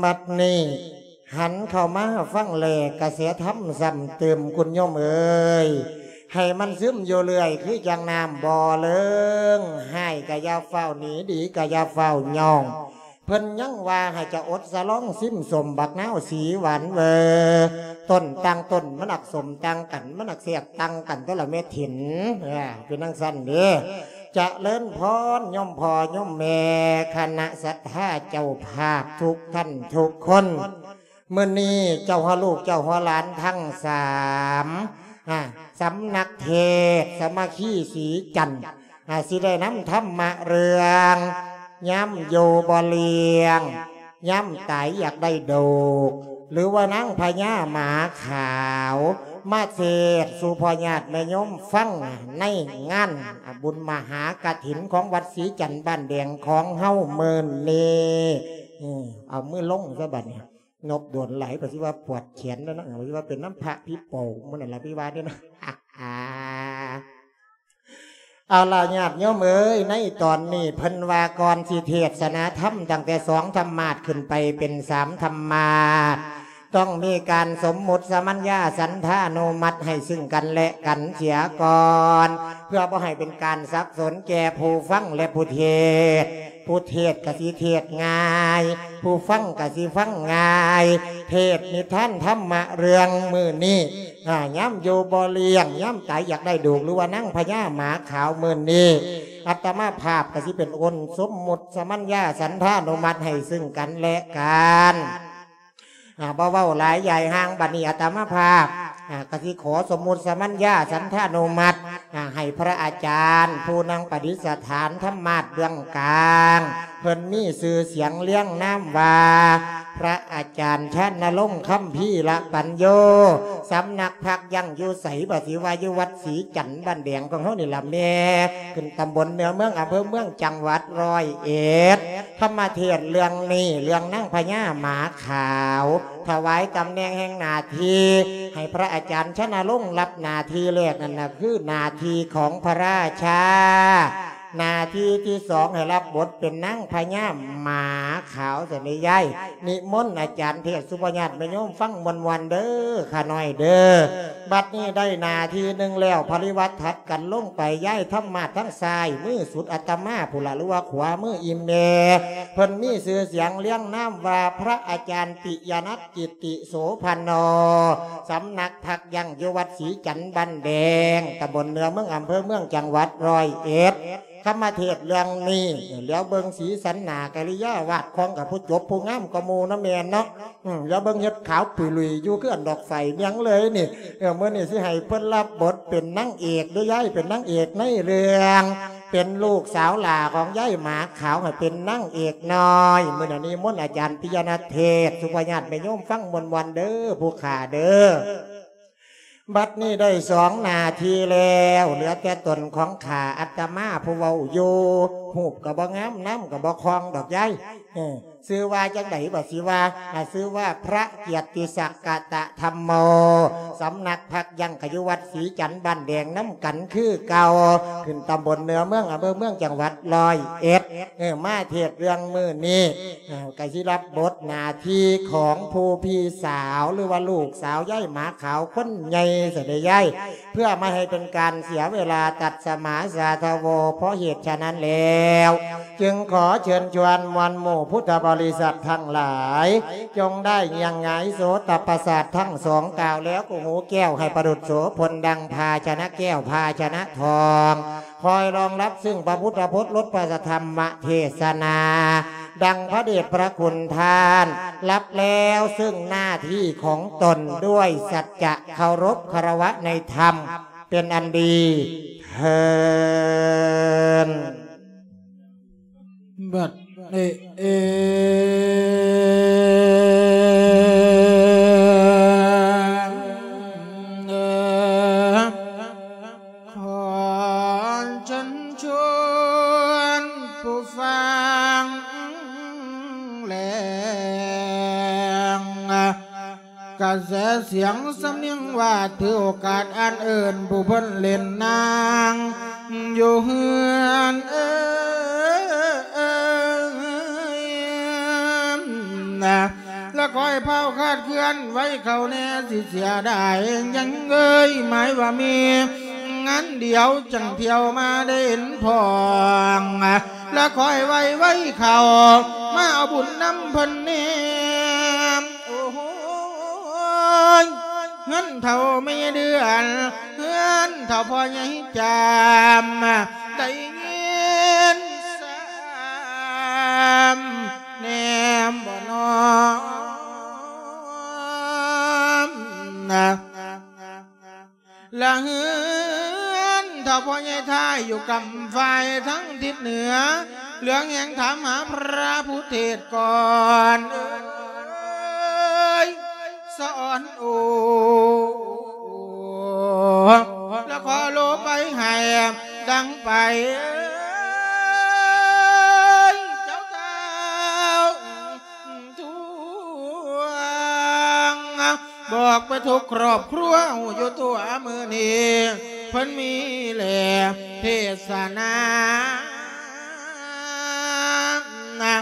ບັດນີ້ຫັນເຂົ້າມາຟັງແລກະແສທຳຊ້ຳຕື່ມ ຄຸນໂຍມເອີຍ, ໃຫ້ມັນຊຶມຢູ່ເລື້ອຍ ຄືຈັ່ງນ້ຳບໍ່ເລີງ. ຮ້າຍກະຢ່າຟ້າວໜີ, ດີກະຢ່າຟ້າວຍ້ອງ. ເພິ່ນຍັງວ່າໃຫ້ຈະອົດສະຫຼອງຊິມສົ້ມບັກນາວສີຫວານເວີ, ຕົ້ນຕ່າງຕົ້ນມັນອັກສົ້ມຕ່າງກັນ, ມັນອັກແຊບຕ່າງກັນ ແຕ່ລະເມັດຫີນ. ເອີ ເປັນຈັ່ງຊັ້ນເດ້. ຈະເລີນພອນໂຍມພໍ່ໂຍມແມ່ ຄະນະສັດທາເຈົ້າພາບທຸກທ່ານທຸກຄົນ. ມື້ນີ້ເຈົ້າຫົວລູກເຈົ້າຫົວຫຼານທັງສາມ ອາ ສຳນັກເທດສາມັກຄີສີຈັນ ອາ ຊິໄດ້ນຳທຳມະເລື່ອງ ຍາມຢູ່ບໍ່ລ້ຽງ ຍາມຕາຍຢາກໄດ້ໂດກ ຫຼືວ່ານາງພະຍາໝາຂາວ ມາເທດສູ່ພໍ່ຍາດແມ່ໂຍມຟັງໃນງານ ອາ ບຸນມະຫາກະຖິນຂອງວັດສີຈັນບ້ານແດງຂອງເຮົາມື້ນີ້. ເອີ ເອົາມືລົງຊະບັດນີ້. ນົບໂດນຫຼາຍ ປະສິວ່າປວດແຂນແລ້ວນະ, ປະສິວ່າເປັນນຳພະຜີໂປ່ງມື້ນັ້ນລະ ພິວ່າເດ້ນະ. ເອົາລະ ຍາດໂຍມເອີຍ, ໃນຕອນນີ້ເພິ່ນວ່າກ່ອນຊິເທດສະໜາທຳຕັ້ງແຕ່ສອງທຳມາດຂຶ້ນໄປເປັນສາມທຳມາດ ຕ້ອງມີການສົມມຸດສະມັນຍາສັນທານຸມັດໃຫ້ຊຶ່ງກັນແລະກັນເສຍກ່ອນ ເພື່ອບໍ່ໃຫ້ເປັນການສັບສົນແກ່ຜູ້ຟັງ ແລະ ຜູ້ເທດ. ຜູ້ເທດກະຊິເທດງ່າຍ, ຜູ້ຟັງກະຊິຟັງງ່າຍ. ເທດນິທານທຳມະເລື່ອງມື້ນີ້ ອາ ຍາມຢູ່ບໍ່ລ້ຽງ ຍາມຕາຍຢາກໄດ້ໂດກ ຫຼືວ່ານາງພະຍາໝາຂາວມື້ນີ້ ອາດຕະມາພາບກະຊິເປັນອົນສົມມຸດສະມັນຍາສັນທານຸມັດໃຫ້ຊຶ່ງກັນແລະກັນ. ອາ ບໍ່ເວົ້າຫຼາຍຢາຍຫ່າງ, ບັດນີ້ອາດຕະມາພາບ ອາ ກະຊິຂໍສົມມຸດສະມັນຍາສັນທານຸມັດ ອາ ໃຫ້ພະອາຈານຜູ້ນັ່ງປະດິດສະຖານທຳມາດເບື້ອງກາງ, ເພິ່ນມີຊື່ສຽງລຽງນາມວ່າ ພະອາຈານຊານະລົງຄຳພີລະປັນໂຍ, ສຳນັກພັກຢັ້ງຢູ່ໃສ ບໍ່ຊິວ່າຢູ່ວັດສີຈັນບ້ານແດງຂອງເຮົານີ້ລະແມ່, ຂຶ້ນຕຳບົນເໜືອເມືອງ ອຳເພີເມືອງ ຈັງຫວັດຮ້ອຍເອັດ. ທຳມະເທດເລື່ອງນີ້ ເລື່ອງນາງພະຍາໝາຂາວ ຖວາຍຕຳແໜ່ງແຫ່ງໜ້າທີ່ໃຫ້ພະອາຈານຊະນະລົງ. ຮັບໜ້າທີ່ແລກນັ້ນນະ ຄືໜ້າທີ່ຂອງພະລາຊາ, ໜ້າທີ່ທີສອງໃຫ້ຮັບບົດເປັນນາງພະຍາໝາຂາວຊັ້ນເດ້ຍາຍ. ນິມົນອາຈານເທດສູ່ພໍ່ຍາດແມ່ໂຍມຟັງມ່ວນໆເດີ ຂ້ານ້ອຍເດີ. ບັດນີ້ໄດ້ໜ້າທີ່ໜຶ່ງແລ້ວ ປະລິວັດຖັດກັນລົງໄປ, ຍາຍທຳມາດທາງຊ້າຍມືສຸດອາດຕະມາພຸ້ນລະ ຫຼືວ່າຂວາມືອີ່ແມ່, ເພິ່ນມີຊື່ສຽງລຽງນາມວ່າ ພະອາຈານປິຍະນັດ ກິດຕິໂສພັນໂນ, ສຳນັກພັກຢັ້ງຢູ່ວັດສີຈັນບ້ານແດງ ຕຳບົນເໜືອເມືອງ ອຳເພີເມືອງ ຈັງຫວັດຮ້ອຍເອັດ. ທຳມະເທດເລື່ອງນີ້ ຫຼຽວເບິ່ງສີສັນໜ້າກະລິຍາວາດຄອງກັບຜູ້ຈົບຜູ້ງາມກວ່າໝູ່ນະແມ່ນເນາະ. ອືມ ຫຼຽວເບິ່ງເຮັດຂາວປຸຍລຸຍຢູ່ຄືອັນດອກໄຟແມງເລີຍນີ້. ເອີ ມື້ນີ້ຊິໃຫ້ເພິ່ນຮັບບົດເປັນນາງເອກເດີຍາຍ, ເປັນນາງເອກໃນເລື່ອງ, ເປັນລູກສາວຫຼ້າຂອງຍາຍໝາຂາວ ໃຫ້ເປັນນາງເອກນ້ອຍ. ມື້ນີ້ນິມົນອາຈານປິຍະນັດເທດສູ່ພໍ່ຍາດແມ່ໂຍມຟັງມ່ວນໆເດີ ຜູ້ຂ້າເດີ. ບັດນີ້ໄດ້ສອງໜ້າທີ່ແລ້ວ ເຫຼືອແຕ່ຕົນຂອງຂ້າອາດຕະມາຜູ້ເວົ້າຢູ່. ຮູບກໍບໍ່ງາມ ນາມກໍບໍ່ຄ່ອງດອກຍາຍ. ເອີ ຊື່ວ່າຈັ່ງໃດບໍ່? ຊື່ວ່າ ອາ ຊື່ວ່າພະກຽດຕິສັກກະຕະທຳໂມ, ສຳນັກພັກຢັ້ງກະຢູ່ວັດສີຈັນບ້ານແດງນຳກັນຄືເກົ່າ, ຂຶ້ນຕຳບົນເໜືອເມືອງ ອຳເພີເມືອງ ຈັງຫວັດຮ້ອຍເອັດ. ເອີ ມາເທດເລື່ອງມື້ນີ້ ເອີ ກະຊິຮັບບົດໜ້າທີ່ຂອງຜູ້ພີ່ສາວ ຫຼືວ່າລູກສາວຍາຍໝາຂາວຄົນໃຫຍ່ຊະເດຍາຍ, ເພື່ອບໍ່ໃຫ້ເປັນການເສຍເວລາ. ຕັດສະມາສາທະໂວ, ເພາະເຫດສະນັ້ນແລ້ວ ຈຶ່ງຂໍເຊີນຊວນມວນໝູ່ພຸດທະບໍລິສັດທັງຫຼາຍ ຈົ່ງໄດ້ຍ່າງຫງາຍໂສຕະປະສາດທັງສອງ, ກ່າວແລ້ວກໍຫູແກ້ວໃຫ້ປະດຸດໂສພົນ ດັ່ງພາຊະນະແກ້ວ ພາຊະນະທອງ ຄອຍລອງຮັບຊຶ່ງພະພຸດທະພົດ ລົດພະທຳມະເທດສະນາ ດັ່ງພະເດດພະຄຸນທ່ານຮັບແລ້ວ ຊຶ່ງໜ້າທີ່ຂອງຕົນດ້ວຍສັດຈະເຄົາລົບຄາລະວະໃນທຳເປັນອັນດີເທີ້ນ. ບັດນີ້ເອງ ຂໍເຊີນຊວນຜູ້ຟັງແລງ ກະແສສຽງສຳນຽງວ່າ ຖືໂອກາດອັນເອີ້ນ ຜູ້ເພິ່ນເຫຼັ້ນນາງຢູ່ເຮືອນເອີ ລະຄ່ອຍພ້າວຄາດເຄື່ອນໄວເຂົ້າແດ່ ຊິເສຍດາຍຫຍັງເອີຍ ໝາຍວ່າມີງານດຽວຈັ່ງທ່ຽວມາໄດ້ເຫັນພ້ອງ ລະຄ່ອຍໄວໄວເຂົ້າມາເອົາບຸນນຳເພິ່ນແດ່. ໂອ້ຍ ເຮືອນເຖົ້າແມ່ເດືອນ ເຮືອນເຖົ້າພໍ່ໃຫຍ່ຈາມ ໄດ້ຍິນຊ້ຳແນມບໍ່ນອມນະ. ລະເຮືອນເຖົ້າພໍ່ໃຫຍ່ທ້າຍຢູ່ກຳຝ່າຍທາງທິດເໜືອ ເຫຼືອແຫ່ງຖາມຫາພະຜູ້ເທດກ່ອນເອີຍ ສອນໂອ ລະຂໍໂລໄປໃຫ້ດັງໄປເອີຍ ເຈົ້າທ້າວທວງ ບອກໄປທຸກຄອບຄົວ ຮູ້ຢູ່ທົ່ວມື້ນີ້ ເພິ່ນມີແລເທດສະນາ ລະ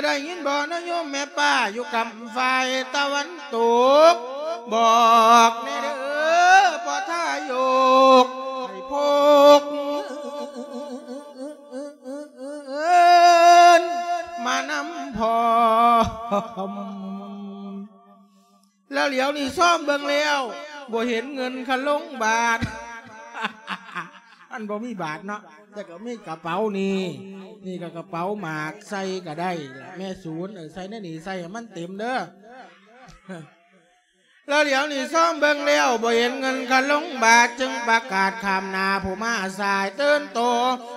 ໄດ້ຍິນບໍ່ນະໂຍມແມ່ປ້າ ຢູ່ກຳຝ່າຍຕາວັນຕົກ ບອກແດ່ເດີພໍ່ທາຍົກ ໃຫ້ພົກມານຳພ້ອມ. ລະຫຼຽວນີ້ຊອມເບິ່ງແລ້ວ ບໍ່ເຫັນເງິນຄາລົງບາດ ມັນບໍ່ມີບາດເນາະ ແຕ່ກໍມີກະເປົານີ້ ນີ້ກໍກະເປົາໝາກ ໃສ່ກໍໄດ້ລະແມ່ສູນ ເອີ ໃສ່ໃນນີ້ ໃສ່ໃຫ້ມັນເຕັມເດີ. ລະຫຼຽວນີ້ຊອມເບິ່ງແລ້ວ ບໍ່ເຫັນເງິນຄາລົງບາດ ຈຶ່ງປະກາດຂ້າມໜ້າຜູ້ມາສາຍຕື່ນໂຕ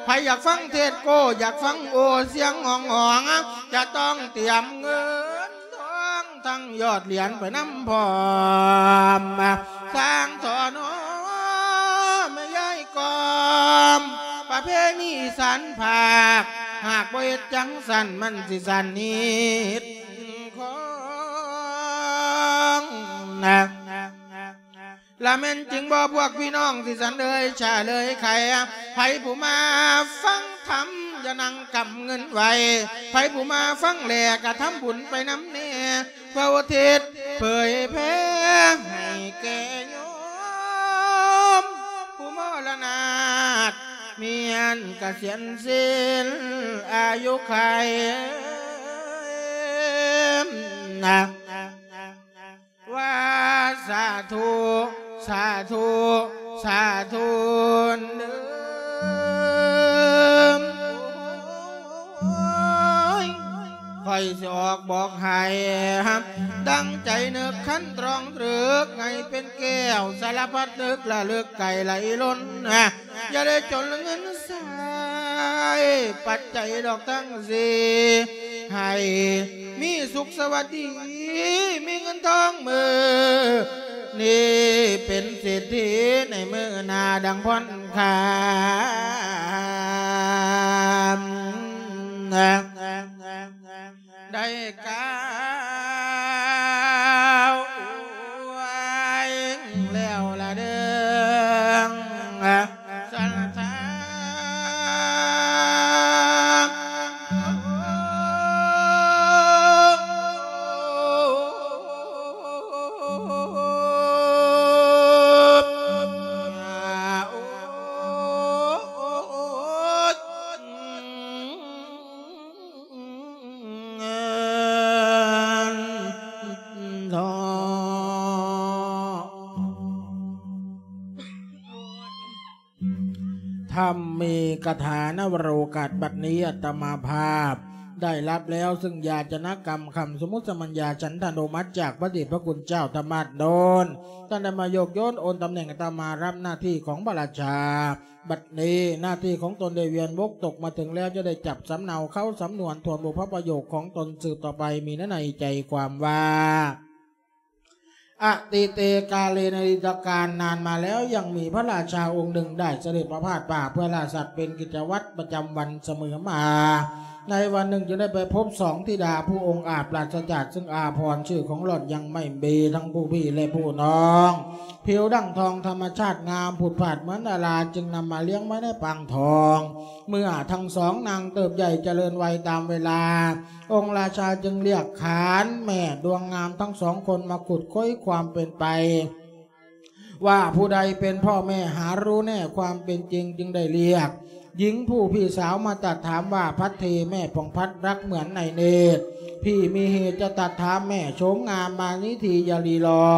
ໃຜຢາກຟັງເທດໂກ້ ຢາກຟັງໂອສຽງຮ້ອງໆ ຈະຕ້ອງຕຽມເງິນ ທອງທັງຍອດຫຼຽນໄປນຳພ້ອມ ສ້າງທໍ່ໜໍແມ່ຍາຍກອມ ປະເພນີສັນພາກ ຫາກບໍ່ເຮັດຈັ່ງຊັ້ນ ມັນຊິສັນນິດຂອງນະ. ລະແມ່ນຈິງບໍ່ພວກພີ່ນ້ອງທີ່ສັນເອີຍ ຊາເລີຍໄຂ ໃຜຜູ້ມາຟັງທຳ ຢ່ານັ່ງກຳເງິນໄວ້ ໃຜຜູ້ມາຟັງແລ້ກະທຳບຸນໄປນຳແດ່ ເພື່ອອຸທິດເຜີຍແຜ່ໃຫ້ແກ່ໂຍມ ຜູ້ມໍລະນາດ ມີອັນກະສຽນສິ້ນອາຍຸໄຂນະ. ວ່າສາທຸ ສາທຸ ສາທຸເດີ ຂ້ອຍຊິອອກບອກໃຫ້ ດັ່ງໃຈນຶກຄັນຕຣອງຕຣຶກ ໃຫ້ເປັນແກ້ວສາລະພັດນຶກ ລະລຶກໄກໄຫຼລົ້ນ ຢ່າໄດ້ຈົນເງິນສາຍປັດໄຈດອກທັງສີ່ ໃຫ້ມີສຸກສະຫວັດດີ ມີເງິນທອງມື້ນີ້ ເປັນເສດຖີໃນມື້ໜ້າດັ່ງຜ່ອນຄາມ ໄດ້ກ່າວອວຍແລ້ວລະເດີ ສັດທາ. ທຳເມກະຖາ ນະວະໂລກາດ ບັດນີ້ອາດຕະມາພາບໄດ້ຮັບແລ້ວ ຊຶ່ງຢາຈະນະກຳຄຳສົມມຸດສະມັນຍາ ສັນທານຸມັດ ຈາກພະເດດພະຄຸນເຈົ້າທຳມະດົນ ທ່ານໄດ້ມາໂຍກໂຍນໂອນຕຳແໜ່ງອາດຕະມາ ຮັບໜ້າທີ່ຂອງພະລາຊາ. ບັດນີ້ໜ້າທີ່ຂອງຕົນໄດ້ວຽນວົກຕົກມາເຖິງແລ້ວ ຈະໄດ້ຈັບສຳເນົາເຄົ້າສຳນວນທວນບຸບພະປະໂຫຍກຂອງຕົນສືບຕໍ່ໄປ ມີໃນໃຈຄວາມວ່າ ອະຕິເຕກາເລ ໃນອະດີດຕະການນານມາແລ້ວ ຍັງມີພະລາຊາອົງໜຶ່ງໄດ້ສະເດັດປະພາດປ່າເພື່ອລ່າສັດເປັນກິດຈະວັດປະຈຳວັນສະເໝີມາ. ໃນວັນໜຶ່ງຈຶ່ງໄດ້ໄປພົບສອງທິດາຜູ້ອົງອາດ ປາສະຈາກເຊິ່ງອາພອນ ຊື່ຂອງຫຼອນຍັງໄມ່ເບ ທັງຜູ້ພີ່ ແລະ ຜູ້ນ້ອງ ຜິວດັ່ງທອງ ທຳມະຊາດງາມຜຸດຜາດເໝືອນດາລາ ຈຶ່ງນຳມາລ້ຽງໄວ້ໃນປາງທອງ. ເມື່ອທັງສອງນາງເຕີບໃຫຍ່ຈະເລີນໄວຕາມເວລາ ອົງລາຊາຈຶ່ງລຽກຂານແມ່ດວງງາມທັງສອງຄົນມາຂຸດຄົ້ນຄວາມເປັນໄປ ວ່າຜູ້ໃດເປັນພໍ່ແມ່ຫາຮູ້ແນ່ຄວາມເປັນຈິງ ຈຶ່ງໄດ້ລຽກຍິງຜູ້ພີ່ສາວມາຕັດຖາມວ່າ ພັດເທແມ່ຜ່ອງພັດລັກເໝືອນໃນເນດ ພີ່ມີເຫດຈະຕັດຖາມແມ່ໂສມງາມມານິທີຢ່າລີລໍ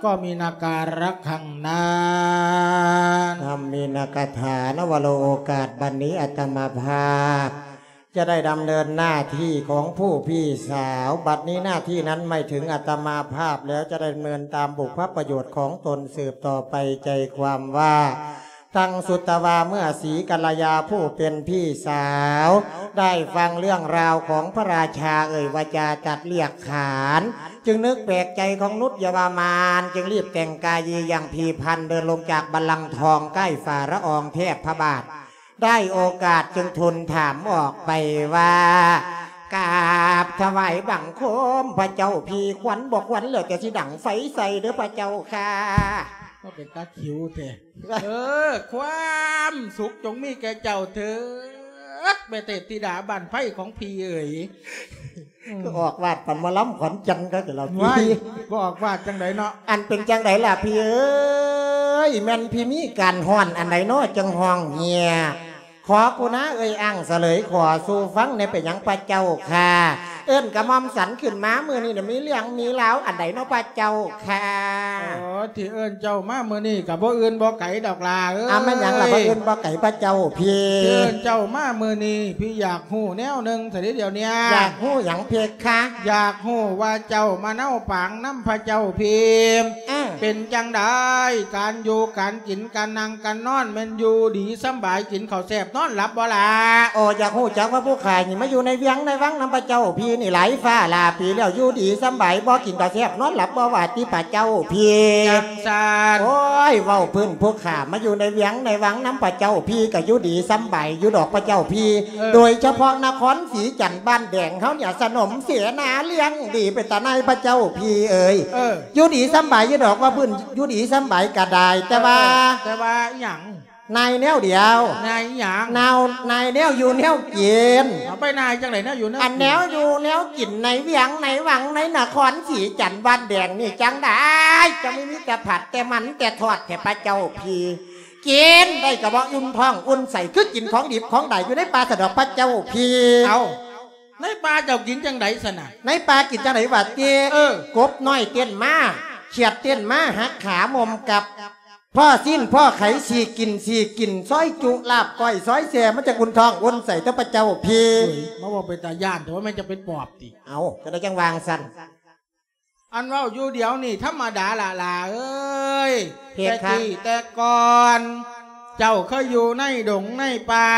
ກໍມີນາກາລັກຄັງນັ້ນ. ທຳມີນາກະຖານະວະໂລໂອກາດ ບັດນີ້ອາດຕະມາພາບ ຈະໄດ້ດຳເນີນໜ້າທີ່ຂອງຜູ້ພີ່ສາວ. ບັດນີ້ໜ້າທີ່ນັ້ນໝາຍເຖິງອາດຕະມາພາບແລ້ວ ຈະໄດ້ດຳເນີນຕາມບຸບພະປະໂຫຍດຂອງຕົນສືບຕໍ່ໄປ. ໃຈຄວາມວ່າ ທັງສຸດຕະວ່າເມື່ອສີກັນລະຍາຜູ້ເປັນພີ່ສາວ ໄດ້ຟັງເລື່ອງລາວຂອງພະລາຊາເອີ່ຍວາຈາຕັດລຽກຂານ ຈຶ່ງນຶກແປກໃຈຂອງນຸດຍະວາມານ ຈຶ່ງລີບແຕ່ງກາຍຢີຢ່າງຜີ່ພັນເດີນລົງຈາກບັນລັງທອງໃກ້ຝ່າລະອອງແທບພະບາດ. ໄດ້ໂອກາດຈຶ່ງທູນຖາມອອກໄປວ່າ ກາບຖວາຍບັງຄົມພະເຈົ້າພີ່ ຂວັນບໍ່ຂວັນແລ້ວແຕ່ຊິດັງໄຟໃສ່ເດີພະເຈົ້າຂ້າ. ວ່າເປັນຕາຂິວແທ້. ເອີ ຄວາມສຸກຈົ່ງມີແກ່ເຈົ້າເທີດ ແມ່ເທບທິດາບ້ານໄພຂອງພີ່ເອີຍ. ອືມ ຄືອອກວາດປານໝໍລຳຂອນຈັນຄັກແທ້ລະພີ່. ວ້າຍ ບໍ່ອອກວາດຈັ່ງໃດເນາະ. ອັນເປັນຈັ່ງໃດລະພີ່ເອີຍ ແມ່ນພີ່ມີການຮ້ອນອັນໃດເນາະ ຈັ່ງຮ້ອງເຮຍ? ຂໍກຸນາເອີ່ຍອ້າງສະເຫຼີຍຂໍສູ່ຟັງແດ່ ເປັນຫຍັງພະເຈົ້າຂ້າ ເອີ້ນກະໝ່ອມສັນຂຶ້ນມາມື້ນີ້ນະ ມີເລື່ອງມີລາວອັນໃດເນາະພະເຈົ້າຂ້າ? ອໍ ທີ່ເອີ້ນເຈົ້າມາມື້ນີ້ກະບໍ່ອື່ນບໍ່ໄກດອກຫຼ້າເອີຍ. ອາ ແມ່ນຫຍັງລະ ບໍ່ອື່ນບໍ່ໄກພະເຈົ້າພີ່? ທີ່ເອີ້ນເຈົ້າມາມື້ນີ້ ພີ່ຢາກຮູ້ແນວໜຶ່ງຊະເດດຽວເນີ້ຍ. ຢາກຮູ້ຫຍັງເພຄະ? ຢາກຮູ້ວ່າເຈົ້າມາເນົາປາງນຳພະເຈົ້າພີ່ ເອີ ເປັນຈັ່ງໃດ ການຢູ່ການກິນ ການນັ່ງການນອນ ແມ່ນຢູ່ດີສຳບາຍ ກິນເຂົ້າແຊບນອນຫຼັບບໍ່ລະ? ໂອ ຢາກຮູ້ຈັກວ່າຜູ້ຂ້ານີ້ມາຢູ່ໃນວຽງໃນວັງນຳພະເຈົ້າພີ່ນີ້ຫຼາຍຟ້າຫຼາຍປີແລ້ວ ຢູ່ດີສຳບາຍບໍ່ ກິນເຂົ້າແຊບນອນຫຼັບບໍ່ວ່າຕິພະເຈົ້າພີ່? ຈັ່ງຊັ້ນ ໂອ້ຍ ເວົ້າພື້ນຜູ້ຂ້າມາຢູ່ໃນວຽງໃນວັງນຳພະເຈົ້າພີ່ ກະຢູ່ດີສຳບາຍຢູ່ດອກພະເຈົ້າພີ່. ເອີ ໂດຍສະເພາະນະຄອນສີຈັນບ້ານແດງເຮົານີ້ ສະໜົມເສນາລ້ຽງດີເປັນຕາໜ່າຍພະເຈົ້າພີ່ເອີຍ. ເອີ ຢູ່ດີສຳບາຍຢູ່ດອກວ່າພື້ນ ຢູ່ດີສຳບາຍກະໄດ້ ແຕ່ວ່າ ເອີ ແຕ່ວ່າອີ່ຫຍັງ? ນາຍແນວດຽວ. ນາຍອີ່ຫຍັງ? ນາວ ນາຍແນວຢູ່ແນວກິນ. ເອົາ ໄປນາຍຈັ່ງໃດແນວຢູ່ແນວກິນ? ອັນແນວຢູ່ແນວກິນໃນວຽງໃນວັງໃນນະຄອນສີຈັນບ້ານແດງນີ້ ຈັ່ງໃດ ຈັ່ງມີແຕ່ຜັດແຕ່ມັນແຕ່ທອດແທ້ພະເຈົ້າພີ່. ກິນໄດ້ກະບໍ່ອຸ່ນທ້ອງອຸ່ນໄສ້ ຄືກິນຂອງດິບຂອງດາຍຢູ່ໃນປ່າຊັ້ນດອກພະເຈົ້າພີ່. ເອົາ ໃນປ່າເຈົ້າກິນຈັ່ງໃດຊັ້ນນະ? ໃນປ່າກິນຈັ່ງໃດຫວາຕິ? ເອີ ກົບນ້ອຍເຕັ້ນມາ ຂຽດເຕັ້ນມາ ຫັກຂາໝົມກັບ ພໍ້ຊີ້ນພໍ້ໄຂ ສີກກິນສີກກິນ ຊອຍຈຸ ລາບກ້ອຍ ຊອຍແຊ ມັນຈະອຸ່ນທ້ອງອຸ່ນໄສ້ຕົວພະເຈົ້າພີ່. ເອີຍ ມາເວົ້າເປັນຕາຢ້ານແທ້ ວ່າແມ່ນຈະເປັນປອບຕິ? ເອົາ ຈັ່ງໃດຈັ່ງວ່າງຊັ້ນ? ອັນເວົ້າຢູ່ດຽວນີ້ທຳມະດາລະຫຼ້າເອີຍ. ເພຄະ ແຕ່ກີ້ແຕ່ກ່ອນ ເຈົ້າເຄີຍຢູ່ໃນດົງໃນປ່າ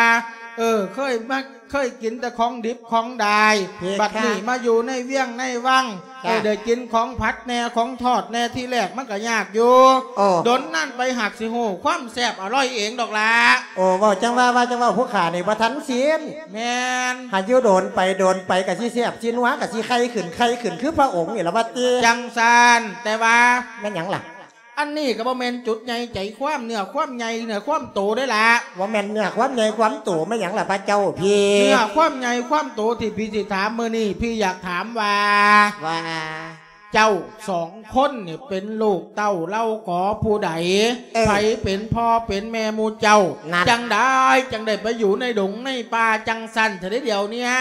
ເອີ ເຄີຍມາ ເຄີຍກິນແຕ່ຂອງດິບຂອງດາຍ ເພຄະ ບັດນີ້ມາຢູ່ໃນວຽງໃນວັງ ເອີ ໄດ້ກິນຂອງຜັດແດ່ຂອງທອດແດ່ ທີແລກມັນກະຍາກຢູ່ ໂອ້ ດົນນັ້ນໄປຫາກຊິຮູ້ຄວາມແຊບອະລ່ອຍເອງດອກລະ. ໂອ້ ເວົ້າຈັ່ງວ່າ ວ່າຈັ່ງວ່າ ຜູ້ຂ້ານີ້ບໍ່ທັນສິນ. ແມ່ນ. ຫາກຢູ່ດົນໄປດົນໄປກະຊິແຊບຊິນົວ ກະຊິໄຂ່ຂຶ້ນໄຂ່ຂຶ້ນຄືພະອົງນີ້ລະວ່າຕິ. ຈັ່ງຊັ້ນ ແຕ່ວ່າ ແມ່ນຫຍັງລະ? ອັນນີ້ກະບໍ່ແມ່ນຈຸດໃຫຍ່ໃຈຄວາມ ເນື້ອຄວາມໃຫຍ່ເນື້ອຄວາມໂຕເດ້ລະ. ບໍ່ແມ່ນເນື້ອຄວາມໃຫຍ່ຄວາມໂຕ ແມ່ນຫຍັງລະພະເຈົ້າພີ່? ເນື້ອຄວາມໃຫຍ່ຄວາມໂຕທີ່ພີ່ຊິຖາມມື້ນີ້ ພີ່ຢາກຖາມວ່າ ວ່າ ເຈົ້າສອງຄົນນີ້ເປັນລູກເຕົ້າເຫຼົ່າກໍຜູ້ໃດ? ເອີ ໃຜເປັນພໍ່ເປັນແມ່ໝູ່ເຈົ້າ? ນັ້ນ ຈັ່ງໃດຈັ່ງໄດ້ໄປຢູ່ໃນດົງໃນປ່າຈັ່ງຊັ້ນເທື່ອໃດດຽວເນີ້ຍ?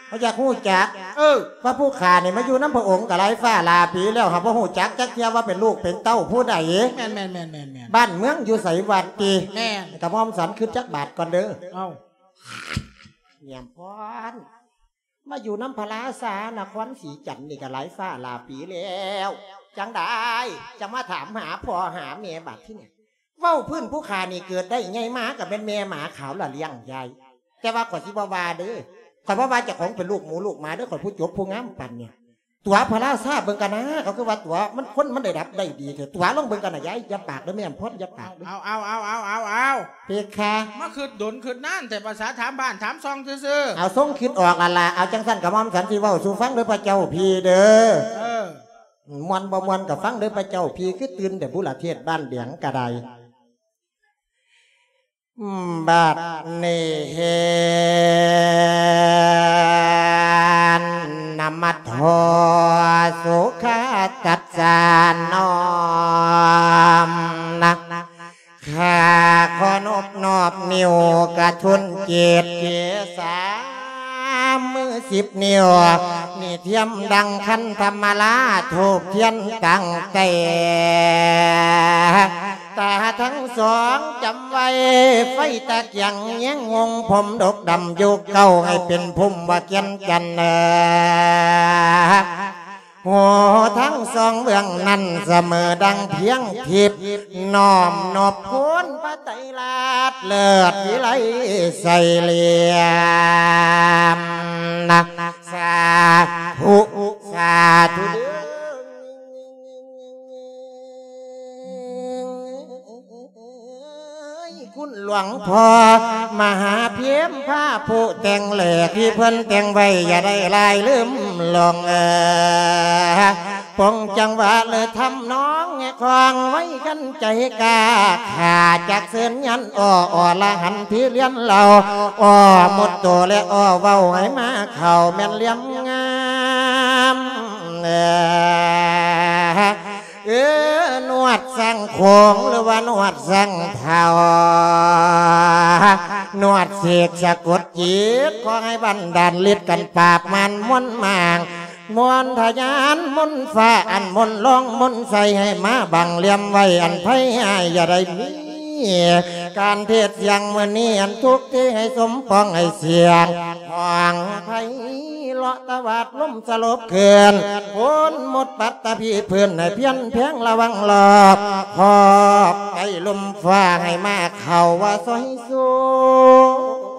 ເຮົາຢາກຮູ້ຈັກ ເອີ ວ່າຜູ້ຂ້ານີ້ມາຢູ່ນຳພະອົງກະຫຼາຍຟ້າຫຼາຍປີແລ້ວ ຫາກບໍ່ຮູ້ຈັກຈັກເທື່ອວ່າເປັນລູກເປັນເຕົ້າຜູ້ໃດ? ແມ່ນໆໆໆໆ. ບ້ານເມືອງຢູ່ໃສຫວາຕິ? ແມ່ນ. ກະໝ່ອມສັນຄຶດຈັກບາດກ່ອນເດີ. ເອົ້າ ແຍມພອນ ມາຢູ່ນຳພະລາຊານະຄອນສີຈັນນີ້ກະຫຼາຍຟ້າຫຼາຍປີແລ້ວ ຈັ່ງໃດຈັ່ງມາຖາມຫາພໍ່ຫາແມ່ບາດທີນີ້? ເວົ້າພື້ນຜູ້ຂ້ານີ້ເກີດໄດ້ໃຫຍ່ມາກະແມ່ນແມ່ໝາຂາວລະລ້ຽງຍາຍ. ແຕ່ວ່າຂ້ອຍຊິບໍ່ວ່າເດີ ຂ້ອຍບໍ່ວ່າເຈົ້າຂອງເປັນລູກໝູລູກໝາເດີ ຂ້ອຍຜູ້ຈົບຜູ້ງາມປານນີ້. ຕົວะพระราชาเบิ่งกันนะ เขาคือว่าตั๋วะ มันคนมันได้ดับได้ดีแท้ ตั๋วะลองเบิ่งกันนะยาย อย่าปากเด้อแม่อำพร อย่าปากเด้อ เอา เอา เอา เอา เอา เอา เพคะ มาคิดดนคิดนานแต่ภาษาถามบ้านถามซองซื่อๆ เอาทรงคิดออกแล้วล่ะ เอาจังซั่นกะหม่อมฉันสิเว้าสู่ฟังเด้อพระเจ้าพี่เด้อ เออ ม่วนบ่ม่วนกะฟังเด้อพระเจ้าพี่ คือตื่นแต่บุละเทศบ้านแดงกะได้ บัดนี้นมัสโทสุขตัสสะน้อมนะ ข้าขอนบนอบนิ้วกระทุนจิต เกสามือสิบนิ้ว นี่เทียมดังขันธมาลา ธูปเทียนตั้งแต่ ตาทั้งสองจำไว้ ไฟตะเกียงแยงงง ผมดกดำยุคเก่า ให้เป็นภูมิว่าเกียนจันเนอ หัวทั้งสองเบื้องนั้นเสมอดังเพียงทิพย์ น้อมนบคุณพระไตรลาดเลิศวิไลใสเหลี่ยมนะ สาธุ สาธุเด้อ คุณหลวงพ่อมหาเพียมพาผู้แต่งแหลกที่เพิ่นแต่งไว้ อย่าได้ลายลืมหลงเออ ปงจังหวะเลยทำนองแงะคองไว้กันใจกล้า ข้าจักเชิญยันอ้อ อรหันต์ที่เรียนเรา อ้อหมดตัวและอ้อเว้าให้มาเข้าแม่นเหลี่ยมงาม เออ เออ นวดสังโขงหรือว่านวดสังเทา นวดเสกสะกดจิต ขอให้บันดาลฤทธิ์กันปราบมารมนต์มาง มนต์ทะยานมนต์ฟ้า อันมนต์รองมนต์ใส ให้มาบังเหลี่ยมไว้ อันภัยอ้ายอย่าได้มี การเทศน์เสียงมื้อนี้ อันทุกข์ที่ให้สมปองให้เสียง ห้องไพเราะตะวาดลมสลบคืน พ้นหมดปัตตภีพื้น ให้เพี้ยนแพงระวังรอบ คอบไอ้ลมฟ้าให้มาเข้าว่าซอยสู้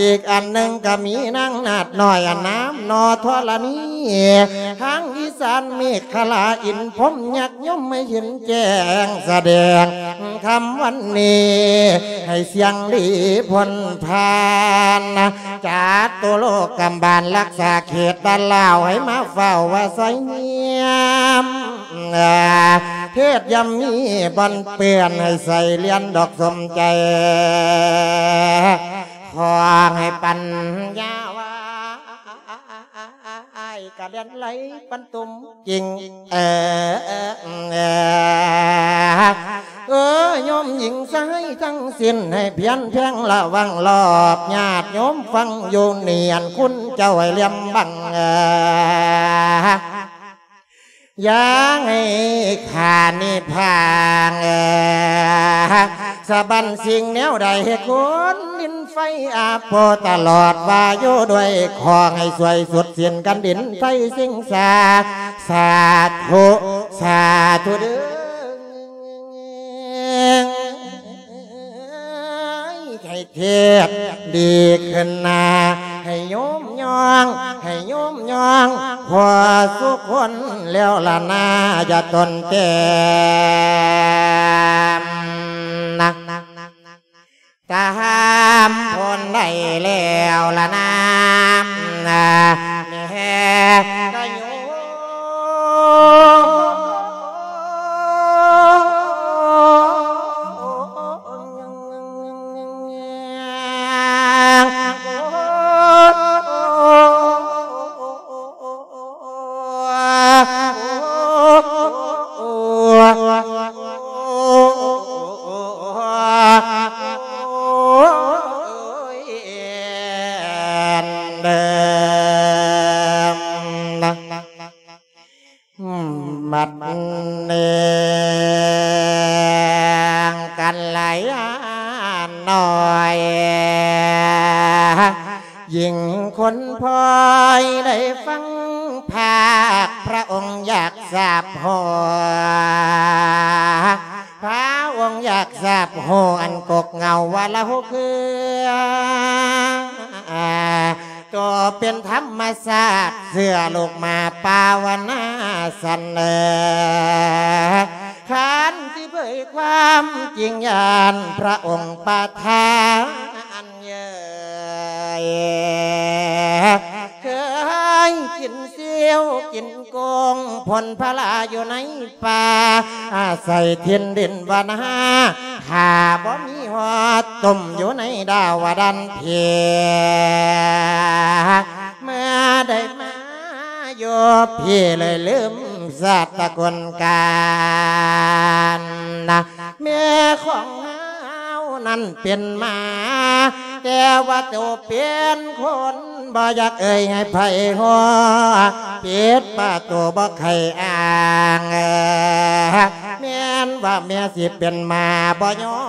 อีกอันหนึ่งก็มีนางนาฏน้อย อันนามนอธรณี ทางอีสานเมขลา อินพรหมยักษ์ยมให้เห็นแจ้งแสดง ค่ำวันนี้ให้เสียงดีพ้นผ่าน จาตุโลกกำบาลรักษาเขตบ้านลาว ให้มาเฝ้าว่าซอยเยี่ยม เทศยามมีบ่อนเปื้อน ให้ใส่เหรียญดอกสมใจ ขอให้ปัญญาว่า อ้ายกะเลียนไหลปันตุ่มกิ่ง เออ เออ เออ เออ โยมหญิงชายทั้งสิ้น ให้เพียรเพ่งระวังรอบ ญาติโยมฟังอยู่เนียน คุณเจ้าให้เหลี่ยมบัง เออ อย่าให้ข้านิพพานเอ่อ สะบั้นสิ่งแนวใดให้คนดินไฟอาโปตลอดว่าอยู่ด้วย ขอให้ช่วยสุดสิ้นกันดินไฟสิ่งสา สาธุ สาธุเด้อ ให้เทศน์ดีขึ้นหน้า ให้โยมย่อง ให้โยมย่อง ขอสุคนแล้วละนา อย่าตนเต็มนะ ตามพ้นได้แล้วละนา แม่ก็โยม บัดนี้กัลยาณน้อย หญิงคนพลอยได้ฟังภาคพระองค์อยากทราบหัว พระองค์อยากทราบหัวอันกกเหงาว่าละหกคือ ກໍເປັນທຳມະຊາດ ເຊື່ອລູກມາພາວະນາສັນເອີ ຄັນຊິເຜີຍຄວາມຈິງ ຢ້ານພະອົງປະທານເອີຍ ເຄີຍກິນຊິວກິນ ກົງພົນພະລາຢູ່ໃນປ່າ ອາໄສຖິ່ນດິນວັນຫາ ຖ້າບໍ່ມີຮອດຕົ້ມຢູ່ໃນດາວະດັນເພ ເມື່ອໄດ້ມາຢູ່ພີ້ເລີຍລືມຊາດຕະກຸນການນະ ແມ່ຂອງເຮົານັ້ນເປັນໝາ ແຕ່ວ່າໂຕເປັນຄົນ ບໍ່ຢາກເອີ່ຍໃຫ້ໃຜຮູ້ ປິດປະຕູບໍ່ໃຄ່ອ້າງ ແມ່ນວ່າແມ່ຊິເປັນໝາ ບໍ່ຍອ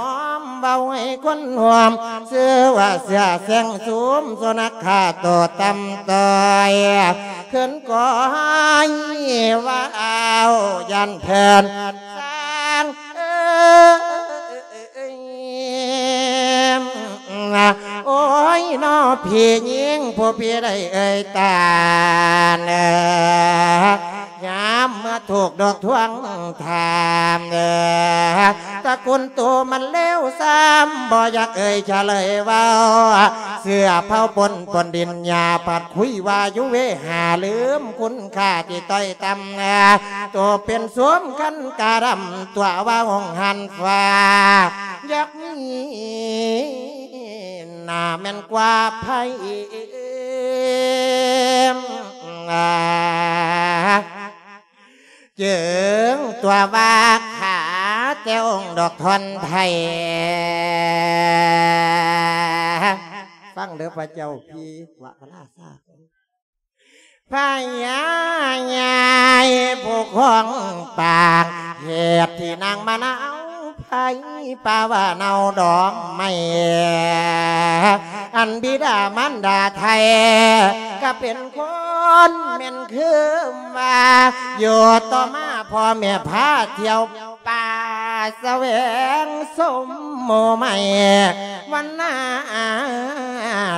ມເວົ້າໃຫ້ຄົນຮູ້ ຊື່ວ່າເສືອແຊງຊຸມ ສຸນັກຂ້າໂຕຕ່ຳຕ້ອຍ ເຂີນກໍໃຫ້ວ່າເອົາ ຢ້ານເພິ່ນສ້າງ ເອີຍ ໂອ້ຍ ນ້ອງພີ່ຍິງ ຜູ້ພີ່ໄດ້ເອີ່ຍຕານ ຍາມເມື່ອຖືກດອກທວງຖາມ ຕະກຸນໂຕມັນເລວຊາມ ບໍ່ຢາກເອີ່ຍສະເລີຍເວົ້າ ເຊື້ອເຜົ່າປົນ ປົນດິນຫຍ້າ ພັດຄຸຍວ່າຢູ່ເວຫາ ລືມຄຸນຄ່າທີ່ຕ້ອຍຕ່ຳ ໂຕເປັນສົມຄັນກະດຳ ຕົວະວ່າຫ້ອງຫັນຟ້າ ຢາກມີໜ້າແມ່ນກວ່າໃຜ ຈຶ່ງຕົວະວ່າຂ້າແຕ່ອົງດອກທ່ອນໄທ ຟັງເດີພະເຈົ້າພີ່ ວະພະລາຊາ ພະຍາໃຫຍ່ຜູ້ຄອງປາກ ເຫດທີ່ນາງມານາວໄພ ປາວ່າເນົ່າດອງໄມ້ ອັນບິດາມານດາໄທ ກະເປັນຄົນແມ່ນຄືວ່າ ຢູ່ຕໍ່ມາພໍ່ແມ່ພາທ່ຽວ ປ່າສະແຫວງຊົມໝູ່ໄມ້ ວັນນາ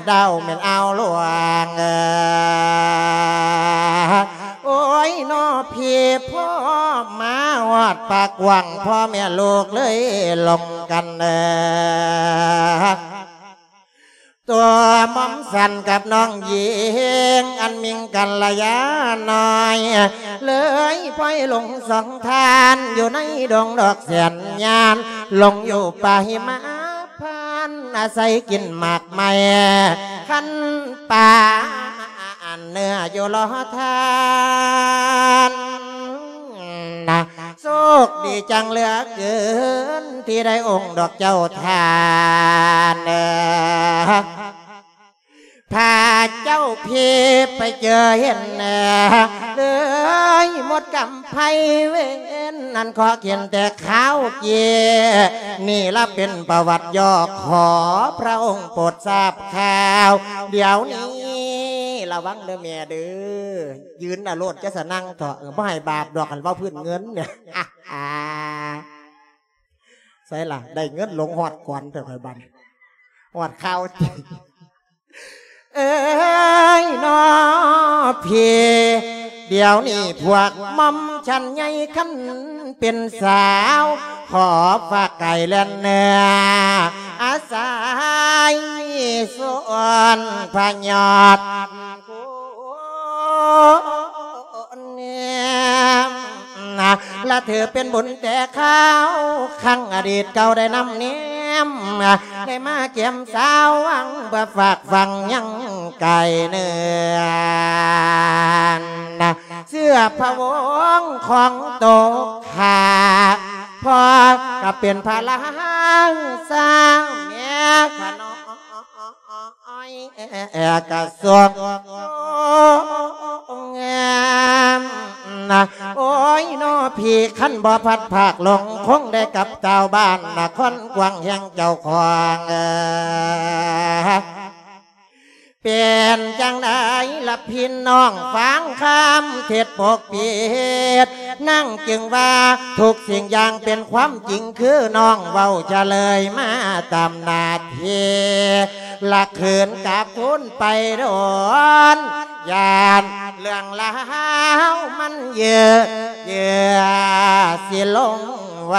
ດາວແມ່ນອ່າວຫຼວງ ໂອ້ຍ ນ້ອງພີ່ ພໍມາຮອດປາກກວ້າງ ພໍ່ແມ່ລູກເລີຍລົມກັນ ຕົວໝອມສັນກັບນ້ອງຍິງ ອັນມິ່ງກັນລະຍານ້ອຍ ເລີຍພອຍຫຼົງສອງທ່ານ ຢູ່ໃນດົງດອກແສນຍານ ຫຼົງຢູ່ປ່າຫິມະພານ ອາໄສກິນໝາກໄມ້ ຄັນປ່າ ອັນເນື້ອຢູ່ລໍທ່ານນະ ໂຊກດີຈັງເຫຼືອເກີນ ທີ່ໄດ້ອົງດອກເຈົ້າທ່ານ ພາເຈົ້າພີໄປເຈີເຫັນ ເລີຍໝົດກຳໄພເວນ ອັນຂໍເຂັນແຕ່ຄາວເກຍ ນີ້ລະເປັນປະຫວັດຫຍໍ້ ຂໍພະອົງໂປດຊາບຂ່າວ ດຽວນີ້ລະວັງເດີແມ່ເດີ ຢືນນະໂລດ ຈະສະນັ່ງເຖາະ ເອີ ບໍ່ໃຫ້ບາບດອກ ຄັນເວົ້າພື້ນເງິນ ໃສລະ ໄດ້ເງິນຫຼົງຮອດກ່ອນແຕ່ຂ້ອຍບັດ ຮອດຂ່າວຈິງ ເອີຍ ນ້ອງພີ່ ດຽວນີ້ພວກໝ່ອມຊັ້ນໃຫຍ່ ຄັນເປັນສາວ ຂໍຝາກກາຍແລ່ນເນື້ອ ອາໄສສວນພະຍອດ ລະຖືເປັນບຸນແຕ່ຄາວ ຄັ້ງອະດີດເກົ່າໄດ້ນຳແນມ ໄດ້ມາແກ້ມສາວຫວັງ ເພື່ອຝາກຝັງຍັງກາຍເນື້ອ ເຊື້ອພະວົງຂອງໂຕຂ້າ ພໍ່ກະເປັນພະລາຊາ ແມ່ຂ້ານ້ອຍ ກະຊວງງາມນະ ໂອ້ຍ ນ້ອງພີ່ ຄັນບໍ່ພັດພາກ ຫຼົງຄົງໄດ້ກັບຊາວບ້ານນະຄອນກວາງແຫ່ງເຈົ້າຂອງ ເປັນຈັ່ງໃດລະພີ່ນ້ອງ ຟັງຄຳເທດປົກປິດ ນາງຈຶ່ງວ່າທຸກສິ່ງຢ່າງເປັນຄວາມຈິງ ຄືນ້ອງເວົ້າຈະເລີຍມາຕາມໜ້າທີ່ ລະຄືນກັບຄືນໄປດົນ ຢ້ານເລື່ອງລາວມັນເຍີະເຍີ້ອ ຊິລົງໄວ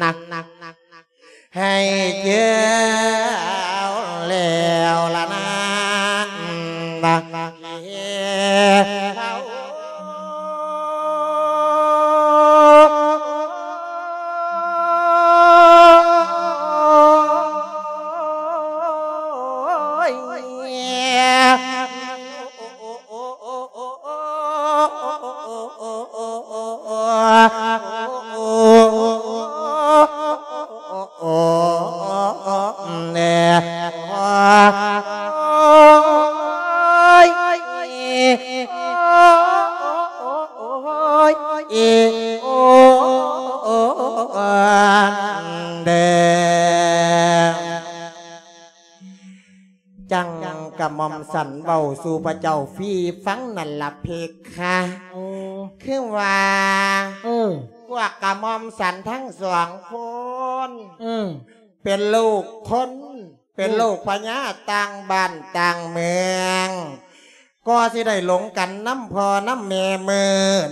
ນະ ໃຫ້ເຈີເອົາແລ້ວລະນາ ຈັ່ງກະໝ່ອມສັນເວົ້າສູ່ພະເຈົ້າພີຟັງນັ້ນລະເພຄະ. ໂອ້ ຄືວ່າ ເອີ ພວກກະໝ່ອມສັນທັງສອງຄົນ ເອີ ເປັນລູກຄົນ ເປັນ ເອີ ລູກພະຍາຕ່າງບ້ານຕ່າງເມືອງ ກໍຊິໄດ້ຫຼົງກັນນຳພໍ່ນຳແມ່. ມື້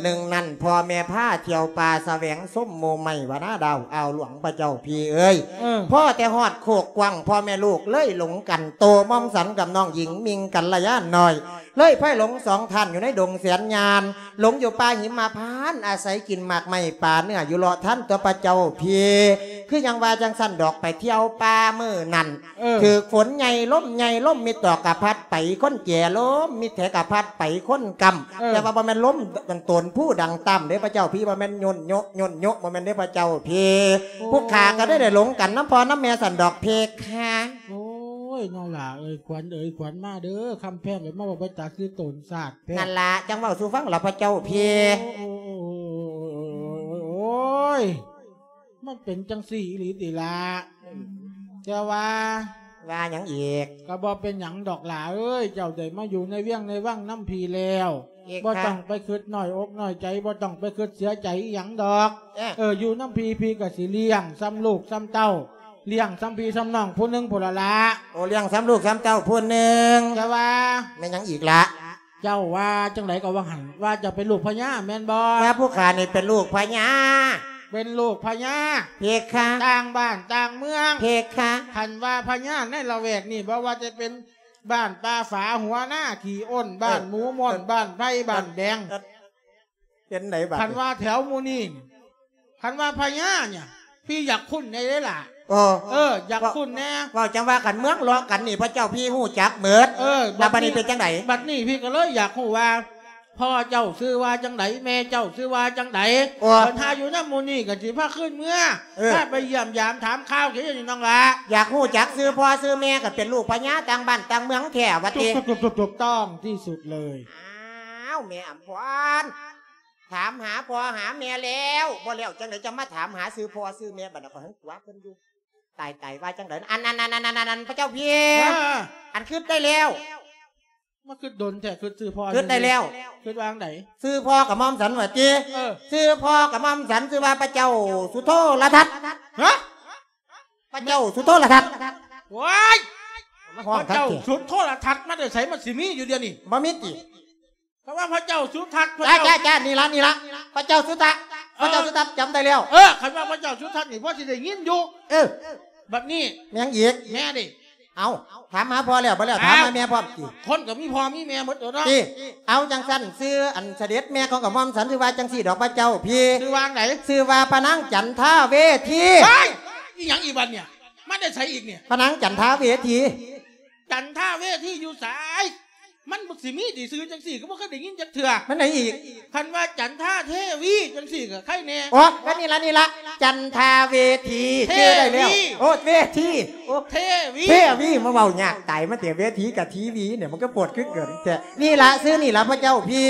ໜຶ່ງນັ້ນ ພໍ່ແມ່ພາທ່ຽວປ່າສະແຫວງຊົມໝູ່ໄມ້ວະນາດາວອ່າວຫຼວງ ພະເຈົ້າພີເອີຍ. ເອີ ພໍແຕ່ຮອດໂຄກກວ້າງ ພໍ່ແມ່ລູກເລີຍຫຼົງກັນ. ໂຕໝ່ອມສັນກັບນ້ອງຍິງມິ່ງກັນລະຍານ້ອຍ ເລີຍພາຍຫຼົງສອງທ່ານຢູ່ໃນດົງແສນຍານ ຫຼົງຢູ່ປ່າຫິມມະພານ ອາໄສກິນໝາກໄມ້ປາເນື້ອຢູ່ເລາະທານຕົວ ພະເຈົ້າພີ. ຄືຫຍັງວ່າຈັ່ງຊັ້ນດອກ ໄປທ່ຽວປ່າມື້ນັ້ນ ເອີ ຖືກຝົນໃຫຍ່ລົມໃຫຍ່ ລົມມິດດອກກະພັດໄປຄົນແກ່ ລົມມິດແຖກະພັດໄປຄົນກຳ. ເອີ ແຕ່ວ່າບໍ່ແມ່ນລົມອັນໂຕນພູດັງຕ່ຳເດ້ພະເຈົ້າພີ ບໍ່ແມ່ນໂຍນໂຍະໂຍນໂຍະ ບໍ່ແມ່ນເດ້ພະເຈົ້າພີ. ໂອ້ ຜູ້ຂ້າກໍໄດ້ ໄດ້ຫຼົງກັນນຳພໍ່ນຳແມ່ຊັ້ນດອກເພຄະ. ໂອ້ຍ ນ້ອງຫຼ້າເອີຍ ຂວັນເອີຍ ຂວັນມາເດີ ຄຳແພງເອີຍ ມາເວົ້າໄປຕາຄືໂຕນຊາດແທ້. ນັ້ນລະ ຈັ່ງເວົ້າສູ່ຟັງລະພະເຈົ້າພີ. ໂອ້ຍ ໂອ້ຍ ມັນເປັນຈັ່ງຊີ້ອີ່ຫຼີຕິລະ? ແຕ່ວ່າ ວ່າຫຍັງອີກ? ກໍບໍ່ເປັນຫຍັງດອກຫຼ້າເອີຍ ເຈົ້າໄດ້ມາຢູ່ໃນວຽງໃນວັງນຳພີ່ແລ້ວ ອີກ ບໍ່ຕ້ອງໄປຄຶດນ້ອຍອົກນ້ອຍໃຈ ບໍ່ຕ້ອງໄປຄຶດເສຍໃຈອີ່ຫຍັງດອກ. ເອີ ເອີ ຢູ່ນຳພີ່ ພີ່ກໍຊິລ້ຽງສ່ຳລູກສ່ຳເຕົ້າ ລ້ຽງສ່ຳພີ່ສ່ຳນ້ອງຜູ້ໜຶ່ງພຸ້ນລະລະ. ໂອ້ ລ້ຽງສ່ຳລູກສ່ຳເຕົ້າຜູ້ໜຶ່ງ. ແຕ່ວ່າ ແມ່ນຫຍັງອີກລະ? ເຈົ້າວ່າຈັ່ງໃດກໍວ່າຫັ້ນ ວ່າເຈົ້າເປັນລູກພະຍາແມ່ນບໍ່? ວ່າຜູ້ຂ້ານີ້ເປັນລູກພະຍາ. ເປັນລູກພະຍາ ເພຄະ ຕ່າງບ້ານຕ່າງເມືອງ ເພຄະ. ຄັນວ່າພະຍາໃນລະແວກນີ້ ບໍ່ວ່າຈະເປັນບ້ານປ່າຝາ ຫົວນາຂີ້ອົນ ບ້ານ ເອີ ໝູມ່ອນ ເອີ ບ້ານໄຜ່ ເອີ ບ້ານແດງ ເອີ ເປັນໃດບາດນີ້? ຄັນວ່າແຖວໝູ່ນີ້ ຄັນວ່າພະຍານີ້ ພີ່ຢາກຄຸ້ນແດ່ເດ້ລະ. ເອີ ເອີ ຢາກຄຸ້ນແດ່. ເວົ້າຈັ່ງວ່າຄັນເມືອງເລາະກັນນີ້ ພະເຈົ້າພີຮູ້ຈັກເໝິດ. ເອີ ລະບາດນີ້ເປັນຈັ່ງໃດ? ບັດນີ້ພີ່ກໍເລີຍຢາກຮູ້ວ່າ ພໍ່ເຈົ້າຊື່ວ່າຈັ່ງໃດ ແມ່ເຈົ້າຊື່ວ່າຈັ່ງໃດ. ເອີ ຄັນຖ້າຢູ່ນຳໝູ່ນີ້ກໍຊິພາຄືນເມືອ ເອີ ພາໄປຢ້ຽມຢາມຖາມຂ່າວເຂດນີ້ນ້ອງຫຼ້າ. ຢາກຮູ້ຈັກຊື່ພໍ່ຊື່ແມ່ ກໍເປັນລູກພະຍາຕ່າງບ້ານຕ່າງເມືອງແທ້ວ່າຕິ? ຖືກຕ້ອງທີ່ສຸດເລີຍ. ອ້າວ ແມ່ອຳພອນ ຖາມຫາພໍ່ຫາແມ່ແລ້ວ ບໍ່ແລ້ວຈັ່ງໃດຈະມາຖາມຫາຊື່ພໍ່ຊື່ແມ່ ບັດນັ້ນກໍຫຶງຕົວະເພິ່ນຢູ່. ຕາຍໆ ວ່າຈັ່ງໃດ? ອັນ ອັນ ອັນ ອັນ ອັນ ອັນ ພະເຈົ້າພີ ເອີ ອັນຄຶດໄດ້ແລ້ວ. ມາຄຶດດົນແທ້ ຄຶດຊື່ພໍ່ ຄຶດໄດ້ແລ້ວ. ຄຶດວ່າຈັ່ງໃດ? ຊື່ພໍ່ກະໝ່ອມສັນວ່າຕິ? ເອີ ຊື່ພໍ່ກະໝ່ອມສັນຊື່ວ່າພະເຈົ້າສຸໂທລະທັດ. ຮະ? ພະເຈົ້າສຸໂທລະທັດ. ໂອ້ຍ ມາຮ້ອງ ພະເຈົ້າສຸໂທລະທັດມາແຕ່ໃສ? ມັນຊິມີຢູ່ດຽວນີ້ ບໍ່ມີຕິ? ເພາະວ່າພະເຈົ້າສຸທັດ ພະ ຈ້າ ເຈົ້າ ຈ້າ ຈ້າ ນີ້ລະ ນີ້ລະ ພະເຈົ້າສຸທັດ ເອີ ພະເຈົ້າສຸທັດ ຈຳໄດ້ແລ້ວ. ເອີ ຄັນວ່າພະເຈົ້າສຸທັດນີ້ ພໍຊິໄດ້ຍິນຢູ່. ເອີ ບັດນີ້ ແມ່ນຫຍັງອີກ? ແມ່ເດ້. ເອົ້າ ຖາມຫາພໍ່ແລ້ວ ບໍ່ແລ້ວ ຖາມ ຖາມຫາແມ່ພ້ອມຕິ? ຄົນກໍມີພໍ່ມີແມ່ໝົດຕົວະເນາະ. ຕິ ເອົາ ຈັ່ງຊັ້ນ ຊື່ອັນສະເດັດແມ່ຂອງກະໝ່ອມສັນ ຊື່ວ່າຈັ່ງຊີ້ດອກ ພະເຈົ້າພີ ຊື່ວ່າຈັ່ງໃດ? ຊື່ວ່າພະນາງຈັນທາເວທີ. ເຮີ້ຍ ອີຫຍັງອີກບັດນີ້? ມາແຕ່ໃສອີກນີ້? ພະນາງຈັນທາເວທີ. ຈັນທາເວທີຢູ່ໃສ? ມັນຊິມີຕິຊື່ຈັ່ງຊີ້ ກໍບໍ່ເຄີຍໄດ້ຍິນຈັກເທື່ອ. ມັນໃດອີກ? ຄັນວ່າຈັນທາເທວີຈັ່ງຊີ້ກໍໄຄແນ່. ໂອ້ ກໍນີ້ລະ ນີ້ລະ ຈັນທາເວທີ ເທວີ ຊື່ໄດ້ແລ້ວ. ໂອ້ ເວທີ ໂອ້ ເທວີ ເທວີ ມາເວົ້າຍາກຕາຍ ມາແຕ່ເວທີກັບທີວີນີ້ ມັນກໍໂພດຄືເກີນແທ້. ນີ້ລະ ຊື່ນີ້ລະ ພະເຈົ້າພີ.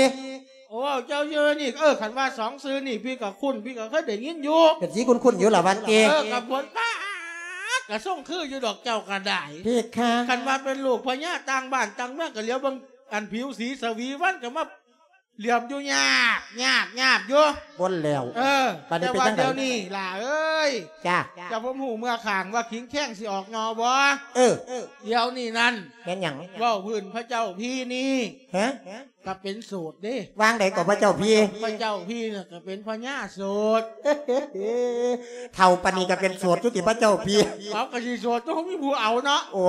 ໂອ້ ເຈົ້າຊື່ນີ້ ເອີ ຄັນວ່າສອງຊື່ນີ້ ພີ່ກໍຄຸ້ນ ພີ່ກໍເຄີຍໄດ້ຍິນຢູ່. ເປັນຊິຄຸ້ນໆຢູ່ລະວ່າຕິ? ເອີ ກໍບົນປ້າ ກະຊົງຄືຢູ່ດອກເຈົ້າກະໄດ້ ເພຄະ. ຄັນວ່າເປັນລູກພະຍາຕ່າງບ້ານຕ່າງເມືອງ ກະຫຼຽວເບິ່ງອັນຜິວສີສະຫວີວັນ ກະມາຫຼຽມຢູ່ຍາບ ຍາບ ຍາບຢູ່ ບົນແລ້ວ. ເອີ ບາດນີ້ເປັນຈັ່ງໃດ? ແຕ່ວ່າດຽວນີ້ຫຼ້າເອີຍ ຈ້າ ເຈົ້າ ຜົມຮູ້ເມືອຂ້າງວ່າຂີງແຄງຊິອອກໜໍ່ບໍ່? ເອີ ດຽວນີ້ນັ້ນ ແມ່ນຫຍັງ? ເວົ້າພື້ນພະເຈົ້າພີນີ້ ຮະ? ກະເປັນໂສດເດ້. ວ່າງໃດກໍພະເຈົ້າພີ? ພະເຈົ້າພີນະກະເປັນພະຍາໂສດ. ເຖົ້າປານນີ້ກະເປັນໂສດຢູ່ຕິພະເຈົ້າພີ? ເອົາ ກະຊິໂສດ ຕ້ອງມີຜູ້ເອົາເນາະ. ໂອ້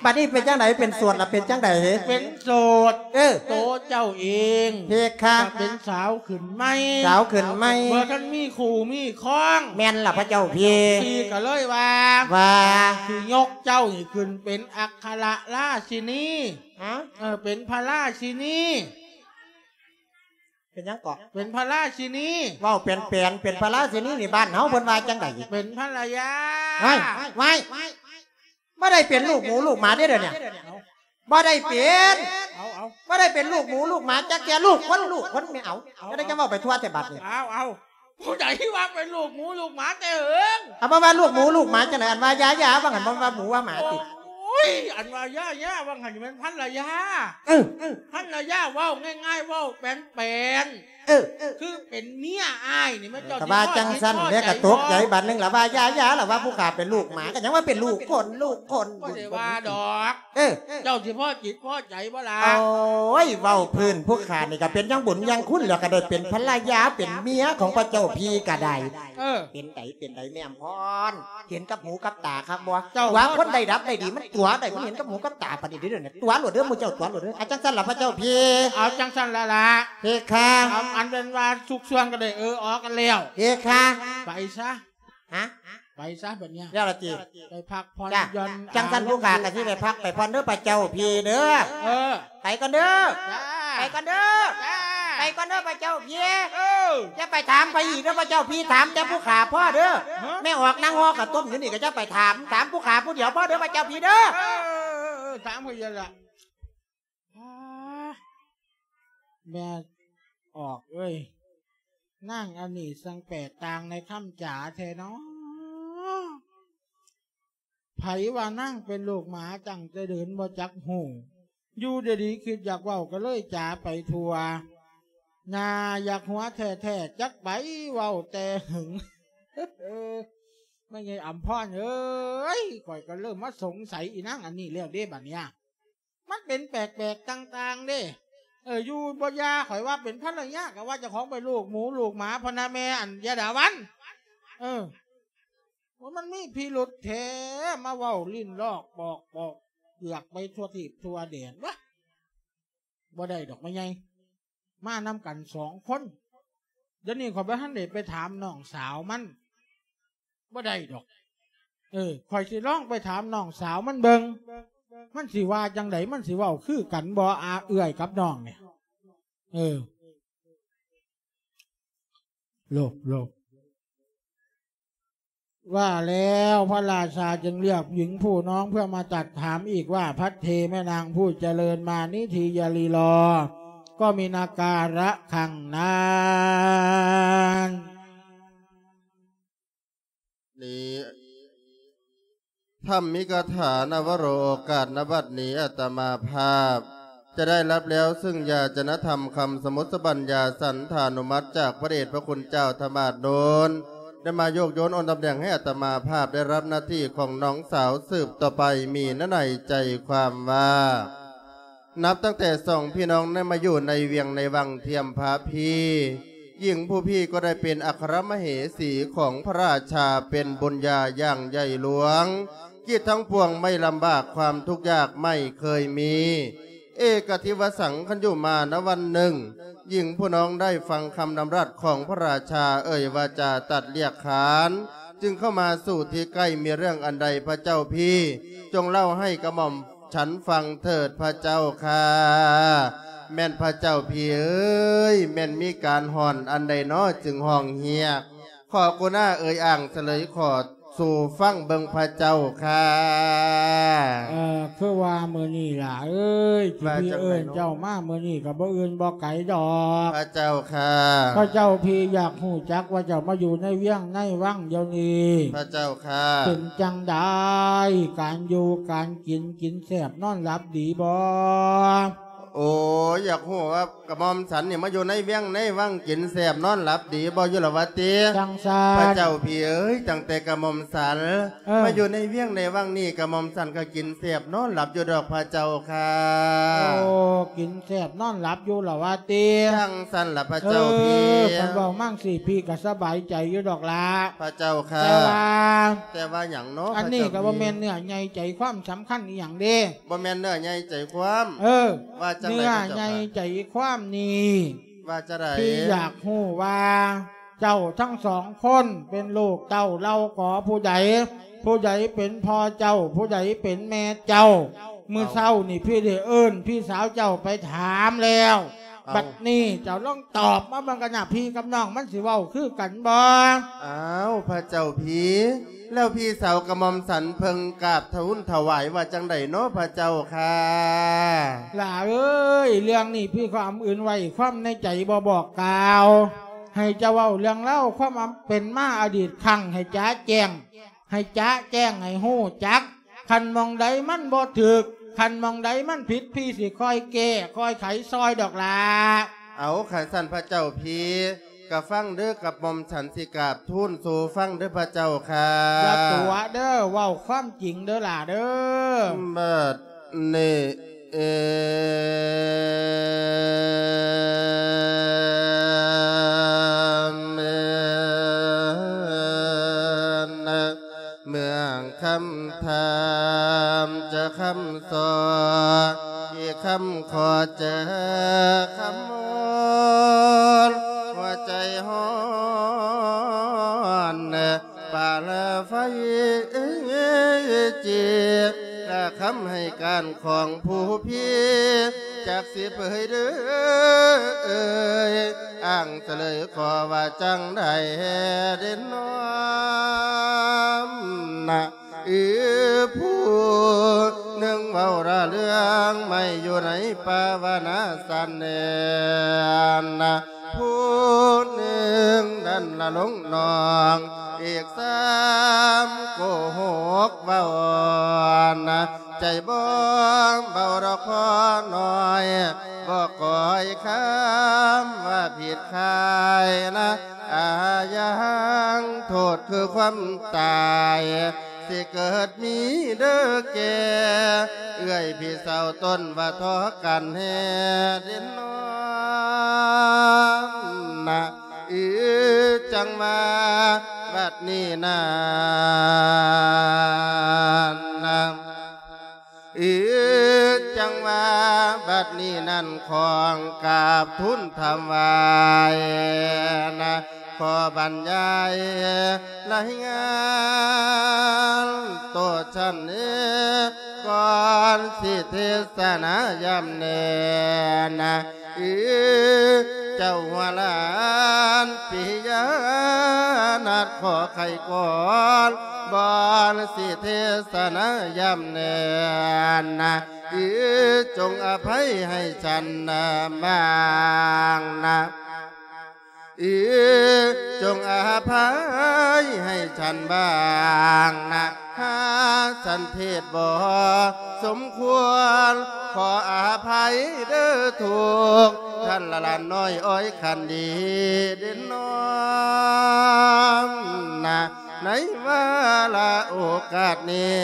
ບາດນີ້ເປັນຈັ່ງໃດ? ເປັນໂສດລະເປັນຈັ່ງໃດ? ເປັນໂສດ ເອີ ໂຕເຈົ້າເອງ ເພຄະ ກະເປັນສາວຂຶ້ນໃໝ່ ສາວຂຶ້ນໃໝ່ ບໍ່ທັນມີຄູ່ມີຄອງ. ແມ່ນລະພະເຈົ້າພີ. ພີກະເລີຍວ່າ ວ່າ ຊິຍົກເຈົ້ານີ້ຂຶ້ນເປັນອັກຄະລະລາຊິນີ. ຮະ? ເອີ ເປັນພະລາຊິນີ. ເປັນຫຍັງເກາະ? ເປັນພະລາຊິນີ. ເວົ້າແປນໆ ເປັນພະລາຊິນີນີ້ ບ້ານເຮົາເພິ່ນວ່າຈັ່ງໃດ? ເປັນພັນລະຍາ. ໄວ້ ໄວ້ ບໍ່ໄດ້ເປັນລູກໝູລູກໝາເດ້ດຽວນີ້ ເອົາ ບໍ່ໄດ້ເປັນ ເອົາ ເອົາ ບໍ່ໄດ້ເປັນລູກໝູລູກໝາຈັກເທື່ອ. ລູກຄົນ ລູກຄົນແມ່ ເອົາ ເອົາ ຈັ່ງໃດຈັ່ງເວົ້າໄປທົ່ວແທ້ບາດນີ້. ເອົາ ເອົາ ຜູ້ໃດວ່າເປັນລູກໝູລູກໝາແຕ່ເຫິງ? ເອົາ ບໍ່ວ່າລູກໝູລູກໝາຈັ່ງໃດ? ອັນວ່າຢາຢາວ່າຫັ້ນ ບໍ່ວ່າໝູວ່າໝາຕິ. ໂອ້ຍ ອັນວ່າຢາຢາວ່າຫັ້ນແມ່ນພັນລະຍາ. ເອີ ພັນລະຍາ ເວົ້າງ່າຍໆ ເວົ້າແປນໆ ເອີ ຄືເປັນເມຍອ້າຍນີ້ ແມ່ນເຈົ້າ ກະວ່າຈັ່ງຊັ້ນແຫຼະ ກະຕົກໃຈບາດໜຶ່ງລະ ວ່າຢາຢາລະ ວ່າຜູ້ຂ້າເປັນລູກໝາ ກະຍັງວ່າເປັນລູກຄົນ ລູກຄົນ. ບໍ່ໄດ້ວ່າດອກ. ເອີ ເຈົ້າຊິພໍຈິດພໍໃຈບໍ່ລະ? ໂອ້ຍ ເວົ້າພື້ນຜູ້ຂ້ານີ້ກະເປັນຫຍັງບຸນຫຍັງຄຸນແລ້ວ ກະໄດ້ເປັນພັນລະຍາເປັນເມຍຂອງພະເຈົ້າພີກະໄດ້. ເອີ ເປັນໃດ ເປັນໃດແມ່ອຳພອນ ເຫັນກັບຫູກັບຕາຄັກບໍ່? ເຈົ້າ ວ່າຄົນໄດ້ດັບໄດ້ດີ ມັນຕົວະໄດ້ ມັນເຫັນກັບຫູກັບຕາປານນີ້ເດີ ຕົວະໂລດເດີ ໝູ່ເຈົ້າຕົວະໂລດເດີ. ອາ ຈັ່ງຊັ້ນລະພະເຈົ້າພີ. ເອົາ ຈັ່ງຊັ້ນລະລະ ເພຄະ. ເອົາ ອັນເປັນວ່າສຸກຊ່ວງກະໄດ້ເອີອອກກັນແລ້ວ ເພຄະ. ໄປຊະ. ຮະ? ໄປຊະບາດນີ້ ແລ້ວລະຕິ? ໄປພັກຜ່ອນ ຈ້າ ຢ່ອນ. ຈັ່ງຊັ້ນຜູ້ຂ້າກະຊິໄປພັກໄປຜ່ອນເດີພະເຈົ້າພີເດີ. ເອີ ໄປກ່ອນເດີ ຈ້າ ໄປກ່ອນເດີ ຈ້າ ໄປກ່ອນເດີພະເຈົ້າພີ. ເອີ ຢ່າໄປຖາມໃຜອີກເດີພະເຈົ້າພີ ຖາມແຕ່ຜູ້ຂ້າພໍເດີ. ຮະ? ແມ່ອອກນັ່ງຫໍ່ເຂົ້າຕົ້ມຢູ່ນີ້ກະຢ່າໄປຖາມ ຖາມຜູ້ຂ້າຜູ້ດຽວພໍເດີພະເຈົ້າພີເດີ. ເອີ ເອີ ເອີ ຖາມຜູ້ດຽວລະ. ອາ ແມ່ອອກເອີຍ ນາງອັນນີ້ຊ່າງແປກຕ່າງໃນຄຳຈາແທ້ເນາະ. ໃຜວ່ານາງເປັນລູກໝາ ຕັ້ງແຕ່ເດີນບໍ່ຈັກຮູ້ ຢູ່ດີໆຄິດຢາກເວົ້າກະເລີຍຈາໄປທົ່ວ. ໜ້າຢາກຫົວແທ້ໆ ຈັກໄປເວົ້າແຕ່ຫຶງ. ແມ່ໃຫຍ່ອຳພອນເອີຍ ຂ້ອຍກະເລີ່ມມາສົງໄສອີນາງອັນນີ້ແລ້ວເດ້ບາດນີ້. ມັນເປັນແປກໆຕ່າງໆເດ້. ເອີ ຢູ່ບໍ່ຢ່າ ຂ້ອຍວ່າເປັນພັນລະຍາ ກະວ່າເຈົ້າຂອງເປັນລູກໝູລູກໝາພຸ້ນນະ ແມ່ອັນ ຢາດາວັນ. ເອີ ວ່າມັນມີພິລຸດແທ້ ມາເວົ້າຫຼິ້ນລອກປອກປອກເປືອກໄປທົ່ວທີບທົ່ວແດນວະ. ບໍ່ໄດ້ດອກແມ່ໃຫຍ່ ມານຳກັນສອງຄົນ. ດຽວນີ້ຂ້ອຍບໍ່ທັນໄດ້ໄປຖາມນ້ອງສາວມັນ. ບໍ່ໄດ້ດອກ. ເອີ ຂ້ອຍຊິລອງໄປຖາມນ້ອງສາວມັນເບິ່ງ ມັນຊິວ່າຈັ່ງໃດ ມັນຊິເວົ້າຄືກັນບໍ່ ອາ ເອື້ອຍກັບນ້ອງນີ້. ເອີ ໂລບ ໂລບ. ວ່າແລ້ວພະລາຊາຈຶ່ງລຽກຍິງຜູ້ນ້ອງເພື່ອມາຕັດຖາມອີກວ່າ ພັດເທແມ່ນາງຜູ້ຈະເລີນ ມານິທີຍາລີລໍ ກໍມີນາກາລະຄັງນັ້ນ. ນີ້ ທຳມິກະຖາ ນະວະໂຣ ໂອກາດນະບັດນີ້ ອາດຕະມາພາບຈະໄດ້ຮັບແລ້ວ ຊຶ່ງຢາຈະນະທຳຄຳສະໝຸດສະບັນຍາສັນຖານຸມັດ ຈາກພະເດດພະຄຸນເຈົ້າທະມາດໂນນ ໄດ້ມາໂຍກໂຍນໂອນຕຳແໜ່ງໃຫ້ອາດຕະມາພາບໄດ້ຮັບໜ້າທີ່ຂອງນ້ອງສາວສືບຕໍ່ໄປ ມີໃນໃນໃຈຄວາມວ່າ ນັບຕັ້ງແຕ່ສອງພີ່ນ້ອງໄດ້ມາຢູ່ໃນວຽງໃນວັງທຽມພະພີ ຍິງຜູ້ພີກໍໄດ້ເປັນອັກຄະມະເຫສີຂອງພະລາຊາ ເປັນບຸນຍາຢ່າງໃຫຍ່ຫຼວງ ກິດທັງປວງໄມ່ລຳບາກ ຄວາມທຸກຍາກໄມ່ເຄີຍມີ. ເອກະທິວະສັງ ຄັນຢູ່ມານະວັນໜຶ່ງ ຍິງຜູ້ນ້ອງໄດ້ຟັງຄຳດຳລັດຂອງພະລາຊາເອີ່ຍວາຈາຕັດລຽກຂານ ຈຶ່ງເຂົ້າມາສູ່ທີ່ໃກ້ ມີເລື່ອງອັນໃດພະເຈົ້າພີ ຈົ່ງເລົ່າໃຫ້ກະໝ່ອມ ສັນຟັງເຖີດພະເຈົ້າຂ້າ. ແມ່ນພະເຈົ້າພີເອີຍ ແມ່ນມີການຮ້ອນອັນໃດນໍ ຈຶ່ງຮ້ອງຮຽກ. ຂໍກຸນາເອີຍອ້າງສະເຫຼີຍ ຂໍ ສູ່ຟັງເບິ່ງພະເຈົ້າຄ່ະ. ເອີ ຄືວ່າມື້ນີ້ຫຼ້າເອີຍ ທີ່ ວ່າ ພີ່ ຈັ່ງໃດ ເອີ້ນ ເນາະ ເຈົ້າມາມື້ນີ້ກໍບໍ່ອື່ນບໍ່ໄກດອກ ພະເຈົ້າຄ່ະ. ພະເຈົ້າພີ່ຢາກຮູ້ຈັກວ່າເຈົ້າມາຢູ່ໃນວຽງໃນວັງດຽວນີ້ ພະເຈົ້າຄ່ະ ເປັນຈັ່ງໃດ ການຢູ່ການກິນ ກິນແຊບນອນຫຼັບດີບໍ່? ໂອ້ ຢາກຮູ້ວ່າ ກະໝ່ອມສັນນີ້ມາຢູ່ໃນວຽງໃນວັງ ກິນແຊບນອນຫຼັບດີບໍ່ຢູ່ລະວະຕິ? ຈັ່ງຊັ້ນ ພະເຈົ້າພີ່ເອີຍ ຕັ້ງແຕ່ກະໝ່ອມສັນ ເອີ ມາຢູ່ໃນວຽງໃນວັງນີ້ ກະໝ່ອມສັນກໍກິນແຊບນອນຫຼັບຢູ່ດອກພະເຈົ້າຄ່ະ. ໂອ້ ກິນແຊບນອນຫຼັບຢູ່ລະວະຕິ? ຈັ່ງຊັ້ນລະພະເຈົ້າ ເອີ ພີ່. ຄັນເວົ້າມາຈັ່ງຊີ້ ພີ່ກໍສະບາຍໃຈຢູ່ດອກລະ ພະເຈົ້າຄ່ະ. ແຕ່ວ່າ ແຕ່ວ່າຫຍັງເນາະ ອັນນີ້ ພະເຈົ້າ ກໍບໍ່ແມ່ນເນື້ອໃຫຍ່ໃຈຄວາມສຳຄັນອີ່ຫຍັງເດ້. ບໍ່ແມ່ນເນື້ອໃຫຍ່ໃຈຄວາມ ເອີ ວ່າຈັ່ງໃດ ເນື້ອໃຫຍ່ໃຈຄວາມນີ້ ພະເຈົ້າຄ່ະ ວ່າຈັ່ງໃດ? ທີ່ຢາກຮູ້ວ່າເຈົ້າທັງສອງຄົນເປັນລູກເຕົ້າເຫຼົ່າກອຜູ້ໃດ? ຜູ້ໃດເປັນພໍ່ເຈົ້າ? ຜູ້ໃດເປັນແມ່ເຈົ້າ? ເອົ້າ ມື້ເຊົ້ານີ້ພີ່ໄດ້ເອີ້ນພີ່ສາວເຈົ້າໄປຖາມແລ້ວ. ເອົ້າ ບັດນີ້ເຈົ້າລອງຕອບມາເບິ່ງກັນນະ ພີ່ກັບນ້ອງມັນຊິເວົ້າຄືກັນບໍ່? ອ້າວ ພະເຈົ້າພີ່ ແລ້ວພີ່ສາວກະໝ່ອມສັນເພິ່ນກາບທູນຖວາຍວ່າຈັ່ງໃດເນາະ ພະເຈົ້າຄ່ະ? ຫຼ້າເອີຍ ເລື່ອງນີ້ພີ່ຄວາມອື່ນໄວ້ຄວາມໃນໃຈບໍ່ບອກກ່າວ ໃຫ້ເຈົ້າເວົ້າເລື່ອງລາວຄວາມເປັນມາອະດີດຄັ້ງໃຫ້ຈະແຈ້ງ ໃຫ້ຈະແຈ້ງໃຫ້ຮູ້ຈັກ. ຄັນໝ່ອງໃດມັນບໍ່ຖືກ ຄັນໝ່ອງໃດມັນຜິດ ພີ່ຊິຄ່ອຍແກ້ຄ່ອຍໄຂຊ່ອຍດອກຫຼ້າ. ເອົາ ຄັນຊັ້ນພະເຈົ້າພີ່ ກະຟັງເດີ ກະໝ່ອມສັນຊິກາບທູນສູ່ຟັງເດີພະເຈົ້າຄ່ະ. ຢ່າຕົວະເດີ ເວົ້າຄວາມຈິງເດີຫຼ້າເດີ. ບັດນີ້ ເອີ ເມືອງຄຳຖາມຈະຄຳສອນ ອີກຄຳຂໍເຈີຄຳມອນ ຫົວໃຈຮ້ອນປາລະໄຟຈີ ລະຄຳໃຫ້ການຂອງຜູ້ພີ ຈັກຊິເຜີຍເດີ ອ້າງສະເຫຼີຍຂໍວ່າຈັ່ງໃດເດນອມນະ. ອີ ຜູ້ໜຶ່ງເວົ້າລະເລື່ອງໄມ້ຢູ່ໃນປ່າວະນາສັນເນນະ ຜູ້ໜຶ່ງນັ້ນລະຫຼົງນ້ອງ ອີກສາມໂກຫົກເວົ້ານະ ໃຈບໍ່ເບົາດອກພໍນ້ອຍ ບໍ່ກ່ອຍຄຳວ່າຜິດຂາຍນະ ອາຍັງໂທດຄືຄວາມຕາຍ ຊິເກີດມີເດີແກ່ ເອື້ອຍພີ່ສາວຕົນວ່າທໍກັນແຮເດນອມນະ ອີ ຈັ່ງວ່າບັດນີ້ນັ້ນນະ ອີ ຈັ່ງວ່າບັດນີ້ນັ້ນ ຂໍກາບທູນຖວາຍນະ ຂໍບັນຍາຍລາຍງານໂຕຊັ້ນເອ ກ່ອນຊິເທສະນາຢ້ຳແນນະ ອີ ເຈົ້າຫົວຫຼານປິຍານັດ ຂໍໄຂກ່ອນ ບ່ອນຊິເທສະນາຢ້ຳແນນະ ອີ ຈົ່ງອະໄພໃຫ້ສັນນະບາງນະ ອີ ຈົ່ງອະໄພໃຫ້ສັນບາງນະ ຫາກສັນເທດບໍ່ສົມຄວນ ຂໍອະໄພເດີທຸກທ່ານລະຫຼານນ້ອຍອ້ອຍຂັນດີເດນອມນະ ໃນວາລະໂອກາດນີ້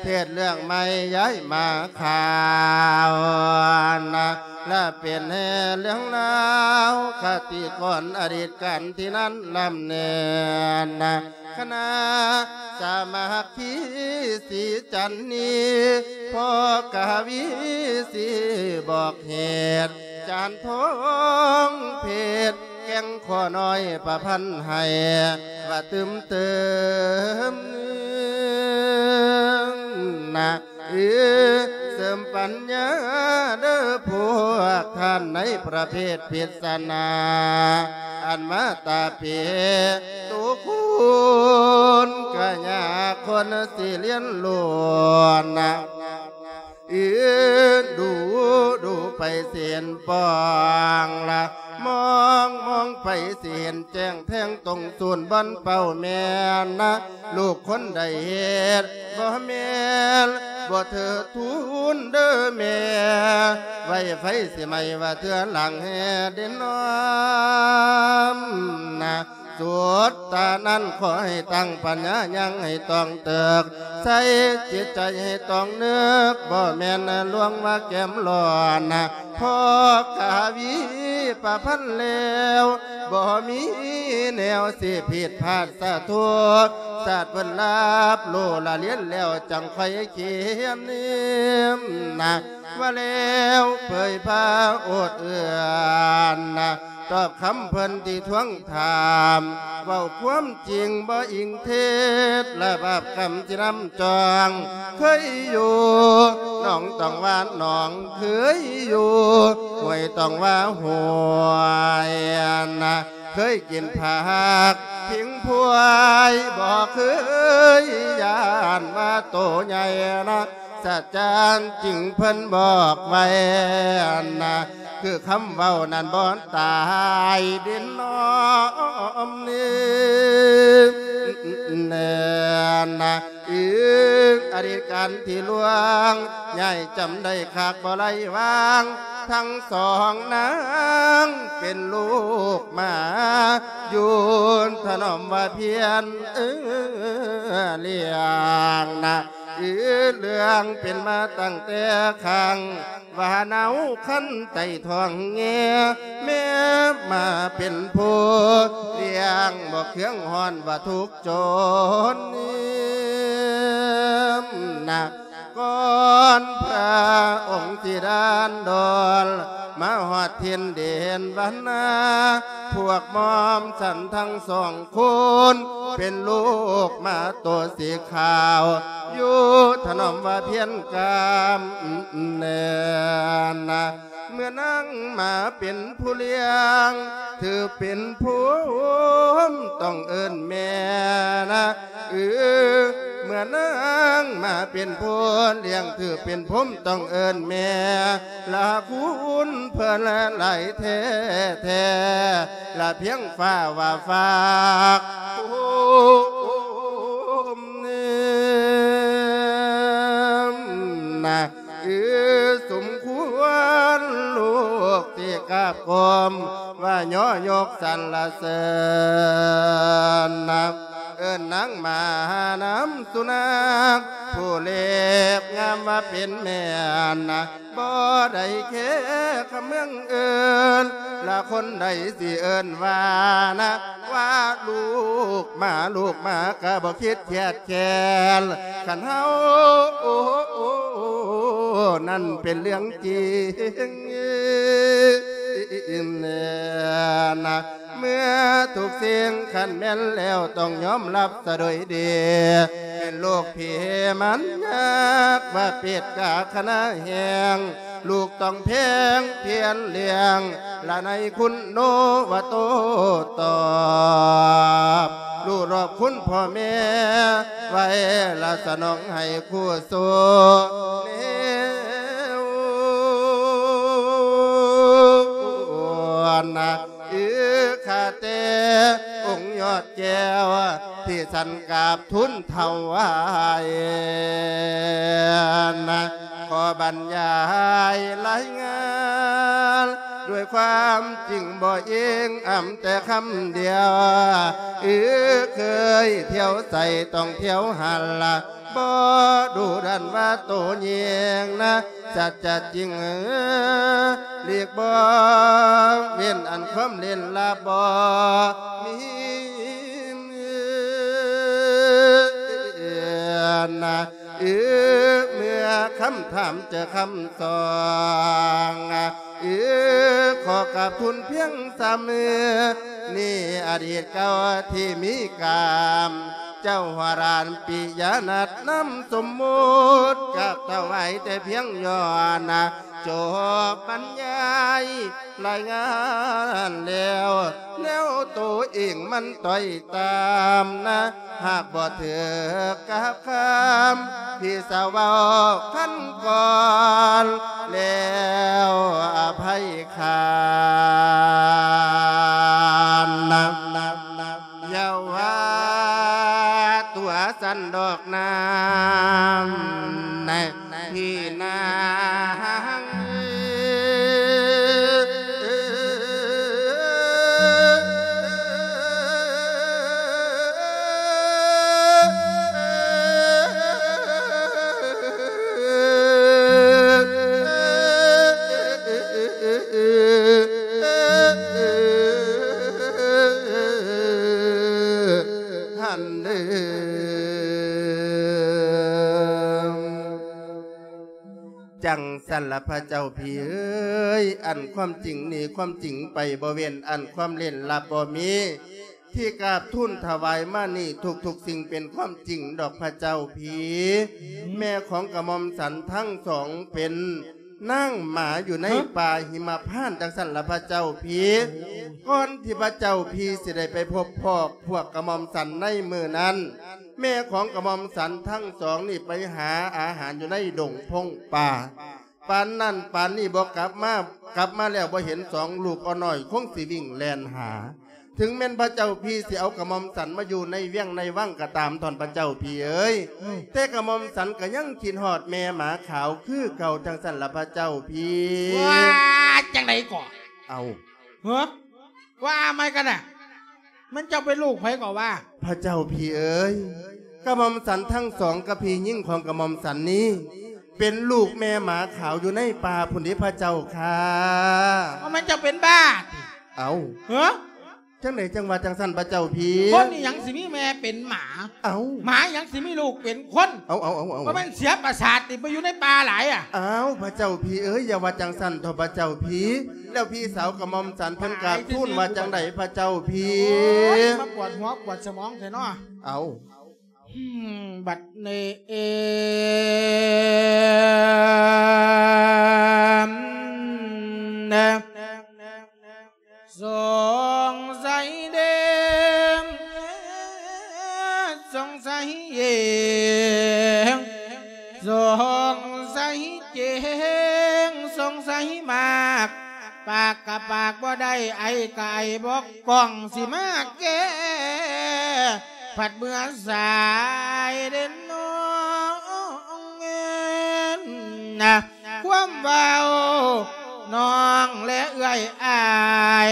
ເທດເລື່ອງໃໝ່ຍ້າຍມາຂ່າວນະ ລະເປັນແຫ່ເລື່ອງລາວຄະຕິກ່ອນອະດີດການທີ່ນັ້ນລຳເນີນນະ ຄະນະສາມັກຄີສີຈັນນີ ພໍ່ກະວີສີບອກເຫດ ຈານທອງເພັດ ແກ່ງຂໍນ້ອຍປະພັນໃຫ້ ວ່າຕື່ມເຕີມນະ ເອີ ເສີມປັນຍາເດີພວກທ່ານ ໃນປະເພດພິດສະນາ ອັນມາຕາເປຕຸຄຸນ ກະຍາຄົນຊິລຽນຮູ້ນະ ອີ ດູ ດູໄປເສັ້ນປ່ອງລະ ມອງ ມອງໄປຊິເຫັນແຈ້ງແທງຕົງສູນບ່ອນເປົ້າແມ່ນນະ ລູກຄົນໃດເຮັດບໍ່ແມ່ນ ບໍ່ເທີດທູນເດີແມ່ ໄວໄຟຊິໄໝ້ວ່າເທື່ອຫຼັງແດ່ເດນອມນະ ສຸດຕານັ້ນຂໍໃຫ້ຕັ້ງປັນຍາຍັງໃຫ້ຕ້ອງເຕີກ ໃສ່ຈິດໃຈໃຫ້ຕ້ອງນຶກ ບໍ່ແມ່ນລວງວ່າແກ້ມຮ້ອນນະ ພໍກາວີປະພັນແລ້ວ ບໍ່ມີແນວຊິຜິດພາດສາທຸ ສາດເພິ່ນລາບຮູ້ລະລຽນແລ້ວ ຈັ່ງຄ່ອຍຂຽນນະ ວ່າແລ້ວເຜີຍພາໂອດເອື້ອນນະ ຕອບຄຳເພິ່ນທີ່ທວງຖາມ ເວົ້າຄວາມຈິງບໍ່ອີງເທັດ ລະບາບກຳຊິນຳຈອງ ເຄີຍຢູ່ໜອງຕ້ອງວ່າໜອງ ເຄີຍຢູ່ຫ້ວຍຕ້ອງວ່າຫ້ວຍນະ ເຄີຍກິນຜັກພິງພວຍ ບໍ່ເຄີຍຢ້ານວ່າໂຕໃຫຍ່ນະ ສາຈານຈຶ່ງເພິ່ນບອກໄວ້ນະ ຄືຄຳເວົ້ານັ້ນບໍ່ຕາຍເດນອມນີ້ແນ່ນະ ອີກອະດີດການທີ່ລ່ວງ ຍາຍຈຳໄດ້ຄັກບໍ່ໄຫຼວາງ ທັງສອງນາງເປັນລູກໝາ ຢູ່ຖະໜອມວ່າພຽນ ເອີ ລ້ຽງນະ ອີເລື່ອງເປັນມາຕັ້ງແຕ່ຄັ້ງ ວ່າເນົາຄັນໃຕ້ທ້ອງແງ ແມ່ມາເປັນຜູ້ລ້ຽງ ບໍ່ເຄືອງຮ້ອນວ່າທຸກຈົນນະ ກ່ອນພະອົງຊິດານດອນ ມາຮອດຖິ່ນແດນບ້ານນາ ພວກໝອມສັນທັງສອງຄົນ ເປັນລູກໝາໂຕສີຂາວ ຢູ່ຖະໜອມວ່າພຽນກາມແນ່ນະ ເມື່ອນາງມາເປັນຜູ້ລ້ຽງ ຖືເປັນຜົມຕ້ອງເອີ້ນແມ່ນະ ເອີ ເມື່ອນາງມາເປັນຜູ້ລ້ຽງ ຖືເປັນຜົມຕ້ອງເອີ້ນແມ່ ລະຄຸນເພິ່ນຫຼາຍແທ້ໆ ລະພຽງຟ້າວ່າຝາກ ໂອ້ ນະ ເອີ ສົມຄວນລູກທີ່ກາບກົ້ມ ວ່າຍໍຍົກສັນລະເສີນນະ ເອີ້ນນາງມານຳສຸນັກ ຜູ້ເລັບງາມວ່າເປັນແມ່ນນະ ບໍ່ໄດ້ແຄ່ຄຳເມືອງອື່ນ ລະຄົນໃດຊິເອີ້ນວ່ານະ ວ່າລູກໝາ ລູກໝາກະບໍ່ຄິດຄຽດແຄ້ນ ຄັນເຮົານັ້ນເປັນເລື່ອງຈິງນະ ເມື່ອທຸກສິ່ງຄັນແມ່ນແລ້ວ ຕ້ອງຍອມຮັບສະໂດຍດີ ເປັນລູກພີ່ມັນຍາກວ່າເປັດກາຄະນະແຮງ ລູກຕ້ອງແພງພຽນລ້ຽງ ລະໃນຄຸນໂນວ່າໂຕຕອບ ຮູ້ລອບຄຸນພໍ່ແມ່ໄວ້ ລະສະໜອງໃຫ້ຄູ່ສູ່ແນວນະ ເອີ ຂ້າແຕ່ອົງຍອດແກ້ວ ທີ່ສັນກາບທູນຖວາຍນະ ຂໍບັນຍາຍລາຍງານ ດ້ວຍຄວາມຈິງບໍ່ອີງອຳແຕ່ຄຳດຽວ ເອີ ເຄີຍທ່ຽວໃສຕ້ອງທ່ຽວຫັ້ນລະ ບໍ່ດຸດັນວ່າໂຕຍິງນະ ສັດຈະຈິງ ເອີ ຫຼີກບໍ່ເວັ້ນອັນຄວາມຫຼິ້ນລາບບໍ່ມີນະ ເອີ ເມື່ອຄຳຖາມເຈີຄຳສອງ ເອີ ຂໍກາບທູນພຽງຊ້ຳ ນີ້ອະດີດເກົ່າທີ່ມີກາມ ເຈົ້າຫວາລານປິຍະນັດນຳສົມມຸດ ກາບຖວາຍແຕ່ພຽງຍ້ອນ ຈົບບັນຍາຍລາຍງານແລ້ວ ແນວໂຕເອງມັນຕ້ອຍຕາມນະ ຫາກບໍ່ຖືກກັບຄຳ ພີ່ສາວເວົ້າຄັນກ່ອນ ແລ້ວອະໄພຄານນະ. ຢ່າວ່າຕົວຊັ້ນດອກນາງ ພີ່ນາງເອີຍ. ຫັ້ນເດີ ຈັ່ງຊັ້ນລະພະເຈົ້າພີ່ເອີຍ ອັນຄວາມຈິງນີ້ຄວາມຈິງໄປບໍ່ເວັ້ນ ອັນຄວາມເຫຼັ້ນລັບບໍ່ມີ ທີ່ກາບທູນຖວາຍມານີ້ທຸກໆສິ່ງເປັນຄວາມຈິງດອກພະເຈົ້າພີ່. ແມ່ຂອງກະໝ່ອມສັນທັງສອງເປັນ ນາງໝາຢູ່ໃນ ຮະ? ປ່າຫິມະພານ ຈັ່ງຊັ້ນລະພະເຈົ້າພີ່. ໂອ້ ກ່ອນທີ່ພະເຈົ້າພີ່ຊິໄດ້ໄປພົບພໍ້ພວກກະໝ່ອມສັນໃນມື້ນັ້ນ ແມ່ຂອງກະໝ່ອມສັນທັງສອງນີ້ໄປຫາອາຫານຢູ່ໃນດົງພົງປ່າ ປານນັ້ນປານນີ້ບໍ່ກັບມາ ກັບມາແລ້ວບໍ່ເຫັນສອງລູກອ່ອນນ້ອຍ ຄົງຊິວິ່ງແລ່ນຫາ. ເຖິງແມ່ນພະເຈົ້າພີ່ຊິເອົາກະໝ່ອມສັນມາຢູ່ໃນວຽງໃນວັງກໍຕາມ ທ່ານພະເຈົ້າພີ່ເອີຍ ອືມ ແຕ່ກະໝ່ອມສັນກໍຍັງຄິດຮອດແມ່ໝາຂາວຄືເກົ່າ ຈັ່ງຊັ້ນລະພະເຈົ້າພີ່. ວ່າຈັ່ງໃດກໍ? ເອົ້າ ເຮີ ວ່າໃໝ່ກັນນະ ມັນເຈົ້າເປັນລູກໃຜກໍວ່າ? ພະເຈົ້າພີ່ເອີຍ ກະໝ່ອມສັນທັງສອງກັບພີ່ຍິງຂອງກະໝ່ອມສັນນີ້ ເປັນລູກແມ່ໝາຂາວຢູ່ໃນປ່າພຸ້ນເດພະເຈົ້າຂ້າ. ວ່າມັນເຈົ້າເປັນບ້າຕິ? ເອົ້າ ເຮີ ຈັ່ງໃດຈັ່ງວ່າຈັ່ງຊັ້ນພະເຈົ້າພີ່? ຄົນອີ່ຫຍັງຊິມີແມ່ເປັນໝາ? ເອົ້າ ໝາອີ່ຫຍັງຊິມີລູກເປັນຄົນ? ເອົ້າ ເອົ້າ ເອົ້າ ເອົ້າ ວ່າມັນເສຍປະສາດຕິ ໄປຢູ່ໃນປ່າຫຼາຍອະ? ອ້າວ ພະເຈົ້າພີ່ເອີຍ ຢ່າວ່າຈັ່ງຊັ້ນເຖາະພະເຈົ້າພີ່. ແລ້ວພີ່ສາວກະໝ່ອມສັນເພິ່ນກາບທູນວ່າຈັ່ງໃດພະເຈົ້າພີ່? ໂອ້ຍ ມາປວດຫົວປວດສະໝອງແທ້ເນາະ. ເອົ້າ ອືມ ບັດນີ້ ເອີມ ສົງໄສເດ ສົງໄສເອງ ສົງໄສເຈງ ສົງໄສມາກ ປາກກະປາກບໍ່ໄດ້ ໄອກະໄອບໍ່ກ້ອງ ຊິມາແກ້ ພັດເມື່ອສາຍເດນນ້ອງເອີນນະ ຄວາມເວົ້ານ້ອງແລະເອື້ອຍອ້າຍ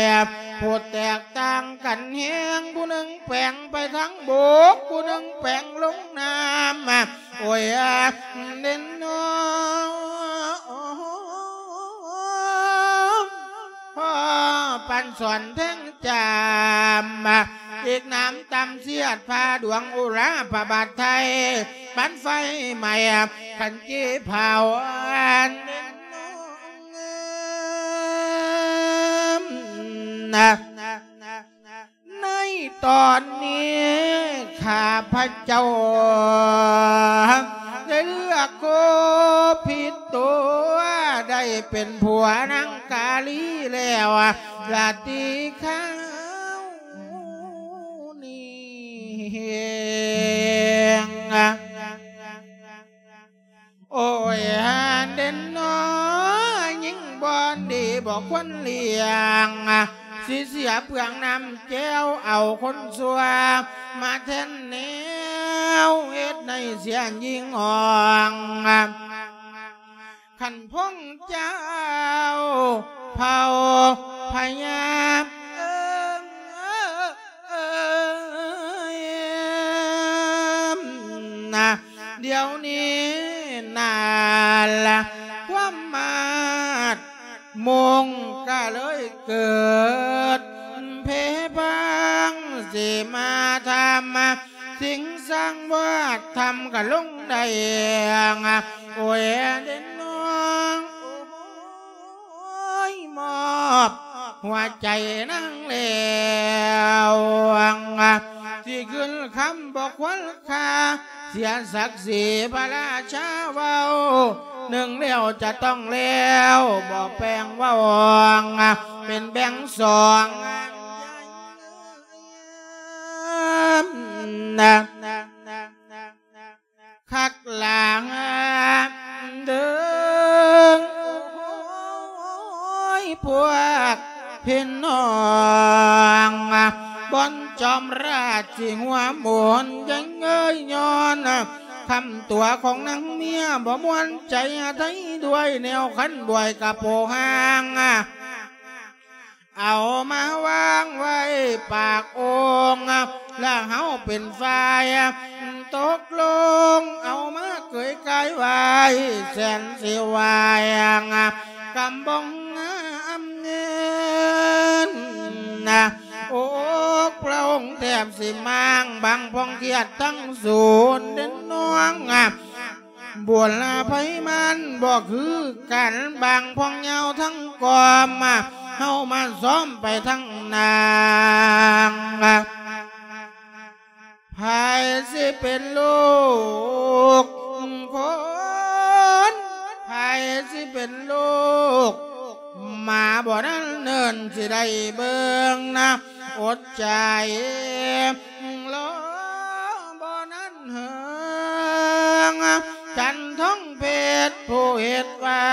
ຜູ້ແຕກຕ່າງກັນແຮງ ຜູ້ໜຶ່ງແປງໄປທາງບົກ ຜູ້ໜຶ່ງແປງລົງນ້ຳ ໂອ້ຍ ເດນນ້ອງ ພໍປັນສອນແທງຈາມ ອີກນ້ຳຕຳສຽດ ພາດວງອຸລາພະບາດໄທ ປັນໄຟໄໝ້ ຂັນຈີເຜົາອັນເດນນ້ອງນະ. ໃນຕອນນີ້ຂ້າພະເຈົ້າໄດ້ເລືອກຄົບຜິດຕົວ ໄດ້ເປັນຜົວນາງກາລີແລ້ວລະຕິຄາວນີ້ ໂອ້ຍ ເດນນ້ອງ ຍິງບໍ່ດີບໍ່ຄວນລ້ຽງ ຊິເສຍເປືອງນ້ຳແກ້ວ ເອົາຄົນຊົ່ວມາແທນແນວ ເຮັດໃຫ້ເສຍຍິງອ່ອງ ຄັນພວກເຈົ້າເຜົ່າພະຍາເອີຍ ນະ ດຽວນີ້ນາລະ ຄວາມມາດມົງກະເລີຍເກີດ ເພພັງຊິມາທຳ ສິງສັງວາດທຳກະລົງໄດ້ ໂອ້ຍ ເດນນ້ອງ ໂອ້ຍ ມອບຫົວໃຈນາງແລ້ວ ຊິຂຶ້ນຄຳບໍ່ຄວນຄ່າ ເສຍສັກສີພະລາຊາເວົ້າ ໜຶ່ງແລ້ວຈະຕ້ອງແລ້ວ ບໍ່ແປງເວົ້າເປັນແບ່ງສອງ ນະ ຄັກຫຼາຍເດີ ໂອ້ຍ ພວກພີ່ນ້ອງ ບ່ອນຈອມລາດຊິຫົວໝູນ ຍັງເອີຍຍ້ອນຄຳຕົວະຂອງນາງເມຍ ບໍ່ມ່ວນໃຈໄທດ້ວຍ ແນວຄັນບວຍກະໂປຮາງ ເອົາມາວາງໄວ້ປາກໂອ່ງ ແລະເຮົາເປັນຝ່າຍຕົກລົງ ເອົາມາເກີຍກາຍໄວ້ ແສນຊິວາຍກຳບົງອຳເງິນ ອົກພະອົງແທບຊິມ້າງ ບາງພອງຄຽດທັງສູນເດັ່ນນ້ອງ ບຸນລະໄພມັນບໍ່ຄືກັນ ບາງພອງຍາວທັງກອມ ເຮົາມາຊ້ອມໄປທັງນາງ ໃຜຊິເປັນລູກຄົນ ໃຜຊິເປັນລູກ ໝາບໍ່ນັ້ນເນີນຊິໄດ້ເບິ່ງນະ ອົດໃຈລໍບໍ່ນັ້ນເຫິງ ຈັນທອງເພັດຜູ້ເຮັດໄວ້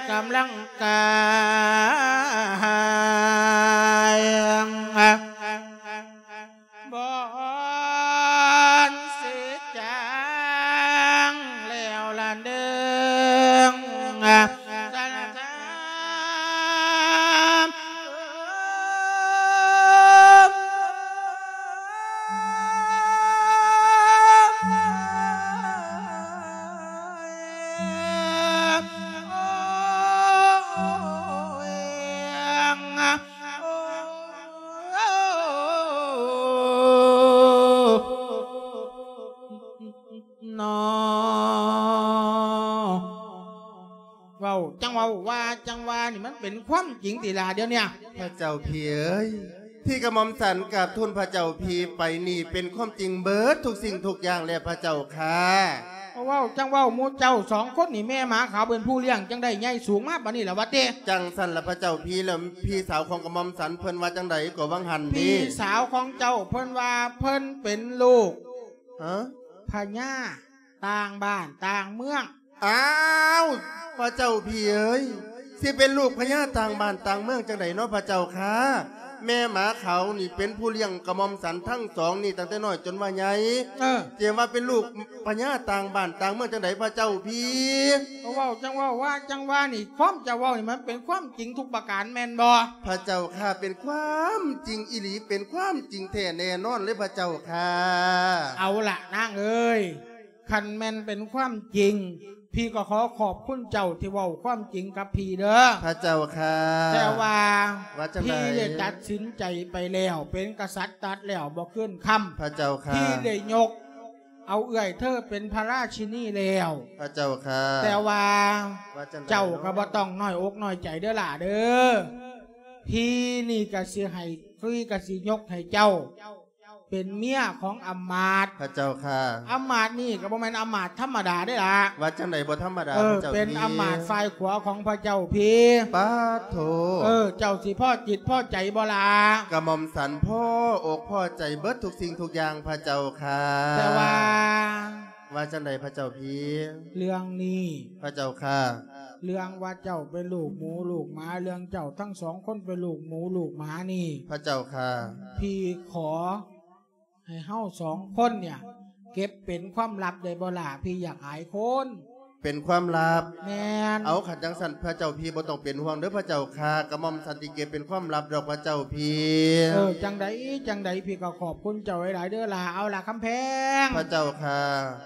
ກຳລັງກາຍ ບ່ອນຊິຈາງແລ້ວລະເດີງ ສາລະທາມ ເນາະ ເວົ້າ ຈັ່ງເວົ້າ ວ່າຈັ່ງວ່ານີ້ ມັນເປັນຄວາມຈິງຕິລະດຽວນີ້? ພະເຈົ້າພີ່ເອີຍ ທີ່ກະໝ່ອມສັນກາບທູນພະເຈົ້າພີ່ໄປນີ້ ເປັນຄວາມຈິງເບິດທຸກສິ່ງທຸກຢ່າງແລ້ວພະເຈົ້າຂ້າ. ເວົ້າ ຈັ່ງເວົ້າ ໝູ່ເຈົ້າສອງຄົນນີ້ ແມ່ໝາຂາວເປັນຜູ້ລ້ຽງ ຈັ່ງໄດ້ໃຫຍ່ສູງມາປານນີ້ລະວະເຕ? ຈັ່ງຊັ້ນລະພະເຈົ້າພີ່ ແລ້ວພີ່ສາວຂອງກະໝ່ອມສັນເພິ່ນວ່າຈັ່ງໃດກໍຫວ່າງຫັ້ນນີ້? ພີ່ສາວຂອງເຈົ້າເພິ່ນວ່າເພິ່ນເປັນລູກ ຮະ? ພະຍາຕ່າງບ້ານຕ່າງເມືອງ. ອ້າວ ພະເຈົ້າພີ່ເອີຍ ຊິເປັນລູກພະຍາຕ່າງບ້ານຕ່າງເມືອງຈັ່ງໃດເນາະພະເຈົ້າຂ້າ? ແມ່ໝາຂາວນີ້ເປັນຜູ້ລ້ຽງກະໝ່ອມສັນທັງສອງນີ້ຕັ້ງແຕ່ນ້ອຍຈົນວ່າໃຫຍ່ ເອີ ຈະວ່າເປັນລູກພະຍາຕ່າງບ້ານຕ່າງເມືອງຈັ່ງໃດພະເຈົ້າພີ່? ກໍເວົ້າ ຈັ່ງເວົ້າ ວ່າຈັ່ງວ່ານີ້ ຄວາມເຈົ້າເວົ້ານີ້ມັນເປັນຄວາມຈິງທຸກປະການແມ່ນບໍ່? ພະເຈົ້າຂ້າ ເປັນຄວາມຈິງອີ່ຫຼີ ເປັນຄວາມຈິງແທ້ແນ່ນອນເລີຍພະເຈົ້າຂ້າ. ເອົາລະນາງເອີຍ ຄັນແມ່ນເປັນຄວາມຈິງ ພີ່ກໍຂໍຂອບຄຸນເຈົ້າທີ່ເວົ້າຄວາມຈິງກັບພີ່ເດີ ພະເຈົ້າຂ້າ. ແຕ່ວ່າ ວ່າຈັ່ງໃດ? ພີ່ໄດ້ຕັດສິນໃຈໄປແລ້ວ ເປັນກະສັດຕັດແລ້ວບໍ່ຄືນຄຳ ພະເຈົ້າຂ້າ. ພີ່ໄດ້ຍົກເອົາເອື້ອຍເທີເປັນພະລາຊິນີແລ້ວ ພະເຈົ້າຂ້າ. ແຕ່ວ່າ ວ່າຈັ່ງໃດ? ເຈົ້າກໍບໍ່ຕ້ອງນ້ອຍອົກນ້ອຍໃຈເດີຫຼ້າເດີ ພີ່ນີ້ກໍຊິໃຫ້ ພີ່ກໍຊິຍົກໃຫ້ເຈົ້າ ເປັນເມຍຂອງອຳມາດ ພະເຈົ້າຂ້າ. ອຳມາດນີ້ກໍບໍ່ແມ່ນອຳມາດທຳມະດາເດ້ລະ. ວ່າຈັ່ງໃດບໍ່ທຳມະດາ ເອີ ພະເຈົ້າ ເປັນອຳມາດຝ່າຍຂວາຂອງພະເຈົ້າພີ້. ປາດໂທ ເອີ ເຈົ້າຊິພໍຈິດພໍໃຈບໍ່ລະ? ກະໝ່ອມສັນພໍອົກພໍໃຈເບິດທຸກສິ່ງທຸກຢ່າງພະເຈົ້າຂ້າ. ແຕ່ວ່າ ວ່າຈັ່ງໃດພະເຈົ້າພີ້? ເລື່ອງນີ້ ພະເຈົ້າຂ້າ. ເລື່ອງວ່າເຈົ້າເປັນລູກໝູລູກໝາ ເລື່ອງເຈົ້າທັງສອງຄົນເປັນລູກໝູລູກໝານີ້ ພະເຈົ້າຂ້າ ພີ່ຂໍໃຫ້ເຮົາສອງຄົນເນຍ ເກັບເປັນຄວາມລັບໄດ້ບໍ່ລະ? ພີ່ຢາກອາຍຄົນ. ເປັນຄວາມລັບ? ແມ່ນ. ເອົາ ຄັນຈັ່ງຊັ້ນພະເຈົ້າພີ້ບໍ່ຕ້ອງເປັນຫ່ວງເດີພະເຈົ້າຂ້າ ກະໝ່ອມສັນຊິເກັບເປັນຄວາມລັບດອກພະເຈົ້າພີ້. ເອີ ຈັ່ງໃດ ຈັ່ງໃດ ພີ່ກໍຂອບຄຸນເຈົ້າຫຼາຍໆເດີຫຼ້າ. ເອົາລະຄຳແພງ ພະເຈົ້າຂ້າ.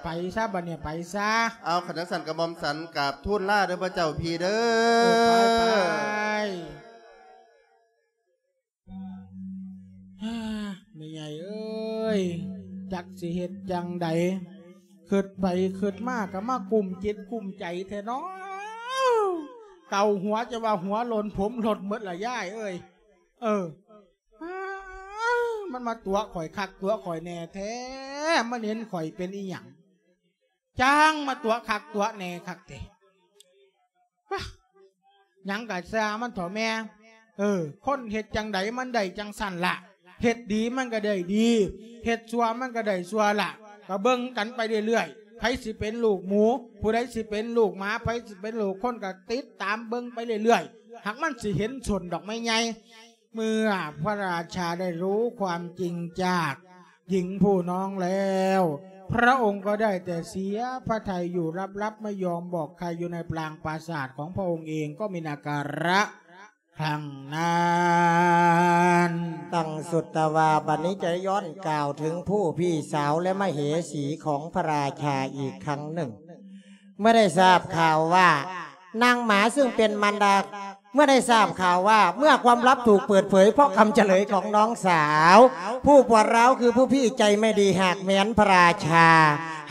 ໄປຊະ ບັດນີ້ໄປຊະ. ເອົາ ຄັນຈັ່ງຊັ້ນກະໝ່ອມສັນກາບທູນລາເດີພະເຈົ້າພີ້ເດີ. ເອີ ໄປ ໄປ. ແມ່ໃຫຍ່ເອີຍ ຈັກຊິເຮັດຈັ່ງໃດ ຄິດໄປຄິດມາກໍມາກຸ້ມຈິດກຸ້ມໃຈແທ້ເນາະ. ເກົາຫົວຈະວ່າຫົວຫຼົ່ນ ຜົມຫຼົ່ນໝົດລະຍາຍເອີຍ. ເອີ. ມັນມາຕົວະຂ້ອຍຄັກຕົວະຂ້ອຍແນ່ແທ້ ມັນເຫັນຂ້ອຍເປັນອີ່ຫຍັງ ຈັ່ງມາຕົວະຄັກຕົວະແນ່ຄັກແທ້ ວະ ຫຍັງກະຊ່າງມັນເຖາະແມ່ ເອີ ຄົນເຮັດຈັ່ງໃດມັນໄດ້ຈັ່ງຊັ້ນລະ ເຮັດດີມັນກະໄດ້ດີ ເຮັດຊົ່ວມັນກະໄດ້ຊົ່ວລະ ກະເບິ່ງກັນໄປເລື້ອຍໆ ໃຜຊິເປັນລູກໝູ ຜູ້ໃດຊິເປັນລູກໝາ ໃຜຊິເປັນລູກຄົນ ກະຕິດຕາມເບິ່ງໄປເລື້ອຍໆ ຫາກມັນຊິເຫັນຊົນດອກໄມ້ໃຫຍ່. ເມື່ອພະລາຊາໄດ້ຮູ້ຄວາມຈິງຈາກ ຍິງຜູ້ນ້ອງແລ້ວ ພະອົງກໍໄດ້ແຕ່ເສຍພະໄທຢູ່ລັບໆ ໄມ່ຍອມບອກໃຄຢູ່ໃນປາງປາສາດຂອງພະອົງເອງກໍມີນາກາລະຄັ້ງນັ້ນ. ຕັ້ງສຸດຕະວາ ບັດນີ້ຈະຍ້ອນກ່າວເຖິງຜູ້ພີ່ສາວ ແລະ ມະເຫສີຂອງພະລາຊາອີກຄັ້ງໜຶ່ງ. ເມື່ອໄດ້ຊາບຂ່າວວ່າ ນາງໝາເຊິ່ງເປັນມານດາ ເມື່ອໄດ້ຊາບຂ່າວວ່າ ເມື່ອຄວາມລັບຖືກເປີດເຜີຍເພາະຄຳຈະເລີຍຂອງນ້ອງສາວ ຜູ້ປວດຮ້າວຄືຜູ້ພີ່ໃຈໄມ່ດີຫາກແມ່ນພະລາຊາ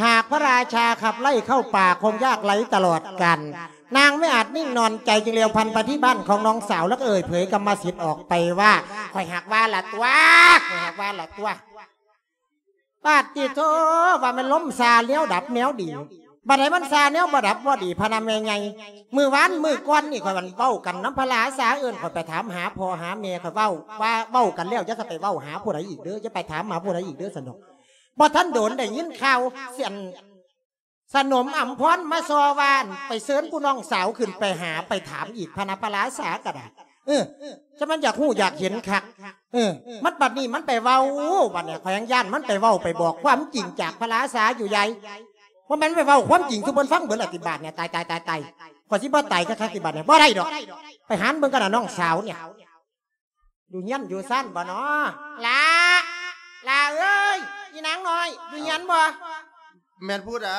ຫາກພະລາຊາຂັບໄລ່ເຂົ້າປ່າຄົງຍາກໄຮ້ຕະຫຼອດການ ນາງໄມ່ອາດນິ່ງນອນໃຈ ຈຶ່ງລຽວພັນໄປທີ່ບ້ານຂອງນ້ອງສາວ ແລ້ວກໍເອີ່ຍເຜີຍກຳມະສິດອອກໄປວ່າ ຂ້ອຍຫາກວ່າລະຕົວະ ຂ້ອຍຫາກວ່າລະຕົວະ. ປາດຕິໂທ ວ່າແມ່ນລົມຊ່າແນວດັບແນວດີ ບັດໃດມັນຊ່າແນວບໍ່ດັບບໍ່ດີພະນະແມ່ໃຫຍ່. ມື້ວານມື້ກ່ອນນີ້ຂ້ອຍເວົ້າກັນນຳພະລາຊາ ເອີ້ນຂ້ອຍໄປຖາມຫາພໍ່ຫາແມ່ ຂ້ອຍເວົ້າວ່າເວົ້າກັນແລ້ວ ຢ່າຊິໄປເວົ້າຫາຜູ້ໃດອີກເດີ ຢ່າໄປຖາມຫາຜູ້ໃດອີກເດີ ຊັ້ນດອກ. ບໍ່ທັນໂດນໄດ້ຍິນຂ່າວ ອັນ ສະໜົມອຳພອນມາສໍ່ວ່າ ໄປເຊີນຜູ້ນ້ອງສາວຂຶ້ນໄປຫາໄປຖາມອີກ ພະນະພະລາຊາກໍໄດ້. ເອີ ຈະມັນຢາກຮູ້ຢາກເຫັນຄັກ. ເອີ ມັນບັດນີ້ມັນໄປເວົ້າ ບັດນີ້ຂ້ອຍຍັງຢ້ານມັນໄປເວົ້າໄປບອກຄວາມຈິງຈາກພະລາຊາຢູ່ໃຫຍ່. ບໍ່ແມ່ນໄປເວົ້າຄວາມຈິງສູ່ເພິ່ນຟັງເບິດລະຕິບາດນີ້. ຕາຍ ຕາຍ ຕາຍ ຕາຍ. ຂ້ອຍຊິບໍ່ຕາຍຄັກໆຕິບາດນີ້. ບໍ່ໄດ້ດອກ. ໄປຫາເບິ່ງກັນນະນ້ອງສາວນີ້. ຢູ່ເຮືອນຢູ່ຊານບໍ່ນໍ? ຫຼ້າ ຫຼ້າເອີຍ ອີນາງນ້ອຍ ຢູ່ເຮືອນບໍ່? ແມ່ນຜູ້ໃດ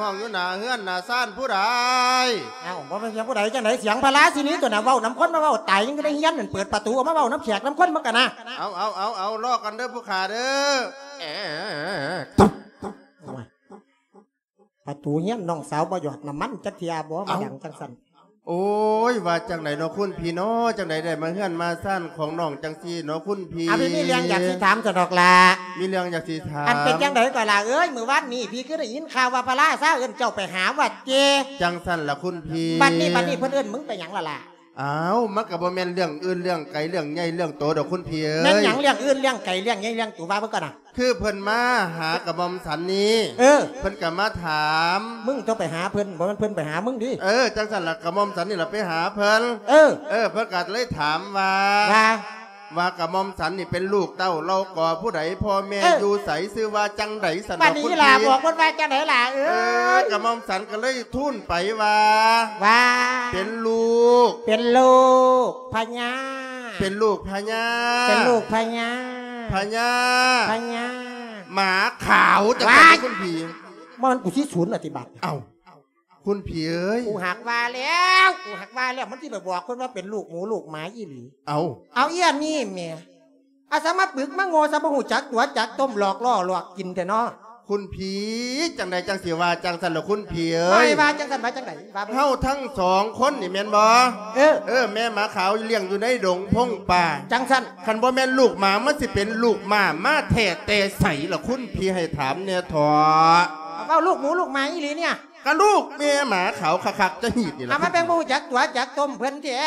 ຮ້ອງຢູ່ໜ້າເຮືອນໜ້າຊານຜູ້ໃດ? ເອົ້າ ບໍ່ແມ່ນສຽງຜູ້ໃດຈັ່ງໃດ ສຽງພະລາຊິນີຕົວະນະ. ເວົ້ານຳຄົນມາເວົ້າຕາຍ ຍັງຢູ່ໃນເຮືອນນັ້ນ ເປີດປະຕູອອກມາເວົ້ານຳແຂກນຳຄົນມັນກະນະ. ເອົາ ເອົາ ເອົາ ລໍກັນເດີຜູ້ຂ້າເດີ. ປະຕູເຮືອນນ້ອງສາວບໍ່ຫຍອດນ້ຳມັນຈັກເທື່ອບໍ່ ມາດັງຈັ່ງຊັ້ນ. ໂອ້ຍ ວ່າຈັ່ງໃດເນາະຄຸນພີ່ເນາະ ຈັ່ງໃດໄດ້ມາເຮືອນມາຊານຂອງນ້ອງຈັ່ງຊີ້ເນາະຄຸນພີ່. ອາ ມີເລື່ອງຢາກຊິຖາມຊັ້ນດອກຫຼ້າ. ມີເລື່ອງຢາກຊິຖາມ. ອັນເປັນຈັ່ງໃດກໍຫຼ້າເອີຍ ມື້ວານນີ້ພີ່ຄືໄດ້ຍິນຂ່າວວ່າພະລາຊາເອີ້ນເຈົ້າໄປຫາວັດເຈ. ຈັ່ງຊັ້ນລະຄຸນພີ່. ບັດນີ້ ບັດນີ້ເພິ່ນເອີ້ນມຶງໄປຫຍັງລະຫຼ້າ? ອ້າວ ມັນກໍບໍ່ແມ່ນເລື່ອງອື່ນເລື່ອງໄກເລື່ອງໃຫຍ່ເລື່ອງໂຕດອກຄຸນພີ່ເອີຍ. ແມ່ນຫຍັງເລື່ອງອື່ນເລື່ອງໄກເລື່ອງໃຫຍ່ເລື່ອງໂຕ ວ່າເບິ່ງກ່ອນນະ. ຄືເພິ່ນມາຫາກະໝ່ອມສັນນີ້ ເອີ ເພິ່ນກະມາຖາມ. ມຶງຕົວະໄປຫາເພິ່ນ ບໍ່ແມ່ນເພິ່ນໄປຫາມຶງຕິ. ເອີ ຈັ່ງຊັ້ນລະ ກະໝ່ອມສັນນີ້ລະໄປຫາເພິ່ນ. ເອີ ເອີ ເພິ່ນກະເລີຍຖາມວ່າ ວ່າ ວ່າກະໝ່ອມສັນນີ້ເປັນລູກເຕົ້າເຫຼົ່າກໍຜູ້ໃດ ພໍ່ແມ່ ເອີ ຢູ່ໃສ ຊື່ວ່າຈັ່ງໃດ ຊັ້ນດອກຄຸນພີ່. ບັດນີ້ຫຼ້າບອກເພິ່ນວ່າຈັ່ງໃດຫຼ້າເອີຍ? ເອີ ກະໝ່ອມສັນກະເລີຍທູນໄປວ່າ ວ່າ ເປັນລູກ ເປັນລູກພະຍາ ເປັນລູກພະຍາ ເປັນລູກພະຍາ ພະຍາ ພະຍາ ໝາຂາວ ຈັ່ງຊັ້ນ ວ້າຍ ຄຸນພີ່. ມັນ ກູຊິສູນລະຕິບາດ. ເອົ້າ ຄຸນພີ່ເອີຍ ກູຫາກວ່າແລ້ວ ກູຫາກວ່າແລ້ວ ມັນຊິໄປບອກເພິ່ນວ່າເປັນລູກໝູລູກໝາອີ່ຫຼີ. ເອົ້າ ເອົາ ອີອັນນີ້ແໝ່ ອາສາມາປຶກມາໂງ່ ສາມາຮູ້ຈັກຕົວະຈັກຕົ້ມ ຫຼອກລໍ້ຫຼອກກິນແທ້ເນາະ. ຄຸນພີ່ ຈັ່ງໃດຈັ່ງຊິວ່າຈັ່ງຊັ້ນລະຄຸນພີ່ເອີຍ? ວ່າ ວ່າຈັ່ງຊັ້ນ ວ່າຈັ່ງໃດ? ວ່າເບິ່ງ. ເຮົາທັງສອງຄົນນີ້ແມ່ນບໍ່? ເອີ ເອີ ແມ່ໝາຂາວລ້ຽງຢູ່ໃນດົງພົງປ່າ. ຈັ່ງຊັ້ນ ຄັນບໍ່ແມ່ນລູກໝາ ມັນຊິເປັນລູກໝາມາແທ້ແຕ່ໃສລະ? ຄຸນພີ່ໃຫ້ຖາມແດ່ເຖາະ. ເວົ້າລູກໝູລູກໝາອີ່ຫຼີນີ້? ກະລູກແມ່ໝາຂາວຄັກໆ ຈະຮີດນີ້ລະ. ອາ ມາແບ່ງບໍ່ຮູ້ຈັກຕົວະຈັກຕົ້ມເພິ່ນແທ້.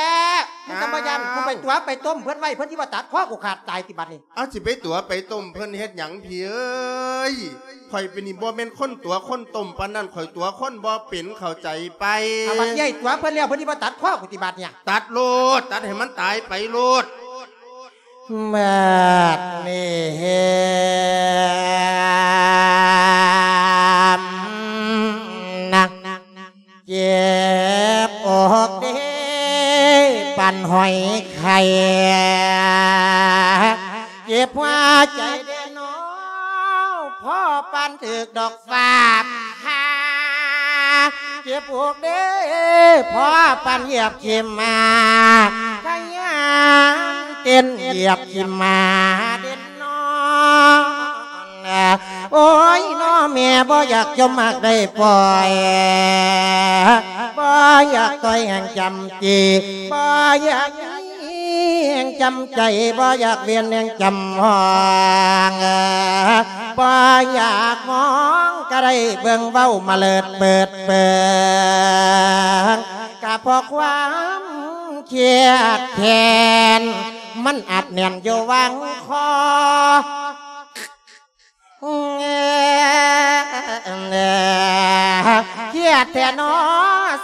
ມຶງກະບໍ່ຢ້ານ ອ້າວ ກູໄປຕົວະໄປຕົ້ມເພິ່ນໄວ້ ເພິ່ນຊິບໍ່ຕັດຄໍກູຂາດຕາຍຕິບັດນີ້? ເອົາ ຊິໄປຕົວະໄປຕົ້ມເພິ່ນເຮັດຫຍັງພີ່ເອີຍ? ຂ້ອຍເປັນນີ້ບໍ່ແມ່ນຄົນຕົວະຄົນຕົ້ມປານນັ້ນ ຂ້ອຍຕົວະຄົນບໍ່ເປັນ ເຂົ້າໃຈໄປ? ອາ ບັດໃຫຍ່ຕົວະເພິ່ນແລ້ວ ເພິ່ນຊິບໍ່ຕັດຄໍກູຕິບັດນີ້? ຕັດໂລດ ຕັດໃຫ້ມັນຕາຍໄປໂລດ. ບາດນີ້ເຫັນນະ ເຈັບອົກເດ້ ປານຫອຍໄຂ່ ເຈັບຫົວໃຈເດ້ເນາະ ພໍປານຖືກດອກຟ້າຜ່າ ເຈັບອົກເດ້ ພໍປານຢຽບຂີ້ໝາ ຂະຫຍັນເຕັ້ນຢຽບຂີ້ໝາເດັ່ນນອນ. ໂອ້ຍ ນ້ອງແມ່ບໍ່ຢາກຈົ່ມມັກໄດ້ປ່ອຍ ບໍ່ຢາກຕ່ອຍແຫ່ງຈຳຈີ ບໍ່ຢາກມີແຫ່ງ ຈຳໃຈ ບໍ່ຢາກວຽນແຮງຈຳຫ້ອງ ບໍ່ຢາກມອງ ກໍໄດ້ເບິ່ງເວົ້າມາເລີດເປີດເປີງ ກະເພາະຄວາມຄຽດແຄ້ນ ມັນອັດແໜ້ນຢູ່ຫວ່າງຄໍ. ເຄຍດແທ້ໜໍ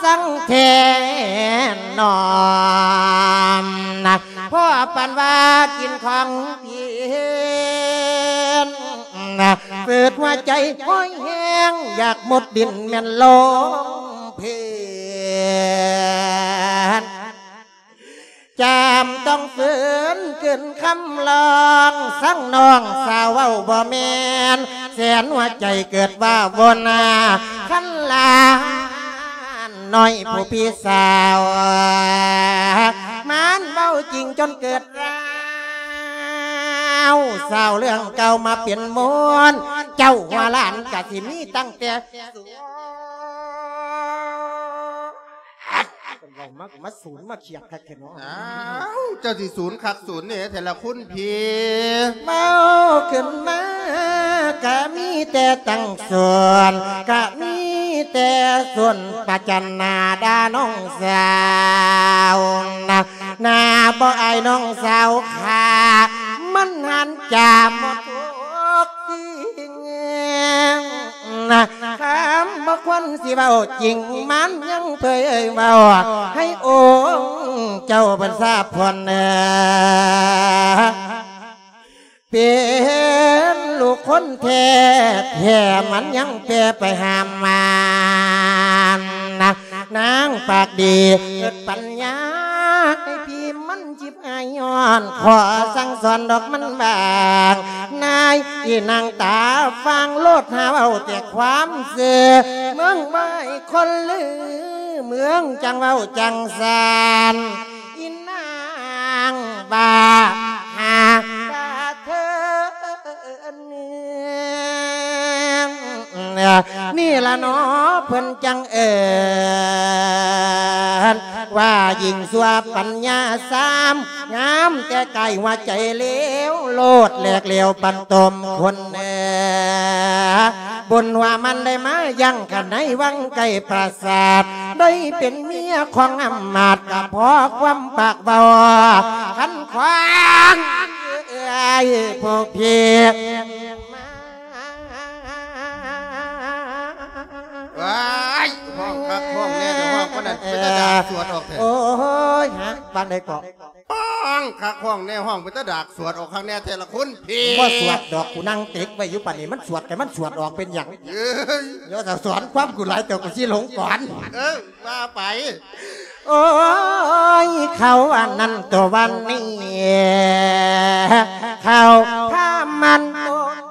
ສັງແທ້ໜໍ ພໍປານວ່າກິນຂອງເປັນ ຝືດຫົວໃຈຫ້ອຍແຮງ ຢາກໝົດດິນແມ່ນລົງເພິ່ນ. ຈຳຕ້ອງຝືນຂຶ້ນຄຳຮ້ອງ ສັງນ້ອງສາວເວົ້າບໍ່ແມ່ນ ແສນຫົວໃຈເກີດວ່າວົນ ຄັນລານ້ອຍຜູ້ພີ່ສາວ ມັນເວົ້າຈິງຈົນເກີດລາວ ສາວເລື່ອງເກົ່າມາເປັນມູນ ເຈົ້າຫົວຫຼານກະຊິມີຕັ້ງແຕ່ ເວົ້າມາກໍມາສູນມາຂຽດຄັກແທ້ເນາະ. ອ້າວ ເຈົ້າຊິສູນຄັກສູນແນ່ແທ້ລະຄຸນພີ່. ເວົ້າຂຶ້ນມາກະມີແຕ່ຕັ້ງສວນ ກະມີແຕ່ສວນປະຈັນໜ້າດ່ານ້ອງສາວນະ ໜ້າບໍ່ອາຍນ້ອງສາວຂ້າ ມັນຫັນຈາໝົດທຸກສິ່ງ. ນະ ຄຳບໍ່ຄວນຊິເວົ້າຈິງ ມັນຍັງເຜີຍເວົ້າ ໃຫ້ອົງເຈົ້າເພິ່ນຊາບພອນເອີ ເປັນລູກຄົນແທ້ແທ້ ມັນຍັງແປໄປຫາມານນະ ນາງປາກດີເກີດປັນຍາ ໃຫ້ພີ່ມັນຈິບ ອາຍຍ້ອນ ຂໍສັ່ງສອນດອກມັນບາງ ນາຍອີນາງຕາຟາງໂລດ ຫາເວົ້າແຕ່ຄວາມຊື່ ເມືອງໄວ້ຄົນລື ເມືອງຈັ່ງເວົ້າຈັ່ງຊັ້ນ ອີນາງບ້າຫາກະເທີນ. ນີ້ລະເນາະ ເພິ່ນຈັ່ງເອີ້ນວ່າຍິງຊົ່ວປັນຍາຊາມ ງາມແຕ່ກາຍຫົວໃຈເລວໂລດ ແຫຼກເຫຼວປັນຕົມຄົນເອີ ບຸນວ່າມັນໄດ້ມາຍັງກັນໃນວັງໃກ້ປາສາດ ໄດ້ເປັນເມຍຂອງອຳມາດ ກະເພາະຄວາມປາກເວົ້າ ຄັນຂວາງເອື້ອຍພວກພີ່ ວ້າຍ ຮ້ອງຄັກຮ້ອງແນ່ ແຕ່ຮ້ອງປານນັ້ນເປັນຕາດາກສວດອອກແທ້. ໂອ້ຍ ຮະ ປານໃດເກາະ? ຮ້ອງຄັກຮ້ອງແນ່ ຮ້ອງເປັນຕາດາກສວດອອກຄັກແນ່ແທ້ລະຄຸນພີ່. ບໍ່ສວດດອກ ກູນັ່ງເຕັກໄວ້ຢູ່ປານນີ້ ມັນສວດ ແຕ່ມັນສວດອອກເປັນຫຍັງ? ເອີຍ ຢ່າສະສອນຄວາມກູຫຼາຍ ເຈົ້າກໍຊິຫຼົງກ່ອນ. ເອີ ວ່າໄປ. ໂອ້ຍ ເຂົາອັນນັ້ນຕົວວັນນີ້ ເຂົາພາມັນໂຕ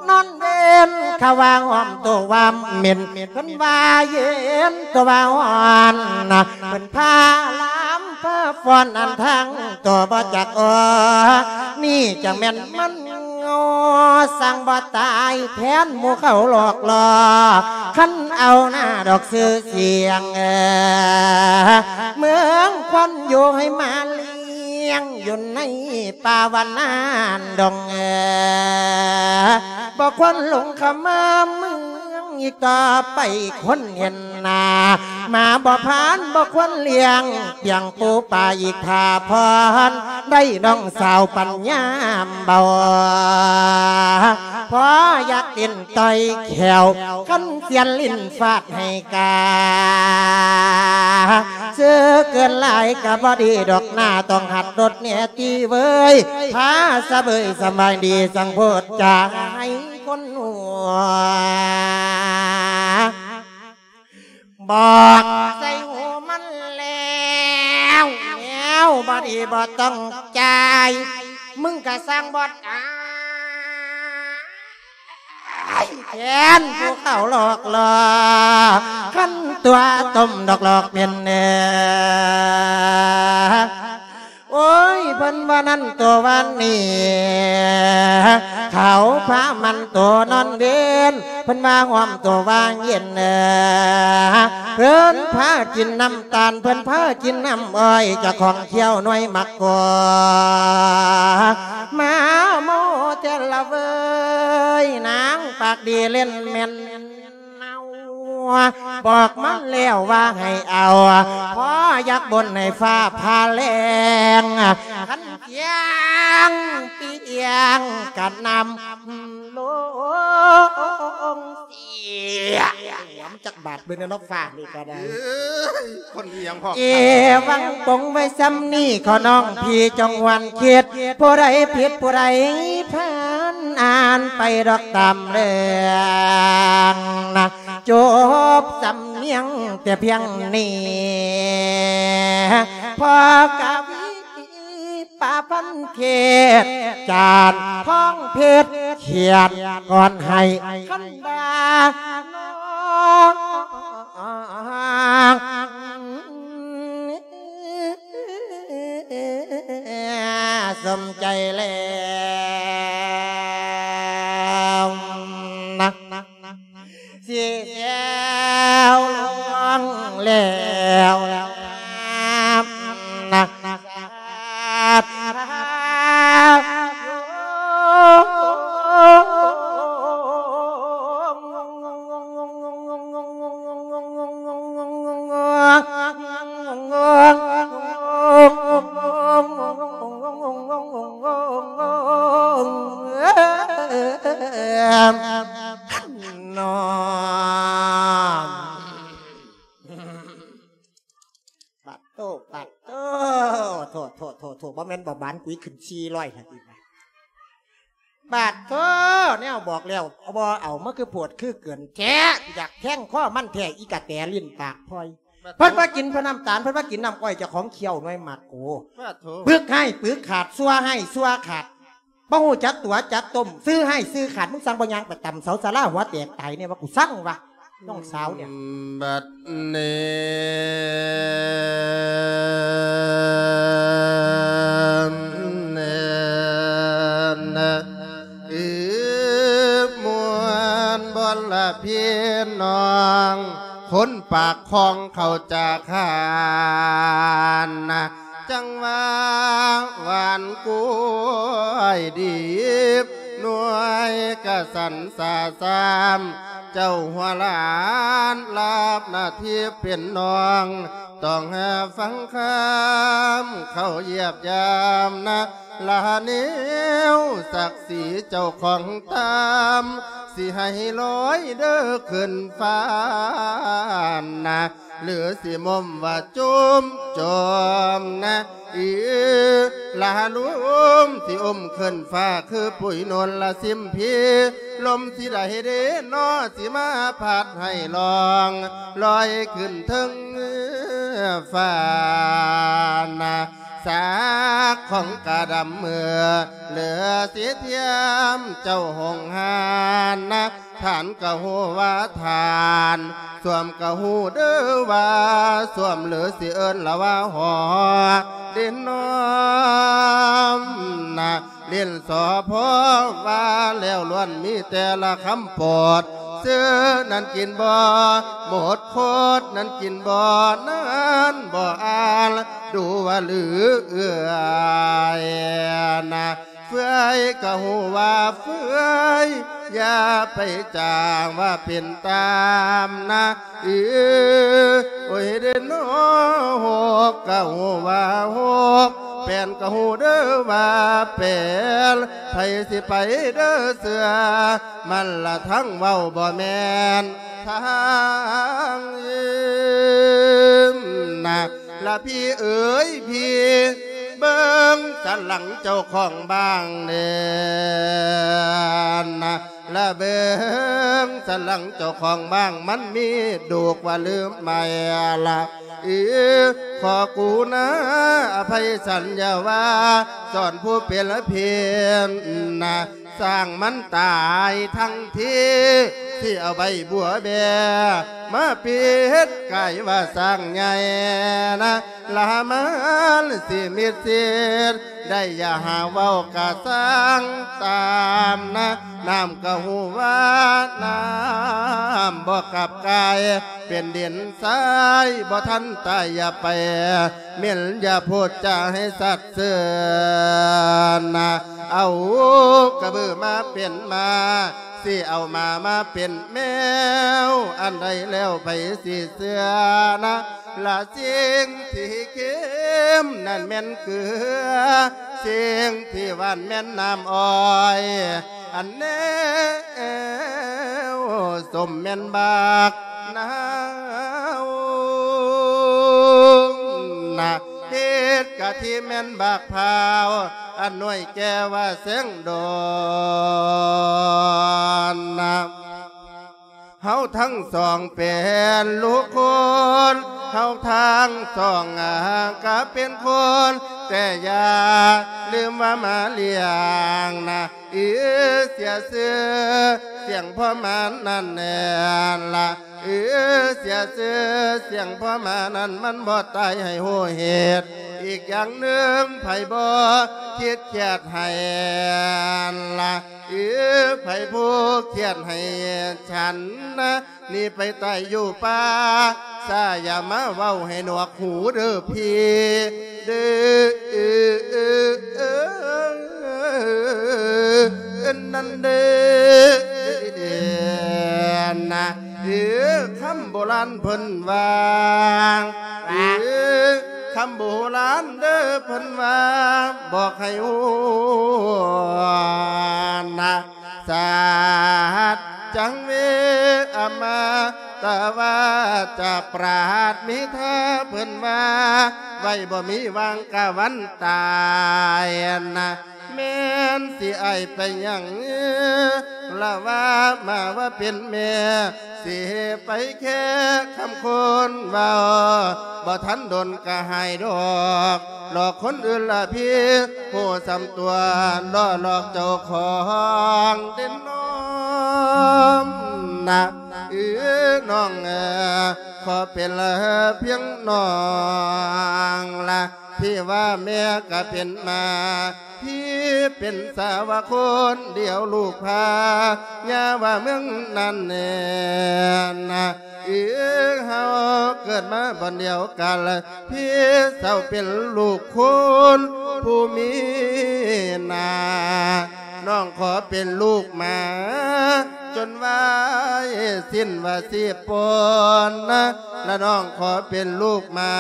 ນອນເວັນ ເຂົາວ່າຫອມໂຕວ່າເໝັນ ເພິ່ນວ່າເຢັນໂຕວ່າຮ້ອນນະ ເພິ່ນພາລຳພາຟ້ອນ ອັນທັງໂຕບໍ່ຈັກອໍ ນີ້ຈັ່ງແມ່ນມັນ ໂງ່ ສັ່ງບໍ່ຕາຍແທນໝູ່ເຂົາຫຼອກຫຼໍ່ ຄັນເອົາໜ້າດອກຊື່ສຽງ ເມືອງຄວັນຢູ່ໃຫ້ມາລ້ຽງ ຢູ່ໃນປ່າວັນນານດອງ ບໍ່ຄວນຫຼົງເຂົ້າມາເມືອງ ອີກຕໍ່ໄປຄົນເຫັນໜ້າ ໝາບໍ່ຜ່ານບໍ່ຄວນລ້ຽງ ປຽງປູປາອີກຖ້າພອນ ໄດ້ນ້ອງສາວປັນຍາມເບົາ ພໍຢາກຫຼິ້ນຕ່ອຍແຂ້ວ ຄັນສຽນຫຼິ້ນຟາດໃຫ້ກາ ຊື່ເກີນຫຼາຍກະບໍ່ດີດອກ ໜ້າຕ້ອງຫັດລົດແນ່ຕິເວີຍ ພາສະເບີຍສະບາຍດີ ຈັ່ງໂພດຈາໃຫ້ຄົນຫົວ ບອກໃສ່ຫູມັນແລ້ວ ແລ້ວບໍ່ດີບໍ່ຕ້ອງຈ່າຍ ມຶງກະສ້າງບອດອາຍ ແທນຜູ້ເຂົາຫຼອກຫຼໍ່ ຄັນຕົວຕົ້ມດອກຫຼອກເປັນແນ່ ໂອ້ຍ ເພິ່ນວ່ານັ້ນຕົວວານນີ້ ເຂົາພາມັນໂຕນອນເວັນ ເພິ່ນວ່າຫອມຕົວວ່າເຢັນເອີ ເພິ່ນພາກິນນ້ຳຕານ ເພິ່ນພາກິນນ້ຳອ້ອຍ ເຈົ້າຂອງຂ້ຽວໜ່ວຍໝາກໂກ ມາໂມແຕ່ລະເວີຍ ນາງປາກດີເຫຼັ້ນແມ່ນເອົາ ບອກມາແລ້ວວ່າໃຫ້ເອົາ ພໍຢາກບົນໃຫ້ຟ້າຜ່າແລງ ຄັນ ຢາງປີຢາງກະນຳລົງເສຍ ຫວມຈັກບາດເບິ່ງແດ່ເນາະ ຟ້ານີ້ກະໄດ້ ເອີຍ ຄົນອີ່ຫຍັງພ້ອມ ເອວັງປົງໄວ້ຊ່ຳນີ້ ຂໍນ້ອງພີ່ຈົ່ງຫວນຄິດ ຜູ້ໃດຜິດຜູ້ໃດພານ ອ່ານໄປດອກຕາມເລື່ອງນະ ຈົບສຳນຽງແຕ່ພຽງນີ້ ພໍ່ກະວີ ປາພັນເທດ ຈານທອງເພັດ ຂຽນກ່ອນໃຫ້ຄັນດານ້ອງ ສົມໃຈແລ້ວນະ ຊິແຊວລວງແລ້ວນະ ສາທຸ ນ້ອງ ປາດໂທ້ ປາດໂທ້ ໂທ້ ໂທ້ ໂທ້ ບໍ່ແມ່ນບໍ່ບານ ກຸຍຂຶ້ນສີ່ຮ້ອຍຫັ້ນອີກ ປາດໂທ້ ແນວບອກແລ້ວບໍ່ເອົາ ມາຄືໂພດຄືເກີນແທ້ ຢາກແທງຄໍມັນແທ້ ອີກະແຕ ຫຼິ້ນປາກພອຍ ເພິ່ນວ່າກິນເພິ່ນນ້ຳຕານ ເພິ່ນວ່າກິນນ້ຳອ້ອຍ ເຈົ້າຂອງຂ້ຽວໜ່ວຍໝາກໂກ ປາດໂທ້ ປຶກຮ້າຍປຶກຂາດ ຊົ່ວຮ້າຍຊົ່ວຂາດ ບໍ່ຮູ້ຈັກຕົວະຈັກຕົມ ຊື່ຮ້າຍຊື່ຂາດ ມຶງສັ່ງບໍ່ຍ່າງໄປຕຳເສົາສາລາຫົວແຕກຕາຍແນ່ວ່າ ກູສັ່ງວ່າ ນ້ອງສາວເນຍ ບັດນີ້ ເອີ ມ່ວນບໍ່ລະພີ່ນ້ອງ ຄົນປາກຄອງເຂົ້າຈາກຫານນະ ຈັ່ງວ່າຫວານກ້ວຍດິບ ໜ່ວຍກະສັນສາສາມ ເຈົ້າຫົວຫຼານລາບໜ້າທີ່ເປັນນ້ອງ ຕ້ອງຫາຟັງຄຳເຂົາຢຽບຢາມນະ ລະແນວສັກສີເຈົ້າຂອງຕາມ ຊິໃຫ້ລອຍເດີຂຶ້ນຟ້ານະ ຫຼືຊິໝົ່ມວ່າຈຸ້ມຈອມນະ ອີ ລະລົມຊິອຸ້ມຂຶ້ນຟ້າຄືປຸຍໂນນລະຊິມພີ ລົມຊິໃດເດນໍ ຊິມາພັດໃຫ້ລ່ອງລອຍຂຶ້ນເທິງຟ້ານະ ສາກຂອງກະດຳເມືອ ເຫຼືອຊິທຽມເຈົ້າຫົງຫານນະ ທ່ານກະຮູ້ວ່າທ່ານ ສວມກະຮູ້ເດີວ່າສວມ ຫຼືຊິເອີ້ນລະວ່າຫໍ ດິນນ້ອມນະ ຫຼິ້ນສອພອວ່າແລ້ວລ້ວນມີແຕ່ລະຄຳໂປດ ຊື້ນັ້ນກິນບໍ່ໝົດ ໂຄດນັ້ນກິນບໍ່ ນັ້ນບໍ່ອ່ານ ດູວ່າຫຼືເອື້ອຍນະ ເຟືອຍກະຮູ້ວ່າເຟືອຍ ຢ່າໄປຈ້າງວ່າເປັນຕາມນະ ເອີ ໂອ້ຍເດນໍ ຫົກກະຮູ້ວ່າຫົກ ແປນກະຮູ້ເດີວ່າແປນ ໃຜຊິໄປເດີເຊື່ອ ມັນລະທັງເວົ້າບໍ່ແມ່ນທາງນະ ລະພີ່ເອີຍ ພີ່ເບິ່ງສັນຫຼັງເຈົ້າຂອງບ້າງແດ່ນະ ລະເບິ່ງສັນຫຼັງເຈົ້າຂອງບ້າງ ມັນມີດູກວ່າລືມໄໝລະ ເອີ ຂໍກະລຸນາອະໄພສັນ ຢ່າວ່າສອນຜູ້ເປັນເພັນນະ ສ້າງມັນຕາຍທັງທີ ເສ ທີ່ເອົາໃບບົວແບ ມາປິດກາຍວ່າຊ້າງໃຫຍ່ນະ ລະມານຊິມິດຊິດ ໄດ້ຢ່າຫາເວົ້າກະສ້າງຕາມນະ ນ້ຳກະຮູ້ວ່ານ້ຳບໍ່ກັບກາຍ ເປັນດິນຊາຍບໍ່ທັນຕາຍ ຢ່າໄປເໝັນ ຢ່າໂພດຈາໃຫ້ສັດເຊີນນະ ເອົາກະບືມາເປັນມາ ຊິເອົາໝາມາເປັນແມວ ອັນໃດແລ້ວໃຜຊິເຊື່ອນະ ລະສິ່ງທີ່ເຄັມນັ້ນແມ່ນເກືອ ສິ່ງທີ່ຫວານແມ່ນນ້ຳອ້ອຍ ອັນແນວສົ້ມແມ່ນບັກນາວນະ ເຮັດກະທິແມ່ນບັກພ້າວ ອັນໜ່ວຍແກ່ວ່າແສງດອນນະ ເຮົາທັງສອງເປັນລູກຄົນ ເຮົາທັງສອງກະເປັນຄົນ ແຕ່ຢ່າລືມວ່າມາລ້ຽງນະ ອີເສຍຊື່ສຽງພໍ່ມານັ້ນແນ່ນລະ ອີເສຍຊື່ສຽງພໍ່ມານັ້ນ ມັນບໍ່ຕາຍໃຫ້ຮູ້ເຫດ ອີກຢ່າງໜຶ່ງໃຜບໍ່ຄິດຄຽດໃຫ້ລະ ອີ ໃຜຜູ້ຄຽດໃຫ້ສັນນະ ໜີໄປຕາຍຢູ່ປ່າ ຊາ ຢ່າມາເວົ້າໃຫ້ໜວກຫູເດີພີ່ເດີ ນັ້ນເດີນະ ເອີ ຄຳໂບລານເພິ່ນວ່າ ເອີ ຄຳໂບລານເດີເພິ່ນວ່າ ບອກໃຫ້ຮູ້ນະ ສັດຈັງເວ ອະມະຕະວາຈາ ປາດມີທາເພິ່ນວ່າ ໄວ້ບໍ່ມີຫວ່າງກະວັນຕາຍນະ ແມ່ນຊິອາຍໄປຫຍັງ ລະວ່າມາວ່າເປັນແມ່ ຊິໄປແຄ່ຄຳຄົນເວົ້າ ບໍ່ທັນດົນກະຫາຍດອກ ຫຼອກຄົນອື່ນລະພີ້ ຮູ້ສ່ຳຕົວ ຫຼໍ່ຫຼອກເຈົ້າຂອງເດນນ້ອມນະ ເອີ ນ້ອງເອີ ຂໍເປັນລະພຽງນ້ອງລະ ທີ່ວ່າແມ່ກະເປັນມາ ພີ່ເປັນສາວະຄົນດຽວລູກພາ ຍ່າວ່າເມືອງນັ້ນແນ່ນະ ເອີ ເຮົາເກີດມາບ່ອນດຽວກັນ ພີ່ເຊົາເປັນລູກຄົນຜູ້ມີໜ້າ ນ້ອງຂໍເປັນລູກໝາ ຈົນວ່າສິ້ນວ່າຊີບປົນນະ ລະນ້ອງຂໍເປັນລູກໝາ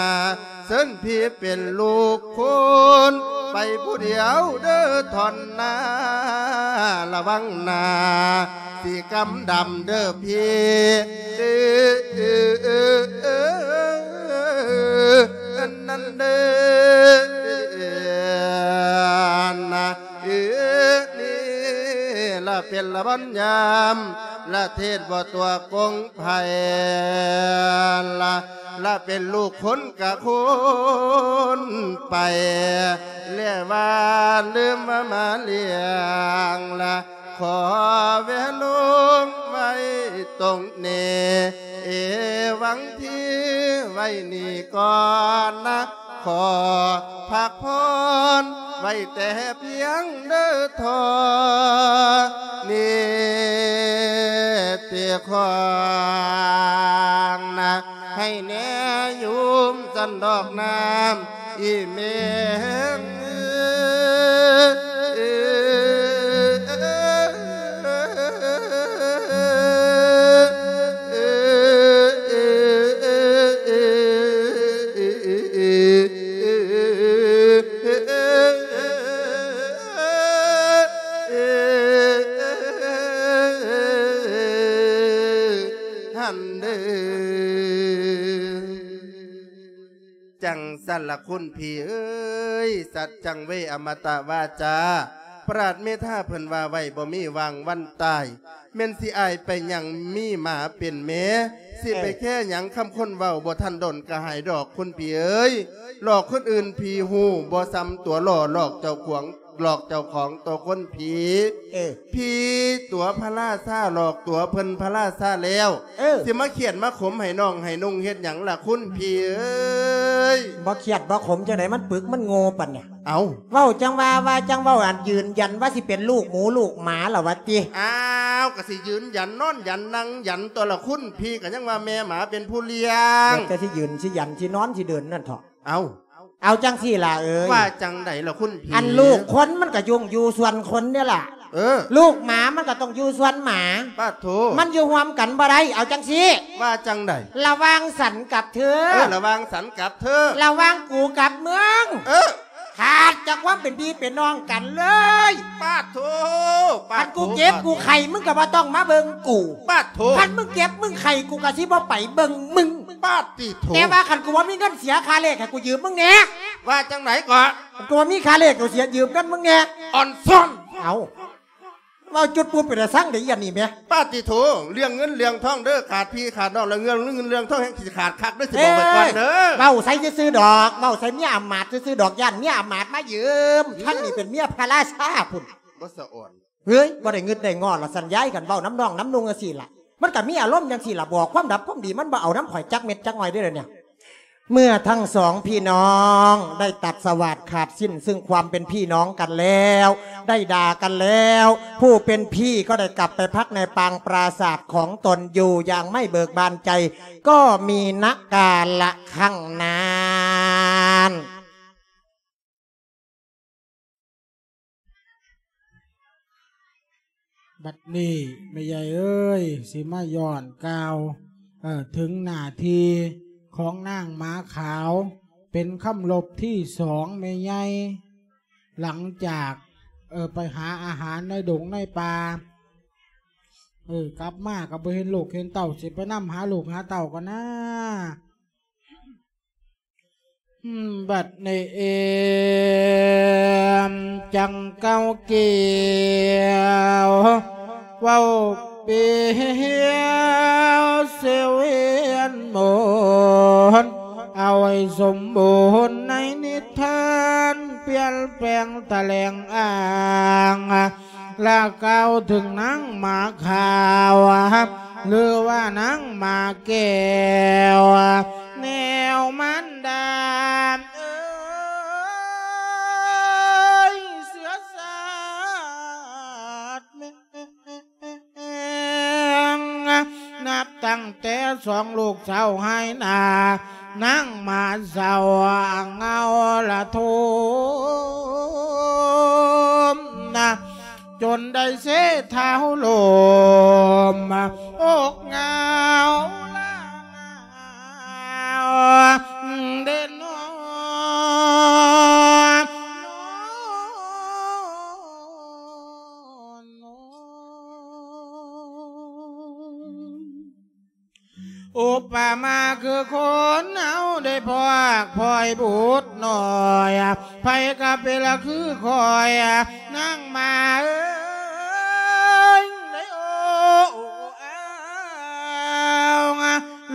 ເຊີນພີ່ເປັນລູກຄົນ ໄປຜູ້ດຽວເດີທ່ອນນາ ລະວັງໜ້າຊິກຳດຳເດີພີ່ ເອີ ເອີ ເອີ ເອີ ອັນນັ້ນເດີນະ ເອີ ນີ້ລະເປັນລະວັນຍາມ ລະເທດບໍ່ຕົວະກົງ ໃຜລະ ລະເປັນລູກຄົນກະຄົນໄປ ແລະວ່າລືມວ່າມາລ້ຽງລະ ຂໍແວະລົງໄວ້ຕົງນີ້ ເອວັງທີ່ໄວ້ນີ້ກ່ອນນະ ຂໍພັກຜ່ອນໄວ້ແຕ່ພຽງເດີທໍ່ ນີ້ຕິຂອງນະ ໃຫ້ແນ່ໂຍມສັນດອກນ້ຳອີເມງ ຫັ້ນເດີ ຈັ່ງຊັ້ນລະຄຸນພີ່ເອີຍ ສັດຈັງເວ ອະມະຕະວາຈາ ປາດເມທາເພິ່ນວ່າໄວ້ບໍ່ມີຫວ່າງວັນຕາຍ ແມ່ນຊິອາຍໄປຫຍັງມີໝາເປັນແມ່ ຊິໄປແຄ່ຫຍັງຄຳຄົນເວົ້າ ບໍ່ທັນດົນກະຫາຍດອກຄຸນພີ່ເອີຍ ຫຼອກຄົນອື່ນຜີຮູ້ ບໍ່ສ່ຳຕົວຫຼໍ່ຫຼອກເຈົ້າຂອງ ຫຼອກເຈົ້າຂອງຕົວຄົນຜີ. ເອີ ຜີຕົວພະລາຊາ ຫຼອກຕົວເພິ່ນພະລາຊາແລ້ວ ເອີ ຊິມາຄຽດມາຂົມໃຫ້ນ້ອງໃຫ້ນຸ່ງເຮັດຫຍັງລະຄຸນຜີເອີຍ? ບໍ່ຄຽດບໍ່ຂົມຈັ່ງໃດ ມັນປຶກມັນໂງ່ປານນີ້. ເອົ້າ ເວົ້າຈັ່ງວ່າ ວ່າຈັ່ງເວົ້າ ອັນຢືນຢັນວ່າຊິເປັນລູກໝູລູກໝາລະວະຕິ? ອ້າວ ກະຊິຢືນຢັນນອນຢັນນັ່ງຢັນຕົວລະຄຸນຜີ ກະຍັງວ່າແມ່ໝາເປັນຜູ້ລ້ຽງ. ແລ້ວແຕ່ຊິຢືນຊິຢັນຊິນອນຊິເດີນນັ້ນເຖາະ. ເອົ້າ ເອົາຈັ່ງຊີ້ລະເອີຍ ວ່າຈັ່ງໃດລະຄຸນຜີ? ອັນລູກຄົນມັນກະຢູ່ ຢູ່ສ່ວນຄົນເດ້ລະ. ເອີ ລູກໝາມັນກະຕ້ອງຢູ່ສ່ວນໝາ. ປາດໂທ ມັນຢູ່ຮ່ວມກັນບໍ່ໄດ້. ເອົາຈັ່ງຊີ້ ວ່າຈັ່ງໃດ? ລະຫວ່າງສັນກັບເທີ ເອີ ລະຫວ່າງສັນກັບເທີ ລະຫວ່າງກູກັບມຶງ ເອີ ຂາດຈາກຄວາມເປັນພີ່ເປັນນ້ອງກັນເລີຍ. ປາດໂທ ປາດໂທ ຄັນກູເຈັບກູໄຂ້ ປາດໂທ ມຶງກະບໍ່ຕ້ອງມາເບິ່ງກູ. ປາດໂທ ຄັນມຶງເຈັບມຶງໄຂ້ ກູກະຊິບໍ່ໄປເບິ່ງມຶງ. ປາດຕິໂທ ແຕ່ວ່າຄັນກູບໍ່ມີເງິນເສຍຄ່າເລກ ໃຫ້ກູຢືມມຶງແດ່. ວ່າຈັ່ງໃດເກາະ? ກູບໍ່ມີຄ່າເລກ ກູເສຍຢືມເງິນມຶງແດ່. ອ່ອນຊອນ ເອົ້າ ເວົ້າຈຸດປຸບເປັນຕາຊັງເດ້ ອີອັນນີ້ແໝ. ປາດຕິໂທ ເລື່ອງເງິນເລື່ອງທອງເດີ ຂາດພີ່ຂາດນ້ອງ ແລ້ວເລື່ອງເງິນເລື່ອງທອງແຮ່ງຊິຂາດຄັກເດີ ຊິບອກໄວ້ກ່ອນເດີ. ເອີ ເວົ້າໃສ່ຊື່ໆດອກ ເວົ້າໃສ່ເມຍອຳມາດຊື່ໆດອກ ຢ້ານເມຍອຳມາດມາຢືມ. ເອີ ທັງນີ້ເປັນເມຍພະລາຊາພຸ້ນ ບໍ່ສະອອນ. ເຮີ້ຍ ບໍ່ໄດ້ງຶດໄດ້ງໍລະສັນຍາຍ ຄັນເວົ້ານຳນ້ອງນຳນຸ່ງຈັ່ງຊີ້ລະ ມັນກະມີອາລົມຈັ່ງຊີ້ລະ. ບອກຄວາມດັບຄວາມດີ ມັນບໍ່ເອົານຳຂ້ອຍຈັກເມັດຈັກຫນ້ອຍເດ້ດຽວນີ້. ເມື່ອທັງສອງພີ່ນ້ອງໄດ້ຕັດສະຫວາດຂາດສິ້ນຊຶ່ງຄວາມເປັນພີ່ນ້ອງກັນແລ້ວ ໄດ້ດ່າກັນແລ້ວ ຜູ້ເປັນພີ່ກໍໄດ້ກັບໄປພັກໃນປາງປາສາດຂອງຕົນຢູ່ຢ່າງໄມ່ເບີກບານໃຈ ກໍມີນະກາລະຄັ້ງນັ້ນ. ບັດນີ້ແມ່ໃຫຍ່ເອີຍ ຊິມາຍ້ອນກ່າວ ເອີ ເຖິງໜ້າທີ່ຂອງນາງໝາຂາວ ເປັນຄຳລົບທີສອງແມ່ໃຫຍ່ ຫຼັງຈາກ ເອີ ໄປຫາອາຫານໃນດົງໃນປ່າ ເອີ ກັບມາກໍບໍ່ເຫັນລູກເຫັນເຕົ້າ ຊິໄປນຳຫາລູກຫາເຕົ້າກ່ອນນາ. ບັດນີ້ເອມຈັງເກົ້າກ່ຽວ ເວົ້າປ່ຽວສຽວວຽນໝູນ ເອົາໃຫ້ສົມບູນໃນນິທານ ປ່ຽນແປງຖະແຫຼງອ້າງ ລະກ່າວເຖິງນາງໝາຂາວ ຫຼືວ່ານາງໝາແກ້ວ ແນວມານດາເອີຍ ເຊື້ອຊາດແມ່ ນັບຕັ້ງແຕ່ສອງລູກສາວຫາຍໜ້າ ນາງໝາເຊົາເງົາລະໂທມນະ ຈົນໄດ້ເຊທ້າວລົມ ອົກເຫງົາລາງາວເດນອ. ອຸປະມາຄືຄົນເຮົາໄດ້ພອກພ້ອຍບຸດນ້ອຍ ໃຜກໍເປັນລະຄືຂ້ອຍ ນາງໝາເອີຍ ໄດ້ໂອ້ອ້າວ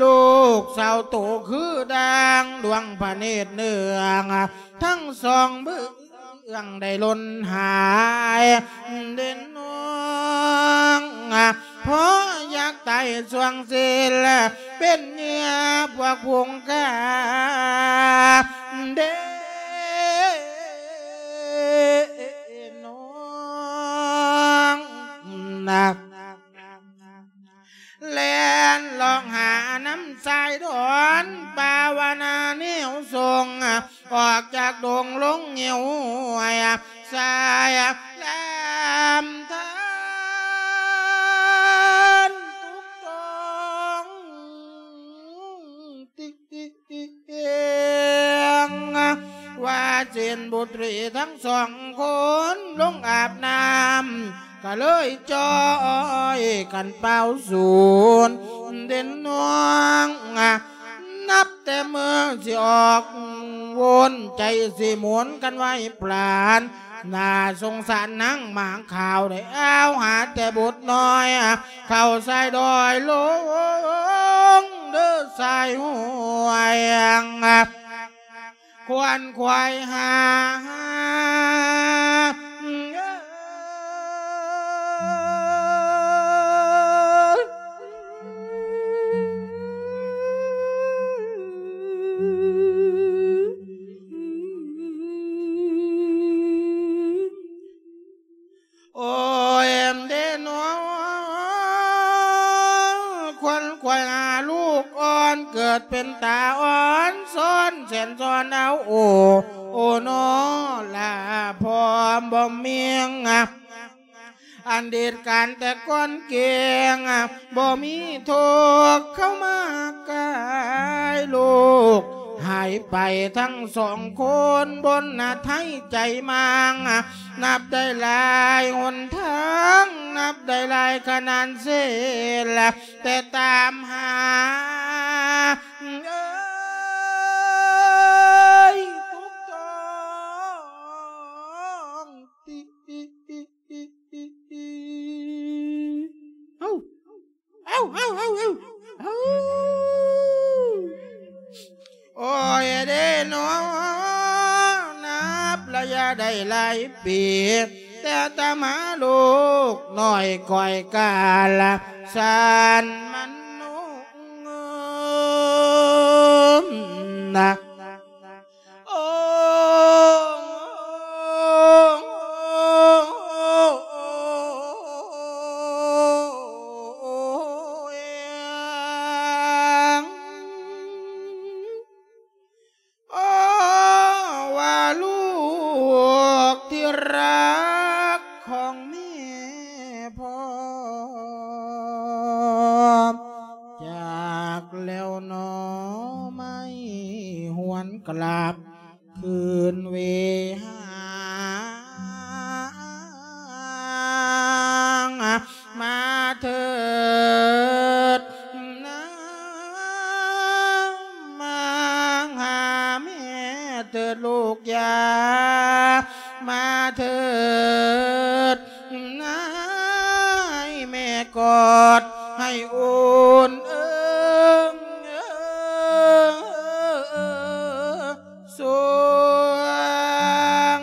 ລູກສາວໂຕຄືດ່າງ ດວງພະເນດເໜືອງ ທັງສອງເບື້ອງໄດ້ຫຼົ່ນຫາຍເດນນ້ອງ ເພາະຢາກຕາຍຊ່ວງເສນ ເປັນເຫຍື່ອພວກຝູງຂ້າເດນນ້ອງນະ. ແລ່ນລອງຫານ້ຳຊາຍດອນ ປາວະນາແນວສົ່ງ ອອກຈາກດົງລົງເຫວຫ້ວຍ ສາຍລາມທານທຸກຕົງຕິ ວ່າເຈນບຸດຣີທັງສອງຄົນລົງອາບນ້ຳ ກະເລີຍຈ່ອຍກັນເປົ່າສູນເດນນ້ອງ ນັບແຕ່ມື້ຊິອອກວົນ ໃຈຊິໝູນກັນໄວ້ປານ ໜ້າສົງສານນາງໝາຂາວ ໄດ້ອ້າວຫາແຕ່ບຸດນ້ອຍ ເຂົ້າຊາຍດອຍລົງເດີຊາຍຫ້ວຍ ຂວນຂວາຍຫາ ເປັນຕາອ່ອນຊອນແສນຊອນເອົາ ໂອ້ ໂອ້ ນໍລະພໍ່ບໍ່ມີ ອັນເດດການແຕ່ກ່ອນເກງ ບໍ່ມີທຸກເຂົ້າມາກາຍ ລູກຫາຍໄປທັງສອງຄົນ ບົນນະໄທໃຈມາງ ນັບໄດ້ຫຼາຍຫົນທາງ ນັບໄດ້ຫຼາຍຂະໜານເສນ ແຕ່ຕາມຫາ ເອີຍ ທຸກຕ້ອງຕິ ເອົ້າ ເອົ້າ ເອົ້າ ເອົ້າ ເອົ້າ ໂອ້ຍເດ້ນໍ ນັບໄລຍະໄດ້ຫຼາຍປີ ແຕ່ຕາມາລູກນ້ອຍຂ້ອຍກາລະສານມະນຸນນະ ໂອ້ ໂອ້ ວ່າລູກທີ່ຮັກຂອງແມ່ພໍ່ ຈາກແລ້ວໜໍ ໄມ້ຫວນກລັບຄືນເວຫາ ມາເຖີດນາ ມາຫາແມ່ເຖີດລູກຢາ ມາເຖີດນາ ໃຫ້ແມ່ກອດໃຫ້ອຸ່ນເອີງ ເອີງ ສວງ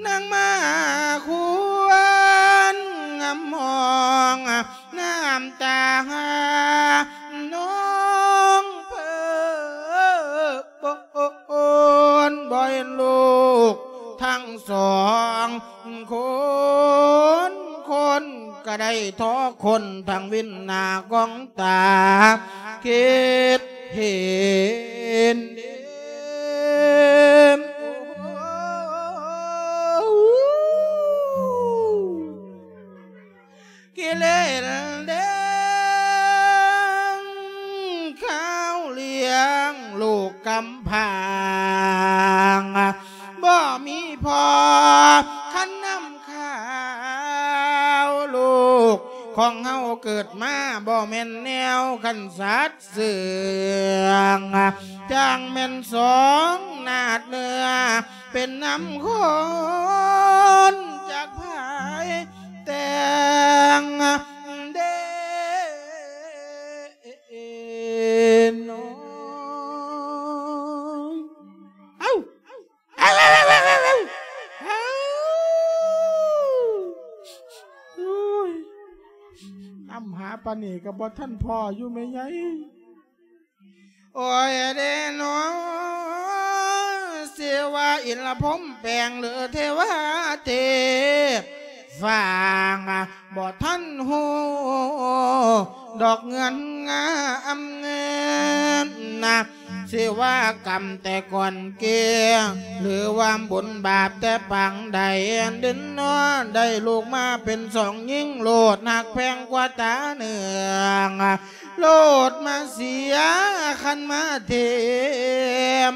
ນາງມາຄວນງຳມອງ ນ້ຳຕານອງເພີ້ປົນ ບໍ່ເຫັນລູກທັງສອງຄົນ ຄົນກະໄດ້ທໍຄົນ ທັງວິນໜ້າກອງຕາ ຄິດເຫັນເດ ກິເລນເດງ ເຂົາລ້ຽງລູກກຳພາ ບໍ່ມີພໍ່ ຄັນນຳ ຂ່າວລູກຂອງເຮົາເກີດມາ ບໍ່ແມ່ນແນວຄັນສັດເຊື່ອງ ຈັ່ງແມ່ນສອງນາດເນື້ອ ເປັນນຳຄົນຈັກພາຍແຕ່ງເດ ເນາະ ເອົ້າ ໂອ້ຍ ນຳຫາປານນີ້ກໍບໍ່ທັນພໍຢູ່ແມ່ໃຫຍ່. ໂອ້ຍເດເນາະ ຊິວ່າອິນລະພົມແປງ ຫຼື ເທວາເທບ ຟັງ ບໍ່ທັນຮູ້ດອກເງື່ອນງາມນະ ຊິວ່າກຳແຕ່ກ່ອນເກ ຫຼືວ່າບຸນບາບແຕ່ປາງໃດ ດິນນອນໄດ້ລູກມາເປັນສອງຍິງໂລດ ຮັກແພງກວ່າຕາເໜືອງ ໂລດມາເສຍຄັນມາເທ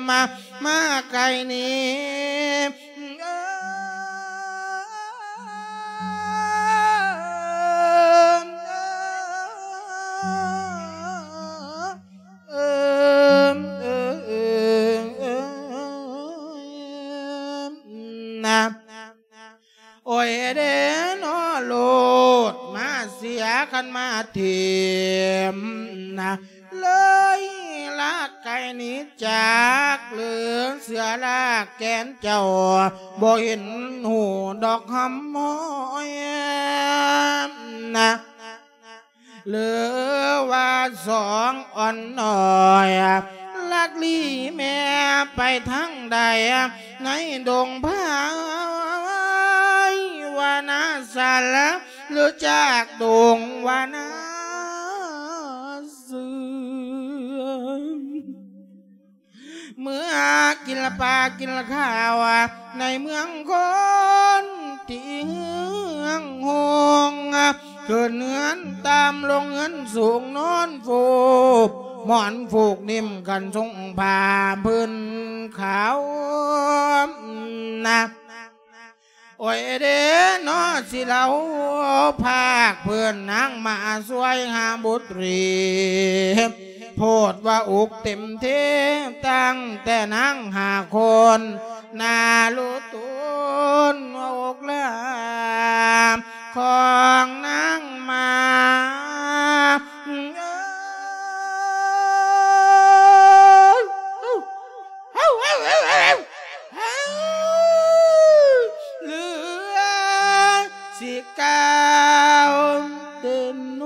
ມ ມາໄກນີ້ ເອີ ເອີ ເອີ ເອີ ເອີ ເອີ ນະ ໂອ້ຍເດເນາະ ໂລດມາເສຍຄັນມາເທມນະ ເລີຍລາກໄກໜີຈາກ ຫຼືເສືອລາກແກ່ນເຈົ້າ ບໍ່ເຫັນຮູ້ດອກຫຳຫ້ອຍນະ ຫຼືວ່າສອງອ່ອນນ້ອຍ ລັກລີແມ່ໄປທາງໃດ ໃນດົງພາຍວານາສາລະ ຫຼືຈາກດົງວານາ ເມື່ອກິນປາກິນຂ້າວ ໃນເມືອງຄົນທີ່ເຮືອງໂຮງ ຂຶ້ນເຮືອນຕ່ຳລົງເຮືອນສູງ ນອນຟູບໝອນຜູກ ນິ້ມກັນຊົງຜ້າພື້ນຂາວນະ. ໂອ້ຍເດ້ເນາະ ຊິເລົ່າພາກເພື່ອນນາງມາຊ່ວຍຫາບຸດຣີ ໂພດວ່າອຸກເຕັມເທ ຕັ້ງແຕ່ນາງຫ້າຄົນ ໜ້າລຸຕຸນອົກລາຂອງນາງມາ. ເອີ ເຫຼືອຊິກ່າວເດີນໂນ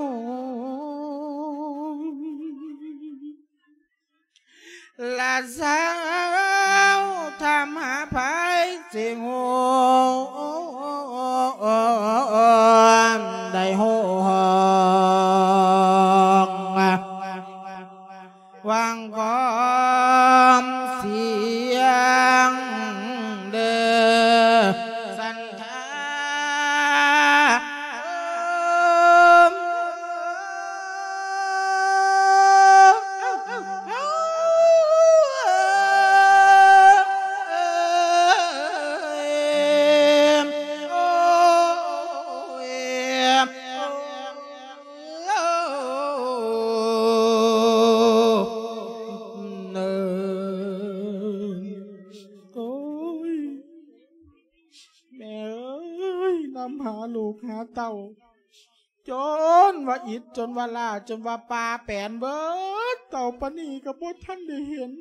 ລະສາວທຳຫາໄພຊິໂຮ ໄດ້ໂຮ ຫວັງຄວາມສຽງເດີສັນທາ. ໂອ້ຍ ແມ່ເອີຍ ນຳຫາລູກຫາເຕົ້າ ຈົນວ່າອິດ ຈົນວ່າລ້າ ຈົນວ່າປ່າແປນເບີດ ເຕົ້າປານນີ້ກໍບໍ່ທັນໄດ້ເຫັນ.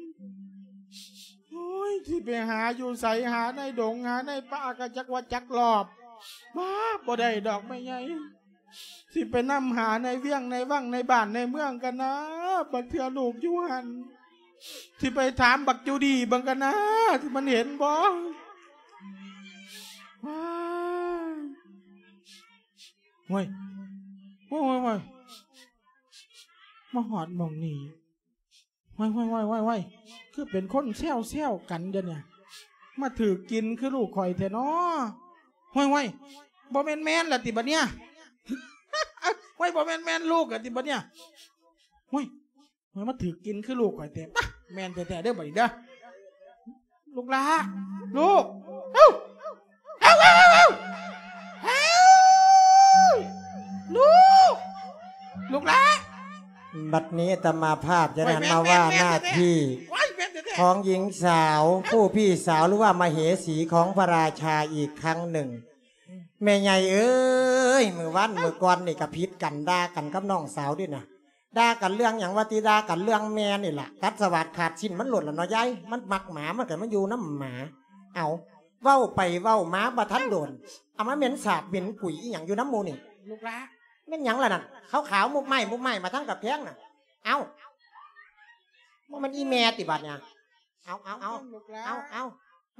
ໂອ້ຍ ຊິໄປຫາຢູ່ໃສ ຫາໃນດົງ ຫາໃນປ່າ ກໍຈັກວ່າຈັກລອບ ບາ ບໍ່ໄດ້ດອກແມ່ໃຫຍ່. ຊິໄປນຳຫາໃນວຽງໃນວັງໃນບ້ານໃນເມືອງກັນນາ ບາງເທື່ອລູກຢູ່ຫັ້ນ ຊິໄປຖາມບັກຈູດີເບິ່ງກັນນາ ທີ່ມັນເຫັນບໍ່. ວ້າຍ ໂອ້ຍ ໂອ້ຍ ໂອ້ຍ ໂອ້ຍ ມາຮອດໝ່ອງນີ້ ໂອ້ຍ ໂອ້ຍ ໂອ້ຍ ໂອ້ຍ ໂອ້ຍ ຄືເປັນຄົນແຊວໆກັນດຽວນີ້ ມາຖືກກິນຄືລູກຂ້ອຍແທ້ນໍ. ໂອ້ຍ ໂອ້ຍ ບໍ່ແມ່ນແມ່ນລະຕິບັດນີ້ ໂອ້ຍ ບໍ່ແມ່ນແມ່ນລູກລະຕິບັດນີ້ ໂອ້ຍ ໂອ້ຍ ມາຖືກກິນຄືລູກຂ້ອຍແທ້ ປະ ແມ່ນແທ້ໆເດີບັດນີ້ເດີ ລູກຫຼ້າ ລູກ ເອົ້າ ເອົ້າ ເອົ້າ ເອົ້າ ເອົ້າ ເອົ້າ ລູກ ລູກຫຼ້າ. ບັດນີ້ອາດຕະມາພາບຈະໄດ້ຫັນມາວ່າໜ້າທີ່ຂອງຍິງສາວ ຜູ້ພີ່ສາວ ຫຼືວ່າມະເຫສີຂອງພະລາຊາອີກຄັ້ງໜຶ່ງ. ແມ່ໃຫຍ່ເອີຍ ມື້ວານມື້ກ່ອນນີ້ກໍຜິດກັນ ດ່າກັນກັບນ້ອງສາວເດ້ນະ. ດ່າກັນເລື່ອງຫຍັງວະຕິ ດ່າກັນເລື່ອງແມ່ນີ້ລະ ຕັດສະຫວາດຂາດສິ້ນມັນໂລດລະເນາະຍາຍ ມັນມັກໝາ ມັນກໍມາຢູ່ນຳໝາ. ເອົາ ເວົ້າໄປເວົ້າມາບໍ່ທັນໂດນ ເອົາມາເໝັນສາບເໝັນກຸຍອີ່ຫຍັງຢູ່ນຳໝູ່ນີ້ ລູກຫຼ້າ. ແມ່ນຫຍັງລະນັ້ນ ຂາວໆມຸບໄມ້ມຸບໄມ້ມາທາງກະແພງນະ. ເອົ້າ ບໍ່ແມ່ນອີ່ແມ່ຕິບາດນີ້. ເອົາ ເອົາ ເອົາ ລູກຫຼ້າ ເອົາ ເອົາ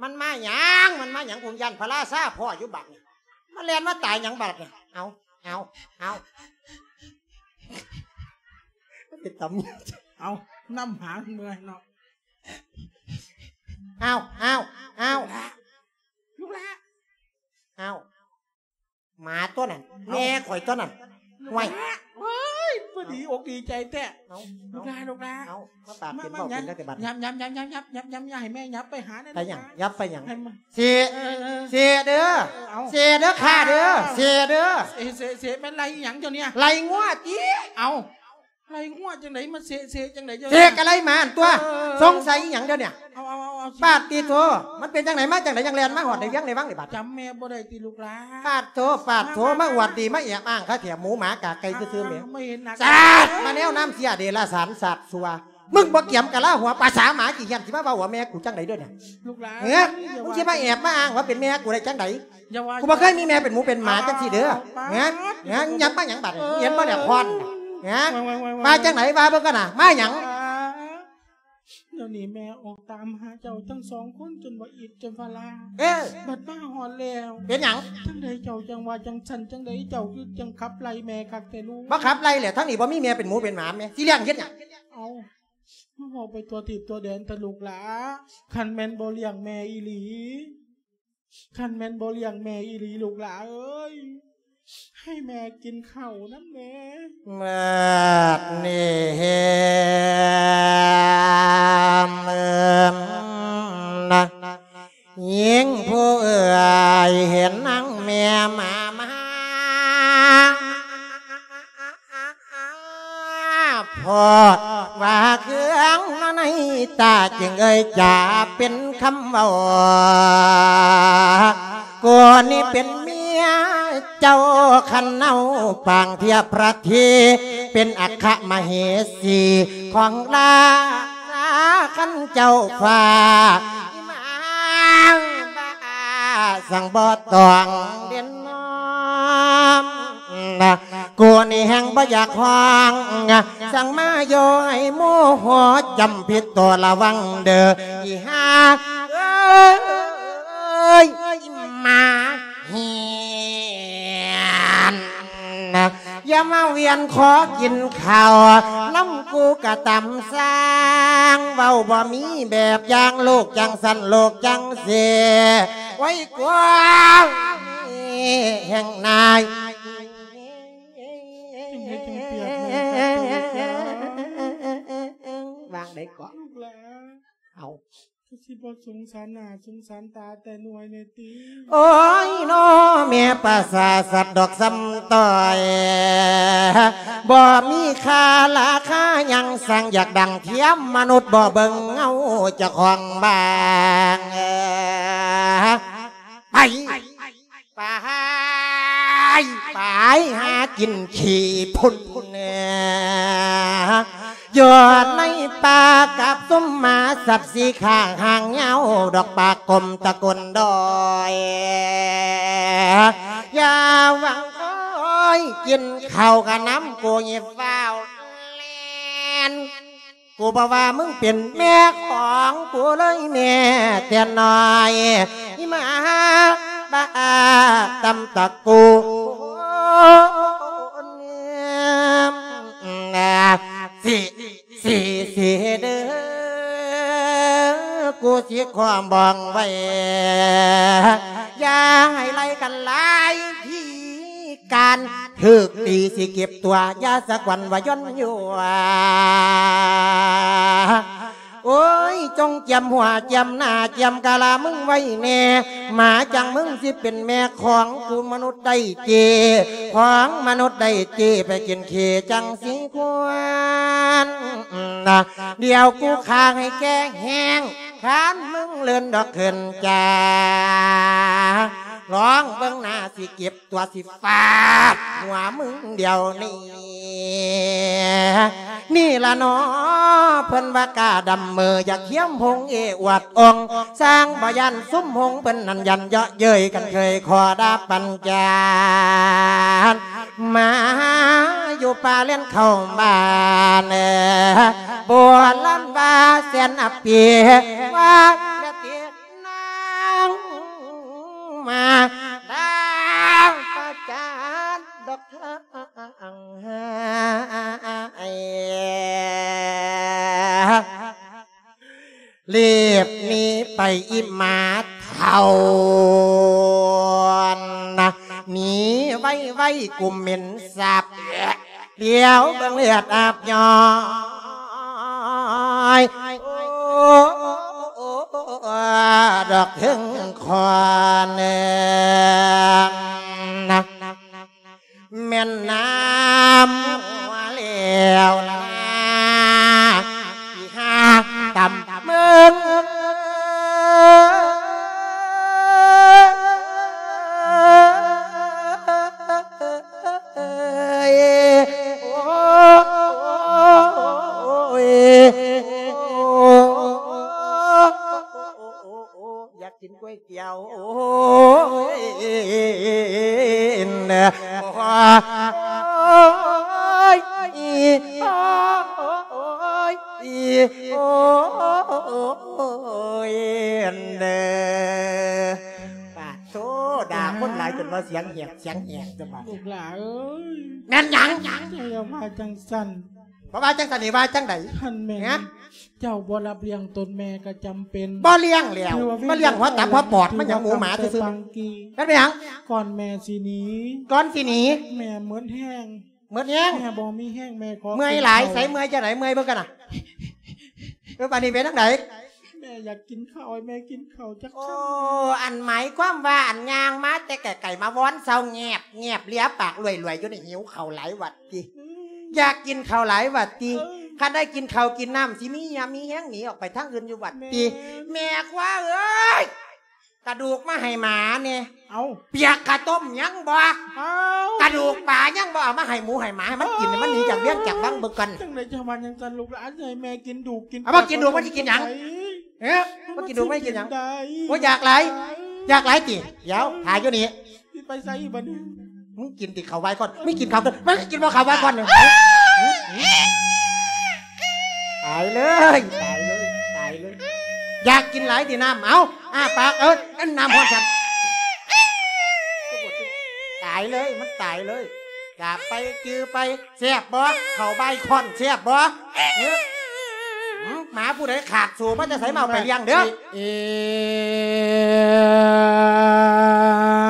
ມັນມາຫຍັງ ມັນມາຫຍັງ ຜູ້ຢ້ານພະລາຊາພໍ້ຢູ່ບາດນີ້ ມາແລ່ນມາຕາຍຫຍັງບາດນີ້. ເອົາ ເອົາ ເອົາ ເປັນຕຳ ເອົາ ນຳຫາເມື່ອຍເນາະ. ເອົາ ເອົາ ເອົາ ລູກຫຼ້າ ເອົາ ໝາຕົວນັ້ນ ເອົ້າ ແມ່ຂ້ອຍຕົວນັ້ນ ລູກຫຼ້າ ຫ້ວຍ ໂອ້ຍ ພໍດີອົກດີໃຈແທ້. ເອົາ ລູກຫຼ້າ ລູກຫຼ້າ ເອົາ ມາປາກເປັນເວົ້າເປັນແລ້ວແຕ່ບັດ ຫຍັບ ຫຍັບ ຫຍັບ ຫຍັບ ຫຍັບ ຫຍັບ ຫຍັບ ຢ່າໃຫ້ແມ່ຫຍັບໄປຫາແດ່. ໄປຫຍັງ ຫຍັບໄປຫຍັງ ໃຫ້ມາ ເສ ເອີ ເອີ ເສເດີ ເອີ ເອົາ ເສເດີຂ້າເດີ ເສເດີ ເສ ເສ ເສ ແມ່ນໄລ່ອີ່ຫຍັງເຈົ້ານີ້ ໄລ່ງົວຕິ. ເອົ້າ ໄລ່ງົວຈັ່ງໃດ ມາເສ ເສຈັ່ງໃດ ເສກໍໄລ່ໝາຫັ້ນຕົວະ. ເອີ ເອີ ສົງໄສອີ່ຫຍັງດຽວນີ້. ເອົາ ເອົາ ເອົາ ເອົາ ປາດຕິໂທ ມັນເປັນຈັ່ງໃດມາຈັ່ງໃດ ຈັ່ງແລ່ນມາຮອດໃນວຽງໃນວັງນີ້ບາດ. ຈຳແມ່ບໍ່ໄດ້ຕິລູກຫຼ້າ. ປາດໂທ ປາດໂທ ມາ ມາ ມາອວດດີ ມາແອບອ້າງຄາແທ້ ໝູໝາກາໄກ່ຊື່ໆແມ່. ມາເຫັນໜ້າ ສາດ ມາແນວນ້ຳເສຍເດລະສານ ສາດຊົ່ວ. ມຶງບໍ່ກຽມກະລາຫົວ ປາສາໝາຂີ້ຮ້ຽນ ຊິມາເວົ້າວ່າແມ່ກູຈັ່ງໃດເດີນີ້ ລູກຫຼ້າ. ເອີ ມຶງຊິມາແອບມາອ້າງວ່າເປັນແມ່ກູໄດ້ຈັ່ງໃດ. ຢ່າວ່າ ກູບໍ່ເຄີຍມີແມ່ເປັນໝູເປັນໝາ ເອີ ຈັ່ງຊີ້ເດີ. ປາດ ຫະ ຫະ ຫຍັບມາຫຍັງບາດນີ້ ເອີ ເຫັນບໍ່ແລ້ວຄອນ ຫະ ວ່າ ວ່າ ວ່າ ວ່າ ວ່າຈັ່ງໃດ ວ່າເບິ່ງກັນນະ ມາຫຍັງ. ດຽວນີ້ແມ່ອອກຕາມຫາເຈົ້າທັງສອງຄົນ ຈົນວ່າອິດຈົນວ່າລ້າ. ເອີ ບັດມາຮອດແລ້ວ ເປັນຫຍັງ? ຈັ່ງໃດເຈົ້າຈັ່ງວ່າຈັ່ງຊັ້ນ ຈັ່ງໃດເຈົ້າຄືຈັ່ງຂັບໄລ່ແມ່ຄັກແທ້ລູກ? ບໍ່ຂັບໄລ່ແຫຼະ ທາງນີ້ບໍ່ມີແມ່ເປັນໝູເປັນໝາແມ່ ຊິລ້ຽງເຮັດຫຍັງ? ເອົ້າ ມາເວົ້າໄປທົ່ວທີບທົ່ວແດນແຕ່ລູກຫຼ້າ ຄັນແມ່ນບໍ່ລ້ຽງແມ່ອີ່ຫຼີ ຄັນແມ່ນບໍ່ລ້ຽງແມ່ອີ່ຫຼີ ລູກຫຼ້າເອີຍ ໃຫ້ແມ່ກິນເຂົ້ານຳແດ່. ບາດນີ້ ເອີ ນະ ຍິງຜູ້ເອື້ອຍເຫັນນາງແມ່ມາ ມາ ພໍດວ່າເຄືອງໃນຕາ ຈຶ່ງເອີ່ຍຈາເປັນຄຳເວົ້າ ກູນີ້ເປັນເມຍເຈົ້າ ຄັນເອົາປາງທຽບພະເທ ເປັນອັກຂະມະເຫສີຂອງລາຊາ ຄັນເຈົ້າຟ້າ ອີ່ໝາບ້າ ສັ່ງບໍ່ຕ້ອງເດັ່ນນອມ ກູນີ້ແຮ່ງບໍ່ຢາກຮ້ອງ ສັ່ງມາໂຍໃຫ້ໝູ່ຫົວຈຳຜິດໂຕລະວັງເດີ້ ອີ່ຫ່າເອີຍ ອີ່ໝາ ເຫັນ ຢ່າມາວຽນຂໍກິນເຂົ້ານຳກູກະຕຳສ້າງ ເວົ້າບໍ່ມີແບບຢ່າງ ລູກຈັ່ງຊັ້ນລູກຈັ່ງຊີ້ ໄວ້ກວ່າແຫ່ງນາຍ ວາງໄດ້ເກາະ ເອົາ ຄືຊິບໍ່ສົງສານໜ້າສົງສານຕາແຕ່ໜ່ວຍແດ່ຕິ. ໂອ້ຍນໍ ແມ່ປະສາດສັດດອກສ່ຳຕ້ອຍ ບໍ່ມີຄ່າລາຄາຫຍັງ ຊ່າງຢາກດັງທຽມມະນຸດ ບໍ່ເບິ່ງເງົາເຈົ້າຂອງບ້ານ ໄປ ໄປ ໄປຫາກິນຂີ້ພຸ້ນ ຢູ່ໃນປ່າກັບຊຸມໝາສັດສີ່ຂ້າງ ຫາງຍາວດອກປາກກົມຕະໂກນດ້ອຍ ຢ່າຫວັງ ໂອ້ຍ ກິນເຂົ້າກະນຳກູ ຍິບຟ້າວແລ່ນ ກູບໍ່ວ່າມຶງເປັນແມ່ຂອງກູເລີຍແມ້ແຕ່ນ້ອຍ ອີ່ໝາບ້າຕຳຕະກູນ ຊິ ຊິ ຊິເດີ້ ກູຊິຄວາມບອງໄວ້ ຢ່າໃຫ້ໄລ່ກັນຫຼາຍທີ່ ການຖືກຕີຊິເກັບຕົວ ຢ່າສະກວັນວ່າຢ່ອນຍົວ ໂອ້ຍ ຈົ່ງຈຽມຫົວຈຽມໜ້າ ຈຽມກະລາມຶງໄວ້ແນ່ ໝາຈັ່ງມຶງຊິເປັນແມ່ຂອງກູມະນຸດໄດ້ເຈ້ ຂອງມະນຸດໄດ້ເຈ້ ໄປກິນຂີ້ຈັ່ງຊິຄວນ ດຽວກູຂ້າໃຫ້ແກ່ແຫ້ງ ຄັນມຶງເລີນດອກເຂີນຈາ ລອງເບິ່ງໜ້າຊິເກັບ ຕົວະຊິຟາດຫົວມຶງດຽວນີ້ ນີ້ລະເນາະ ເພິ່ນວ່າກ້າດຳເມີ ຢາກຮຽມຫົງເອອວດອົງ ຊ່າງບໍ່ຢ້ານຊຸມຫົງ ເພິ່ນນັ້ນຢ້ານເຍາະເຍີ້ຍກັນ ເຄີຍຂໍດາປັນຈານ ມາຢູ່ປ່າແລ່ນເຂົ້າບ້ານ ໂບລານວ່າແສນອະປີ ວ່າ ນາງມາດາປະຈານດອກເທີຍ ລີບໜີໄປອີ່ໝາເຖົ້ານະ ໜີໄວໆ ກຸມເໝັນສາບ ດຽວເບິ່ງເລືອດອາບຍ້ອຍ ດອກເທິງຄອນ ແມ່ນນ້ຳຫົວແລ້ວລະນາ ທີ່ຫາຕຳເມືອງ ເອີຍ ໂອ້ຍ ຢາກກິນກ໋ວຍຕຽວ ໂອ້ຍ ໂອ້ຍ ໂອ້ຍ ໂອ້ຍ ເດີ ປາດໂທ້ ດ່າຄົນຫຼາຍຈົນວ່າສຽງແຫບ ສຽງແຫບ ເຈົ້າບາດ ລູກຫຼ້າເອີຍ ແມ່ນຫຍັງ? ເຈົ້າຢ່າວ່າຈັ່ງຊັ້ນ ບໍ່ວ່າຈັ່ງຊັ້ນນີ້ວ່າຈັ່ງໃດ? ທ່ານແມ່ນ ຮະ? ເຈົ້າບໍ່ຮັບລ້ຽງຕົນແມ່ກໍຈຳເປັນ ບໍ່ລ້ຽງແລ້ວ ຖືວ່າ ມາລ້ຽງຫົວຕັບຫົວປອດ ມັນຫຍັງໝູໝາຊື່ໆ ເປັນຫຍັງ? ກ່ອນແມ່ຊິໜີ ກ່ອນຊິໜີ ແມ່ໝົດແຮງ ໝົດແຮງ ແມ່ບໍ່ມີແຮງ ແມ່ຂໍ ເມື່ອຍຫຼາຍ ກິນເຂົ້າ ໃສເມື່ອຍຈັ່ງໃດ? ເມື່ອຍເບິ່ງກັນນະ ເອີ ບາດນີ້ເປັນຈັ່ງໃດ? ແມ່ຢາກກິນເຂົ້າ ໃຫ້ແມ່ກິນເຂົ້າຈັກຄຳ. ໂອ້ ອັນໝາຍຄວາມວ່າ ອັນຍ່າງມາແຕ່ໄກໆ ມາວອນເຊົາແງບໆ ເລຍປາກລວຍໆ ຢູ່ນີ້ ຫິວເຂົ້າຫຼາຍຫວັດຕິ? ອືມ ຢາກກິນເຂົ້າຫຼາຍຫວັດຕິ? ເອີ ຄັນໄດ້ກິນເຂົ້າກິນນ້ຳ ຊິມີຫຍັງມີແຮງໜີອອກໄປທາງອື່ນຢູ່ຫວັດຕິ? ແມ່ນ ແມ່ຄວາເອີຍ ກະດູກມາໃຫ້ໝາແດ່. ເອົ້າ ປຽກກະຕົ້ມຍັງບໍ່? ເອົ້າ ກະດູກປາຍັງບໍ່? ເອົາມາໃຫ້ໝູໃຫ້ໝາ ໃຫ້ມັນກິນ ໃຫ້ມັນໜີຈາກວຽງຈາກວັງເບິ່ງກ່ອນ. ຈັ່ງໃດຈັ່ງວ່າຈັ່ງຊັ້ນ ລູກຫຼານ ຊິໃຫ້ແມ່ກິນດູກກິນ ເອົາມາກິນດູກ ມັນຊິກິນຫຍັງ? ເອີ ມາກິນດູກ ມັນຊິກິນຫຍັງ? ໂອ້ຍ ຢາກຫຼາຍ ຢາກຫຼາຍຕິ? ດຽວ ຖ້າຢູ່ນີ້ ຊິໄປໃສອີກບັດນີ້? ມຶງກິນຕິເຂົ້າໄວກ່ອນ? ມີກິນເຂົ້າກ່ອນ? ມັນກິນບໍ່ເຂົ້າໄວກ່ອນ? ຕາຍເລີຍ ຕາຍເລີຍ ຕາຍເລີຍ ຢາກກິນຫຼາຍຕິນ້ຳ? ເອົ້າ ອ້າປາກ ເອີ ອັນນ້ຳຮ້ອນຊັ້ນ ຕາຍເລີຍ ມັນຕາຍເລີຍ. ຢາກໄປຈື່ໄປ ແຊບບໍ່? ເຂົ້າໄວກ່ອນ ແຊບບໍ່? ຫື ຫື ໝາຜູ້ໃດຂາດໂສມາແຕ່ໃສ ມາເອົາໄປລ້ຽງເດີ້. ເອີ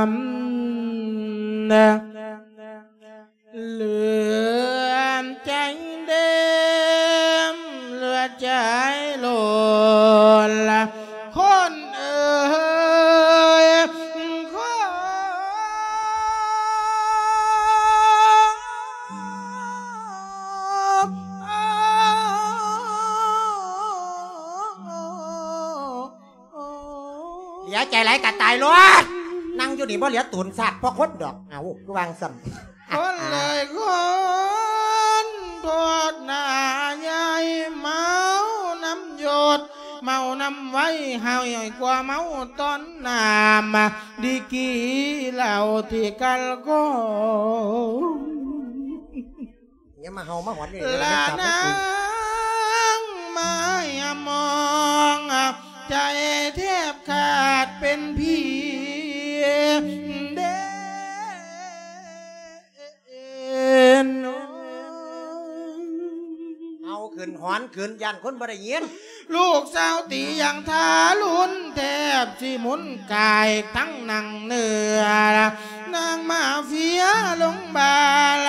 ມ ເຫຼືອໃຈເດັມ ເຫຼືອໃຈໂລນລະ ຄົນເອີຍ ຄົນ ເຫຼືອໃຈຫຼາຍກະຕາຍໂລດ ນັ່ງຢູ່ນີ້ບໍ່ເຫຼືອໂຕນຊາດເພາະຄົນດອກ. ເອົ້າ ຄືວ່າຈັ່ງຊັ້ນ? ຄົນເອີຍຄົນ ໂທດໜ້າ ຢ່າໃຫ້ເມົານຳຢົດ ເມົານຳໄວ ຮ້າຍກວ່າເມົາຕອນນ້ຳ ດີກຣີເຫຼົ້າທີ່ກັນກໍ ຢ່າມາເຫົ່າມາຫອນຢູ່ນີ້ ລະນາງມາຍາມອງ ໃຈແທບຂາດເປັນຜີເດ. ເອົາຂຶ້ນ ຫອນຂຶ້ນ ຢ້ານຄົນບໍ່ໄດ້ຍິນ. ລູກສາວຕີຢ່າງທາລຸນ ແທບຊິໝຸນກາຍທັງນັ່ງເໜືອ ນາງມາເຟຍລົງບາລ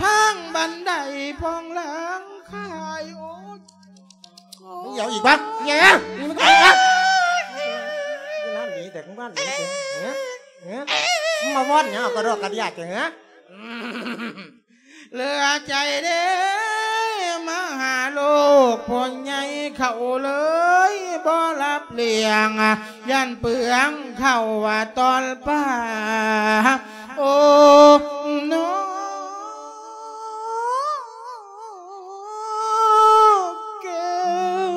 ທາງບັນໄດພອງຫຼັງຄາຍ. ໂອ້ຍ ມຶງເອົາອີກບໍ່? ແຫງ ນີ້ມັນເອົາອີກບໍ່? ຢູ່ນັ້ນໜີແຕ່ມື້ວານນີ້ ເອີ ເອີ ມາວອນຫຍັງເອົາກະດອກກະເດຍແທ້? ເຫຼືອໃຈເດ້ ມາຫາລູກພໍ່ໃຫຍ່ເຂົາເລີຍບໍ່ຮັບລ້ຽງ ຢ້ານເປືອງເຂົ້າວ່າຕອນປາ ໂອ້ ນ້ອງແກ້ວ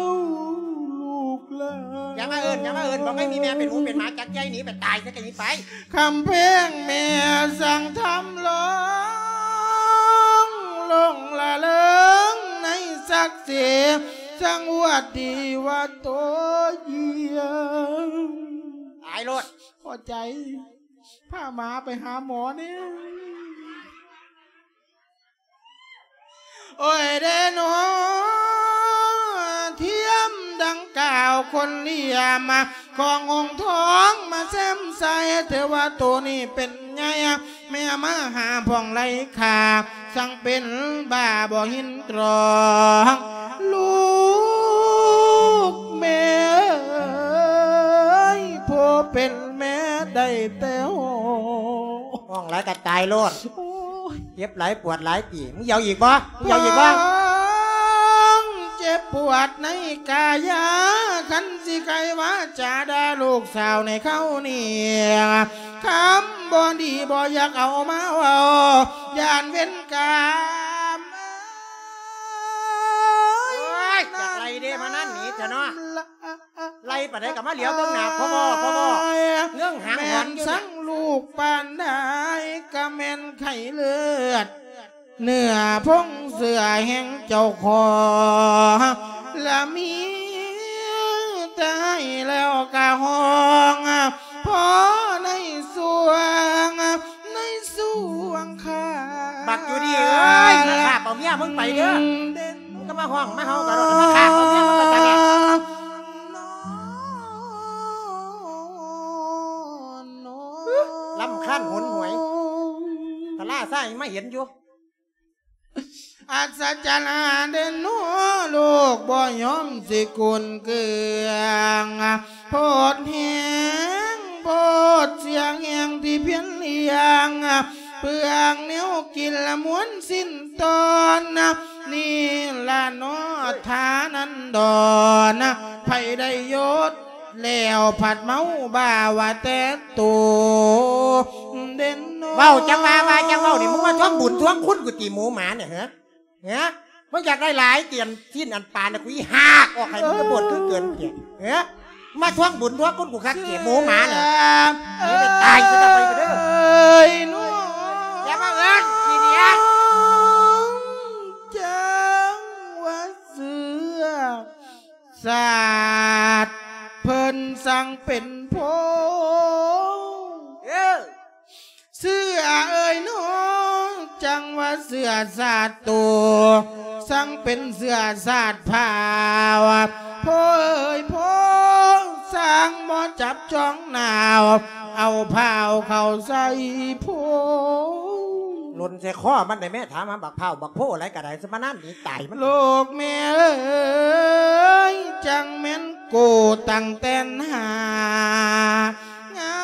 ລູກຫຼານ. ຢ່າມາເອີ້ນ ຢ່າມາເອີ້ນ ບອກໃຫ້ມີແມ່ເປັນໝູເປັນໝາ ຈັກໃຈໜີໄປຕາຍໃສກະໜີໄປ. ຄຳເພງແມ່ສັງທຳລອງ ຫຼົງລະເລີງໃນສັກສີ ສັງຫວັດດີວ່າໂຕຢ້ຽມ. ຕາຍໂລດ ພໍໃຈ ພາໝາໄປຫາໝໍແດ່. ໂອ້ຍເດໜໍ ທຽມດັ່ງກ່າວຄົນລຽມ ຂອງອົງທອງມາແຊມໃສ່ ເທວະໂຕນີ້ເປັນໃຫຍ່ ແມ່ມາຫາຜ່ອງໄຫຼຂ້າ ສັງເປັນບ້າບໍ່ຍິນຕອງ ລູກແມ່ເອີຍ ຜູ້ເປັນແມ່ໄດ້ແຕ່ຮ້ອງ. ຮ້ອງຫຼາຍກະຕາຍໂລດ. ໂອ້ຍ ເຈັບຫຼາຍປວດຫຼາຍຕິ? ມຶງເອົາອີກບໍ່? ມຶງເອົາອີກບໍ່? ຄວາມເຈັບປວດໃນກາຍາ ຄັນຊິໄກວາຈາດ່າລູກສາວໃນເຂົານີ້ ຄຳບໍ່ດີບໍ່ຢາກເອົາມາເວົ້າ ຢ້ານເວນກາມ. ໂອ້ຍ ຢາກໄລ່ເດ້ ມານັ້ນໜີແທ້ເນາະ. ໄລ່ປານໃດກໍມາຫຼຽວເບິ່ງໜ້າພໍ່ວໍ່ ພໍ່ວໍ່ ເງື້ອງຫາງຫອນຢູ່. ແມ່ນສັງລູກປານໃດກໍແມ່ນໄຂ້ເລືອດ ເນື້ອພົງເຊື້ອແຫ່ງເຈົ້າຂອງ ລະມີແຕ່ໃຫ້ແລ້ວກະຮ້ອງ ພໍໃນຊ່ວງ ໃນຊ່ວງຄາ ບັກຢູ່ດີເອີຍ ມາລາບເອົາເມຍມຶງໄປເດີ້. ມາຮ້ອງມາເຮົາກັນໂລດ ມາຂ້າເອົາເມຍມາປະຈັນແດ່. ລຳຄານຫົນຫວຍ ຕະລາຊາຍມາເຫັນຢູ່. ອັດສະຈັນເດເນາະ ໂລກບໍ່ຍອມຊິກຸນເກືອງ ໂພດແຮງໂພດສຽງແຮງທີ່ພຽນລ້ຽງ ເປືອງແນວກິນລະມວນສິ້ນຕອນ ນີ້ລະເນາະ ທານັນດອນ ໃຜໄດ້ຍົດ ແລ້ວພັດເມົາບ້າວ່າແຕ່ໂຕເດັ່ນ. ເວົ້າຈັ່ງວ່າ ວ່າຈັ່ງເວົ້ານີ້ ມຶງມາທວງບຸນທວງຄຸນກູຕິ ໝູໝານີ້ ເຮີ ເຮີ ມຶງຢາກໄດ້ຫຼາຍຕິ ອັນຊີ້ນອັນປານະ ກູອີຫາກອອກໃຫ້ມຶງກະບວດຄືເກີນເກຍດ ເຮີ ມາທວງບຸນທວງຄຸນກູຄັກເກຍດ ໝູໝານີ້ ເອີຍ ນີ້ໄປຕາຍຊະ ໄປເດີ ເອີຍ ໜູ ຢ່າມາເອີ້ນຂີ້ດຽດ ຈັງວ່າເຊື່ອ ຊາດເພິ່ນສັງເປັນໂພ ເອີ ເຊື່ອເອີຍເນາະ ຈັ່ງວ່າເຊື່ອຊາດໂຕ ສັງເປັນເຊື້ອຊາດພ້າວ ໂພເອີຍໂພ ສ້າງບໍ່ຈັບຈອງໜາວ ເອົາພ້າວເຂົ້າໃສ່ໂພ ຫຼົ່ນໃສ່ຄໍມັນໄດ້ແມ້ ຖາມຫາບັກພ້າວບັກໂພຫຼາຍກະໄດ້ ສະມານານໜີຕາຍມັນ ໂລກແມ່ເອີຍ ຈັ່ງແມ່ນ ໂກຕັ້ງແຕ່ນຫາ ງາ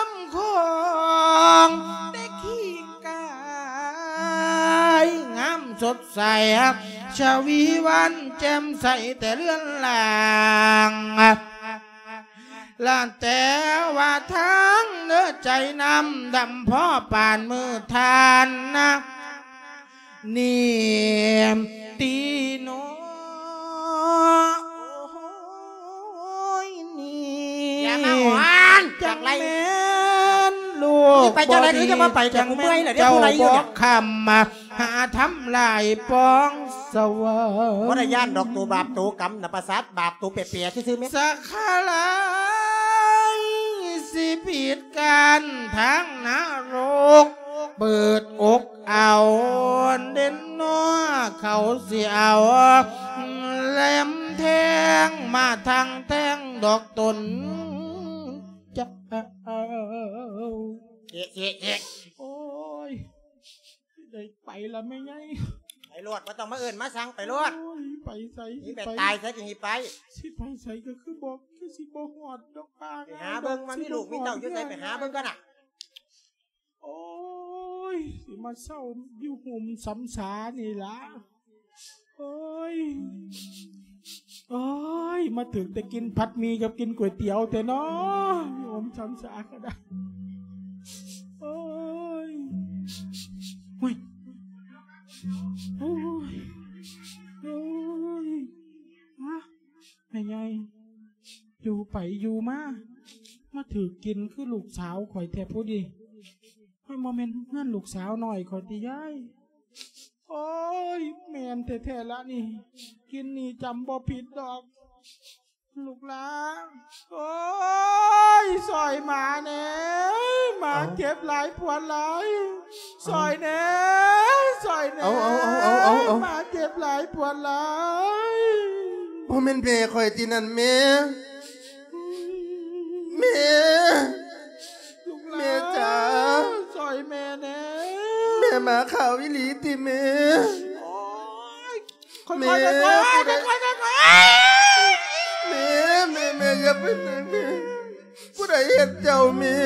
ມຂອງແຕ່ຂີ້ກາຍ ງາມສົດໃສ ຊະວີວັນແຈ່ມໃສແຕ່ເລືອນລ່າງ ລະແຕ່ວ່າທາງເນີໃຈນ້ຳດຳພໍປານມື້ທ່ານນະ ນີ້ຕີໂນ ໂອ້ຍ ນີ້ ຢ່າມາຫວານ ຈັກໄລ ແມ່ນລູກ ຊິໄປຈັ່ງໃດ ຄືຈະມາໄປແຕ່ກູເມື່ອຍແລ້ວເດ້ ຜູ້ໃດຢູ່ນີ້ ຄຳມາຫາທຳລາຍປອງສະຫວັນ ບໍ່ໄດ້ຢ້ານດອກ ໂຕບາບໂຕກຳນະ ປະສາດບາບໂຕແປໆຊື່ໆແມ່ນ ສະຄະລາຍ ຊິປິດ ການທາງນະລົກ ເປີດອົກເອົາເດັ່ນເນາະ ເຂົາຊິເອົາແຫຼມແທງມາທັງແທງດອກຕົນເຈົ້າ ເອະ ເອະ ເອະ ໂອ້ຍ ໄດ້ໄປລະແມ່ໃຫຍ່ ໄປໂລດ ບໍ່ຕ້ອງມາເອີ້ນມາສັ່ງ ໄປໂລດ ໂອ້ຍ ໄປໃສ ຊິໄປຕາຍໃສ ຊິໄປ ຊິໄປໃສກະຄືບໍ່ ຄືຊິບໍ່ຮອດດອກປາ ໄປຫາເບິ່ງວ່າມີລູກມີເຕົ້າຢູ່ໃສ ໄປຫາເບິ່ງກ່ອນນະ ໂອ້ຍ ຊິມາເຊົາຢູ່ຫຸ້ມສຳສານີ້ລະ ໂອ້ຍ ໂອ້ຍ ມາຖືກແຕ່ກິນຜັດໝີ່ກັບກິນກ໋ວຍຕຽວແທ້ເນາະ ຫຸ້ມສຳສາກະໄດ້ ໂອ້ຍ ໂອ້ຍ ໂອ້ຍ ໂອ້ຍ ຮະ ແມ່ໃຫຍ່ ຢູ່ໄປຢູ່ມາ ມາຖືກກິນຄືລູກສາວຂ້ອຍແທ້ຜູ້ດີ ໂອ້ຍ ບໍ່ແມ່ນເຮືອນລູກສາວນ້ອຍຂ້ອຍຕິຍາຍ ໂອ້ຍ ແມ່ນແທ້ໆລະນີ້ ກິນນີ້ຈຳບໍ່ຜິດດອກ ລູກຫຼານ ໂອ້ຍ ຊ່ອຍໝາແດ່ ໝາເຈັບຫຼາຍປວດຫຼາຍ ຊ່ອຍແດ່ ຊ່ອຍແດ່ ເອົາ ເອົາ ເອົາ ເອົາ ເອົາ ໝາເຈັບຫຼາຍປວດຫຼາຍ ບໍ່ແມ່ນແມ່ຂ້ອຍຕິນັ້ນແມ່ ແມ່ ລູກຫຼານ ແມ່ຈ໋າ ຊ່ອຍແມ່ແດ່ ແມ່ໝາຂາວອີ່ຫຼີຕິແມ່ ໂອ້ຍ ຄ່ອຍໆ ແມ່ ຄ່ອຍໆ ຄ່ອຍໆ ຄ່ອຍໆ ແມ່ ແມ່ ແມ່ ຢ່າໄປແມ່ ແມ່ ຜູ້ໃດເຮັດເຈົ້າແມ່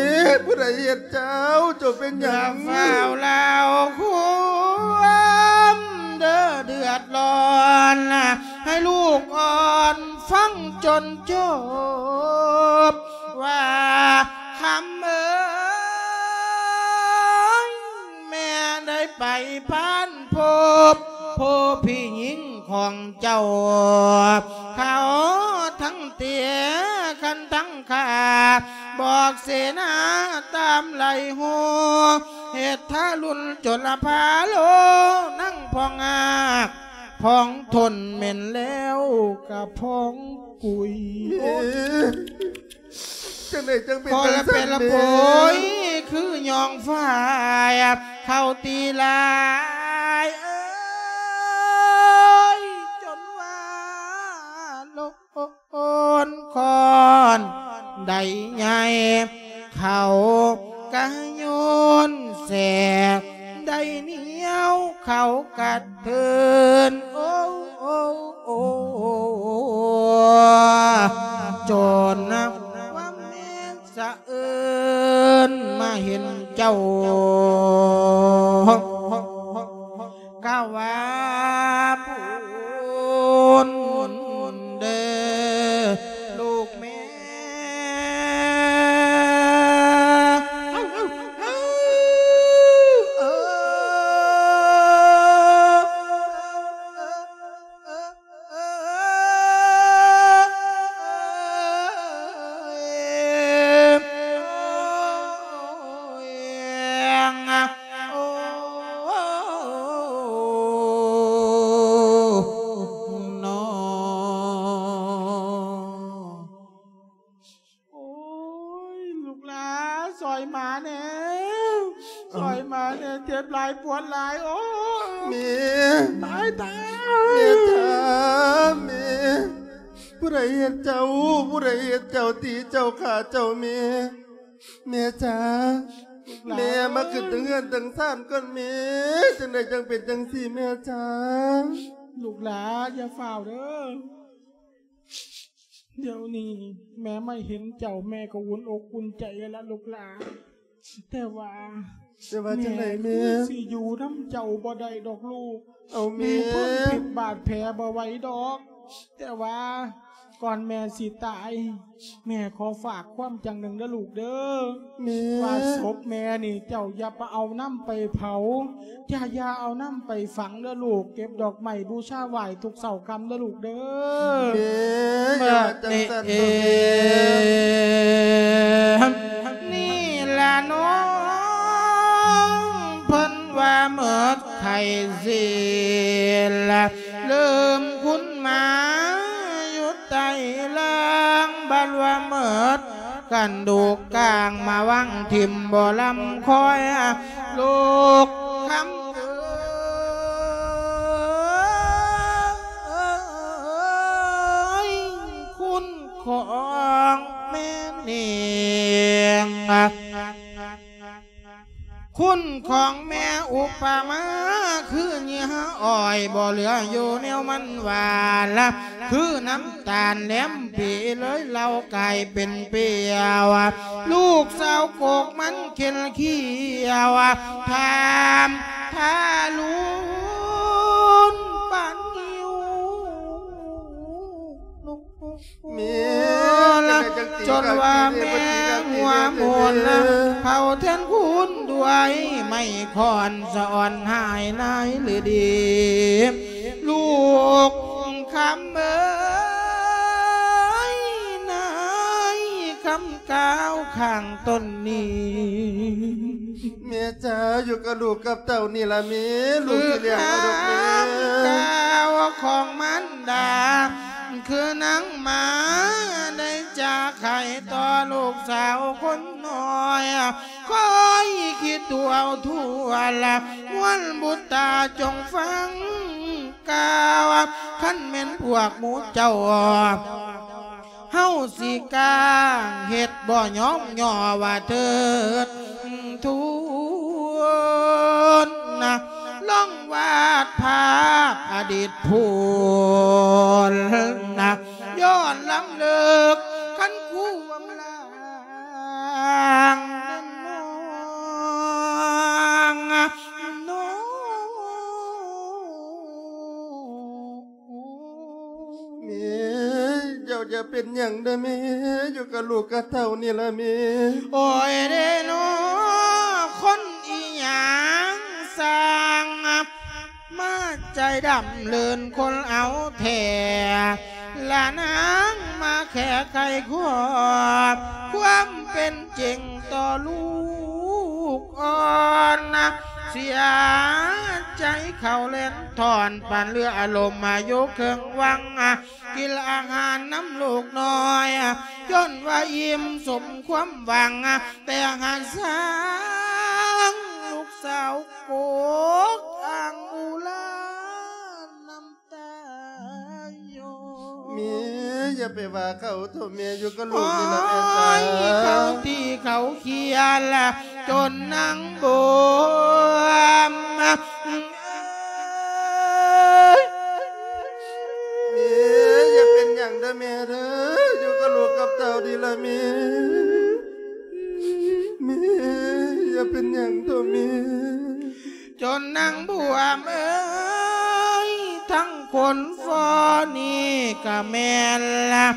ຜູ້ໃດເຮັດເຈົ້າ ເຈົ້າເປັນຫຍັງ ຢ່າຟ້າວລາວຄວາມເດີ ເດືອດຮ້ອນ ໃຫ້ລູກອ່ອນຟັງຈົນຈົບ ວ່າຄຳເອີຍ ແມ່ໄດ້ໄປຜ່ານພົບ ໂພພີ່ຍິງຂອງເຈົ້າ ເຂົາທັງເຕະຄັນທັງຂ້າ ບອກເສນາຕາມໄລ່ໂຫ ເຮັດທາລຸນຈົນລະພາໂລ ນາງພອງອາກ ພອງທົນແມ່ນແລ້ວກະພອງກຸຍ ເອີ ຈັ່ງໃດຈັ່ງເປັນຈັ່ງຊັ້ນແມ່ ໂອ້ຍ ຄືຍອງຝ້າຍ ເຂົາຕີຫຼາຍເອີຍ ໄດ້ໃຫຍ່ ເຂົາກະໂຍນແສກ ໄດ້ໜຽວເຂົາກະເທີນ ໂອ້ ໂອ້ ໂອ້ ຈົນວ່າແມ່ສະເອີນມາເຫັນເຈົ້າ ກະວ່າບຸນເດີລູກແມ່. ໂອ້ຍ ລູກຫຼາ ຊ່ອຍໝາແດ່ ຊ່ອຍໝາແດ່ ເຈັບຫຼາຍປວດຫຼາຍ ໂອ້ຍ ແມ່ ຕາຍ ຕາຍ ແມ່ຈ້າ ແມ່ ຜູ້ໃດເຮັດເຈົ້າ ຜູ້ໃດເຮັດເຈົ້າ ຕີເຈົ້າ ຂ້າເຈົ້າ ແມ່ ແມ່ຈ້າ ລູກຫຼາ ແມ່ມາຂຶ້ນເທິງເຮືອນເທິງຊານກ່ອນແມ່ ຈັ່ງໃດຈັ່ງເປັນຈັ່ງຊີ້ແມ່ຈ້າ ລູກຫຼາ ຢ່າຟ້າວເດີ. ດຽວນີ້ແມ່ມາເຫັນເຈົ້າ ແມ່ກໍອຸ່ນອົກອຸ່ນໃຈແລ້ວລະລູກຫຼານ ແຕ່ວ່າ ແຕ່ວ່າຈັ່ງໃດແມ່ ແມ່ຄືຊິຢູ່ນຳເຈົ້າບໍ່ໄດ້ດອກລູກ ເອົາແມ່ ມີພົນພິດບາດແຜບໍ່ໄຫວດອກ ແຕ່ວ່າກ່ອນແມ່ຊິຕາຍ ແມ່ຂໍຝາກຄວາມຢ່າງໜຶ່ງເດີລູກເດີ ແມ່ ວ່າສົບແມ່ນີ້ເຈົ້າຢ່າໄປເອົານຳໄປເຜົາ ຢ່າ ຢ່າເອົານຳໄປຝັງເດີລູກ ເກັບດອກໄມ້ບູຊາໄຫວ້ທຸກເຊົ້າຄ່ຳເດີລູກເດີ ແມ່ ຢ່າວ່າຈັ່ງຊັ້ນເດີແມ່ ນີ້ລະນ້ອງ ເພິ່ນວ່າໝົດໄຂ້ເສຍລະ ເລີ່ມຄຸນມາຢູ່ໃຕ້ລ່າງ ບັດວ່າໝົດ ກັນດູກກາງມາວັງຖິ້ມບໍ່ລຳຄອຍ ລູກຄຳເອີຍ ຄຸນຂອງແມ່ນີ້ ຄຸນຂອງແມ່ອຸປະມາ ຄືເຫຍື່ອອ້ອຍ ບໍ່ເຫຼືອຢູ່ແນວມັນຫວານລະ ຄືນ້ຳຕານແຫຼມປີເລີຍ ເຫຼົ້າກາຍເປັນປຽວ ລູກສາວໂກກມັນເຂັນຂຽວ ຖາມທາລຸນປານຫິວ ແມ່ ລະ ຈັ່ງໃດຈັ່ງ ຈົນວ່າແມ່ຫົວໝູນ ເຜົາແທນຄູນດ້ວຍໄມ້ຄ້ອນ ສະອອນຫາຍນາຍລືດີ ລູກຄຳເອີຍ ນາຍຄຳກ່າວຂ້າງຕົ້ນນີ້ ແມ່ ເຈົ້າຢູ່ກັບລູກກັບເຕົ້ານີ້ລະແມ່ ລູກຊິລ້ຽງເອົາດອກແມ່ ຄືຄຳກ່າວຂອງມານດາ ຄືນາງມາໄດ້ຈາໄຂຕໍ່ລູກສາວຄົນນ້ອຍ ຄອຍຄິດດູເອົາທົ່ວລະ ມວນບຸດຕາຈົ່ງຟັງກ່າວ ຄັນແມ່ນພວກໝູ່ເຈົ້າ ເຮົາຊິກ້າເຮັດບໍ່ຍອມຍໍວ່າເທີດທວນນະ ລອງວາດພາບອະດີດພຸ້ນນະ ຍ້ອນລຳເລິກຄັນຄວາມລາງນັ້ນນ້ອງ ນ້ອງ ແມ່ ເຈົ້າຢ່າເປັນຫຍັງເດີແມ່ ຢູ່ກັບລູກກັບເຕົ້ານີ້ລະແມ່ ໂອ້ຍເດນໍ ຄົນອີ່ຫຍັງຊ່າງ ມາໃຈດຳເລີນຄົນເອົາແທ້ ລະນາງມາແຄໄຂຄວາມ ຄວາມເປັນຈິງຕໍ່ລູກອ່ອນນະ ເສຍໃຈເຂົ້າແລ່ນຖອນ ປານເຫຼືອອາລົມມາຢູ່ເຄິ່ງວັງ ກິນອາຫານນຳລູກນ້ອຍ ຈົນວ່າອີ່ມສົມຄວາມຫວັງ ແຕ່ຫາກຊ່າງລູກສາວໂກກອ່າງອຸລານ້ຳຕາຍ້ອຍ ແມ່ ຢ່າໄປວ່າເຂົາໂທ້ແມ່ ຢູ່ກັບລູກນີ້ລະແມ່ ໂອ້ຍ ຈ້າ ເຂົາຕີເຂົາຂຽນລະ ຈົນນາງບວມ ແມ່ ຢ່າເປັນຫຍັງເດີແມ່ເດີ ຢູ່ກັບລູກກັບເຕົ້ານີ້ລະແມ່ ແມ່ ຢ່າເປັນຫຍັງໂທ້ແມ່. ຈົນນາງບວມເອີຍ ທັງຄົນຟ້ອນີ້ກະແມ່ນລະ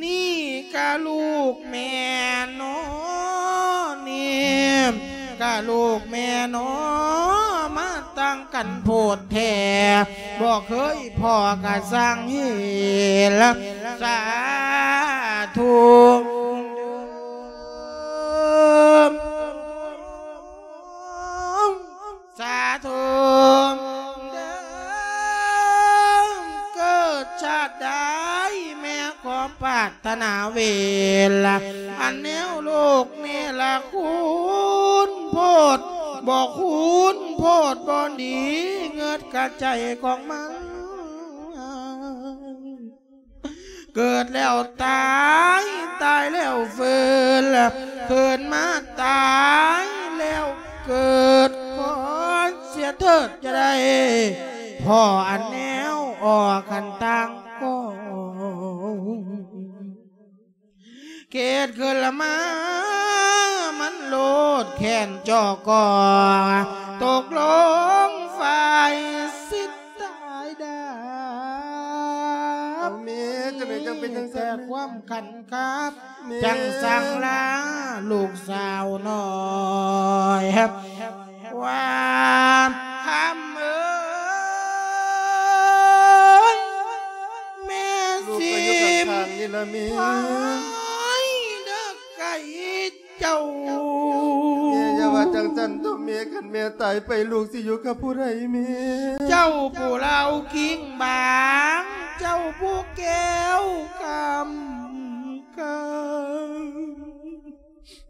ນີ້ກະລູກແມ່ນໍ ນີ້ກະລູກແມ່ນໍ ມາຕ່າງກັນໂພດແທ້ ບໍ່ເຄີຍພໍ້ກະຊ່າງເຫັນລະ ສາທຸ ສາທຸເດີ ເກີດຊາດໃດ ແມ່ຂໍປາດຖະໜາເວລາ ອັນແນວໂລກນີ້ລະຄຸນໂພດ ບໍ່ຄຸນໂພດ ບໍ່ດີເງິດກະໃຈຂອງມັນ. ເກີດແລ້ວຕາຍ ຕາຍແລ້ວຟື້ນ ຄືນມາຕາຍແລ້ວເກີດ ຂໍເສຍເຖີດຈະໄດ້ ພໍ້ອັນແນວອອກຄັນຕ່າງກໍ ເຂດຂຶ້ນລະມາ ມັນໂລດແຂນເຈາະກໍ ຕົກລົງຝ່າຍສິດ ຕາຍດາບ ເອົາແມ່ ຈັ່ງໃດຈັ່ງເປັນຈັ່ງຊັ້ນ ແຕ່ຄວາມຂັນກັບ ແມ່ ຈັ່ງສັ່ງລາລູກສາວນ້ອຍ ວ່າ ຄຳເອີຍ ແມ່ ຊິໄປຢູ່ຂ້າງໆນີ້ລະແມ່ ໄປເດີ ໄກເຈົ້າ ແມ່ຢ່າວ່າຈັ່ງຊັ້ນໂທ້ແມ່ ຄັນແມ່ຕາຍໄປ ລູກຊິຢູ່ກັບຜູ້ໃດແມ່? ເຈົ້າຜູ້ລາວກິ່ງບາງ ເຈົ້າຜູ້ແກ້ວຄຳກາ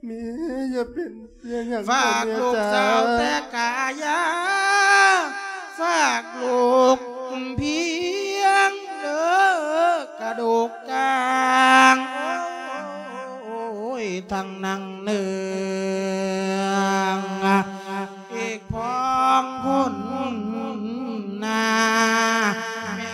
ແມ່ຢ່າເປັນ ຢ່າຫຍັງ ຝາກລູກສາວແຕ່ກາຍາ ຝາກລູກພຽງເດີ ກະດູກກາງ ໂອ້ຍ ທັງນັ່ງເໜືອງ ອີກພ້ອງພຸ້ນນາ ແມ່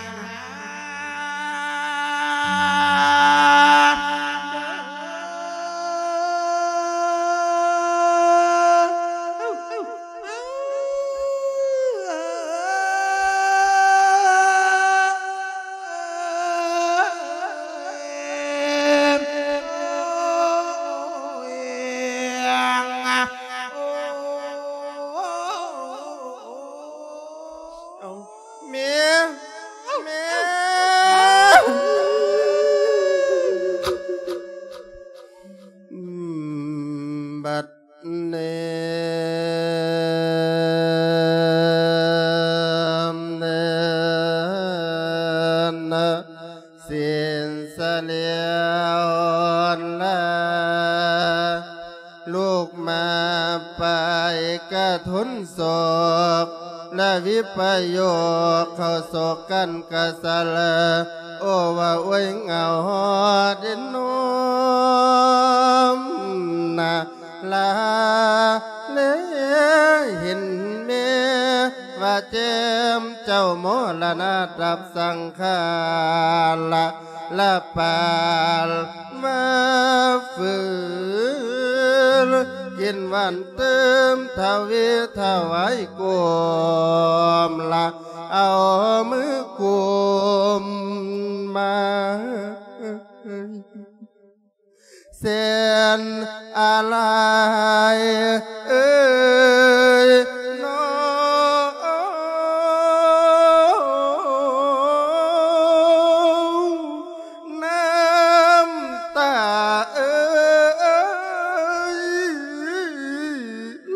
ນາ ເອົາ ແມ່ ແມ່ ອືມ ບັດ ເນີນ ເນີນ ສິ້ນສະຫຼຽວລາ ລູກມາໄປກະທົນໂສກ ລະວິປະໂຍກເຂົ້າໂສກກັນກະສະເລີ ໂອ ວ່າອວຍເຫງົາຮອດດິນນົມນາ ລາເລເຫັນແມ່ວ່າແຈ່ມເຈົ້າມໍລະນະດັບສັງຂາລະ ລະປານມາຟື້ນ ກິນຫວານຕື່ມທະວີຖະຫວາຍກົມລະ ເອົາມືກຸມມາ ແສນອາລັຍເອີຍນ້ອງ ນ້ຳຕາເອີຍ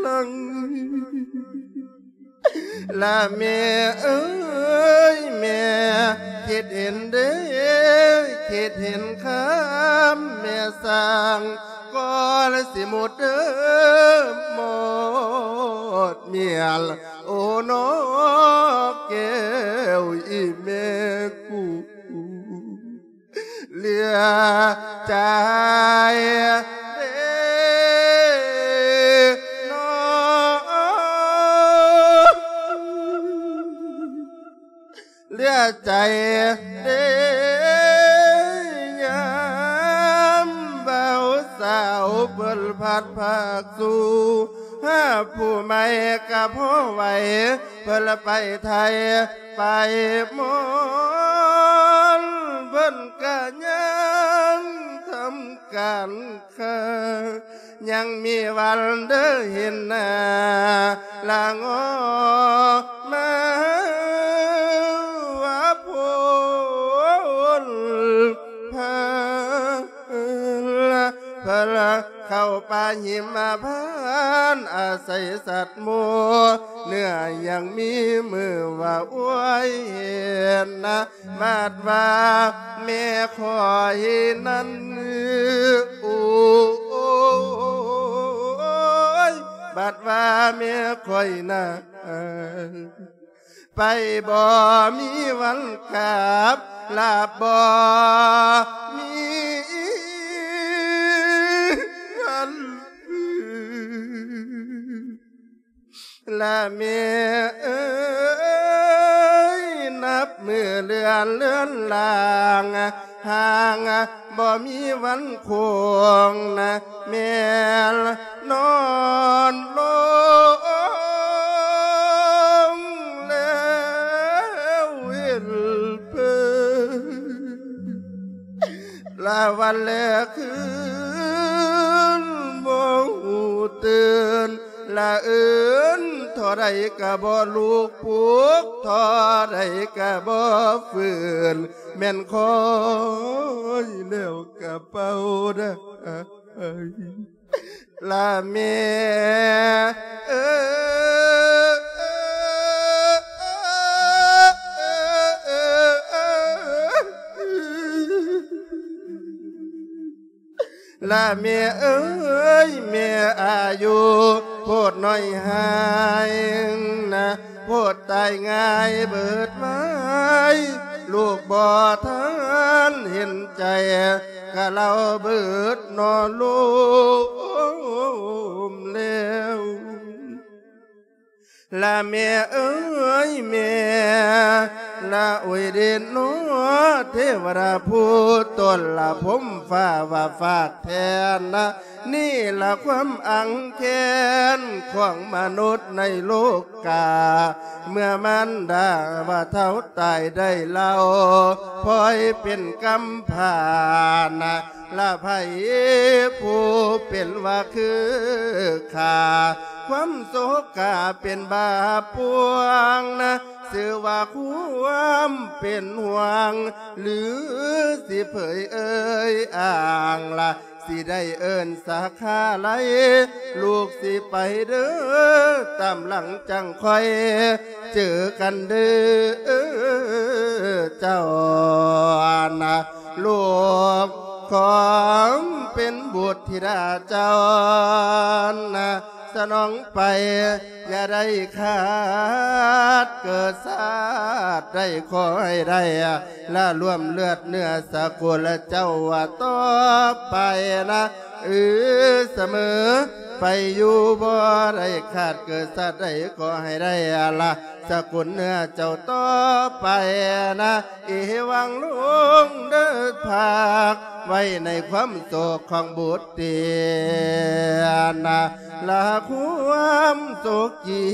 ຫຼັ່ງ ລະແມ່ເອີຍ ແມ່ຄິດເຫັນເດ້ ຄິດເຫັນຄຳແມ່ສ້າງ ກໍລະຊິໝົດເດີໝົດມຽນ ໂອ ນ້ອງແກ້ວອີ່ແມ່ກູ. ເຫຼືອໃຈເດ້ນ້ອງ ເຫຼືອໃຈເດ້ຍາມບ່າວສາວເພິ່ນພັດພາກສູ່ ຫາຜູ້ໃໝ່ກະພໍໄຫວ ເພິ່ນໄປໄທໄປມອນ ເພິ່ນກະຍັງທຳການ ເຄີຍຍັງມີວັນເດີເຫັນໜ້າລະງໍມາວ່າໂພນເພິ່ນ ເພິ່ນເຂົ້າປ່າຫິມະພານ ອາໄສສັດໝູ່ເນື້ອ ຍັງມີມື້ວ່າອວຍເຫັນນະ ບາດວ່າແມ່ຂ້ອຍນັ້ນ ໂອ້ຍ ບາດວ່າແມ່ຂ້ອຍນັ້ນ ໄປບໍ່ມີວັນກັບ ລະບໍ່ມີວັນຄືນ ລະແມ່ເອີຍ ນັບມື້ເລື່ອນເລືອນລາງ ຫ່າງບໍ່ມີວັນຄົງນະ ແມ່ນນອນລົງແລ້ວເຫັນເພິ່ນ ລະວັນແລະຄືນບໍ່ຮູ້ຕື່ນ ລະເອີ້ນທໍ່ໃດກະບໍ່ລຸກປຸກ ທໍ່ໃດກະບໍ່ຟື້ນ ແມ່ນຂ້ອຍແລ້ວກະເປົ່າໄດ້ ລະແມ່ເອີຍ ລະແມ່ເອີຍ ແມ່ອາຍຸໂພດນ້ອຍຫາຍນະ ໂພດຕາຍງ່າຍເບີດໄວ ລູກບໍ່ທັນເຫັນໃຈ ກະເລົ່າເບີດນອນລົມແລ້ວ ລະແມ່ເອີຍແມ່ ລະໂອຍເດນນອ ເທວະດາຜູ້ຕົ້ນລະພົມຟ້າວ່າຝາກແທນນະ ນີ້ລະຄວາມອັງແຄ້ນຂອງມະນຸດໃນໂລກກາ ເມື່ອມານດາວ່າເຖົ້າຕາຍໄດ້ເລົ່າ ພອຍເປັນກຳພ້ານະ ລະໃຜຜູ້ເປັນວ່າຄືຂ້າ ຄວາມໂສກາເປັນບາບປວງນະ ຊື່ວ່າຄວາມເປັນຫ່ວງ ຫຼື ຊິເຜີຍເອີຍອ້າງລະ ຊິໄດ້ເອີ້ນສາຂາໄລ ລູກຊິໄປເດີ ຕາມຫຼັງຈັ່ງຄ່ອຍເຈີກັນເດີ ເຈົ້ານະ ລູກຂອງເປັນບຸດທິດາເຈົ້ານະ ສະໜອງໄປ ຢ່າໄດ້ຂາດເກີດຊາດໃດ ຂໍໃຫ້ໄດ້ລະລວມເລືອດເນື້ອສະກຸນລະເຈົ້າວ່າຕໍ່ໄປນະ ເອີ ສະເໝີໄປຢູ່ ບໍ່ໄດ້ຂາດເກີດຊາດໃດ ຂໍໃຫ້ໄດ້ລະສະກຸນເນື້ອເຈົ້າຕໍ່ໄປນະ ເອວັງລົງເດີພາກໄວ້ໃນຄວາມໂສກຂອງບຸດ ເຕີນນະ ລະຄວາມສຸຂີ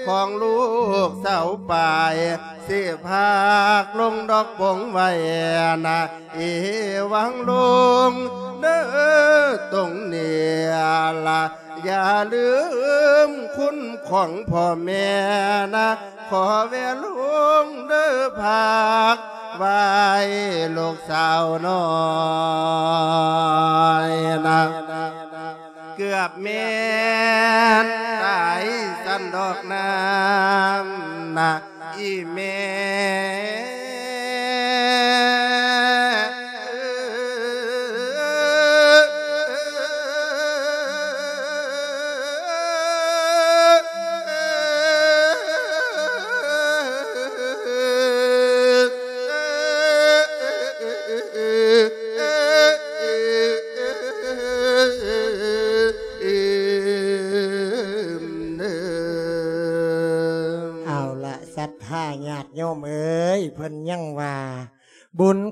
ຂອງລູກສາວປາຍ ຊິພາກລົງດອກປົງໄວ້ນະ ເອວັງລົງເດີຕົງນີ້ລະ ຢ່າລືມຄຸນຂອງພໍ່ແມ່ນະ ຂໍແວ່ລົງເດີພາກໄວ້ລູກສາວນ້ອຍນະ ເກືອບແມ່ນຕາຍຊັ້ນດອກນາງນະ ອີ່ແມ່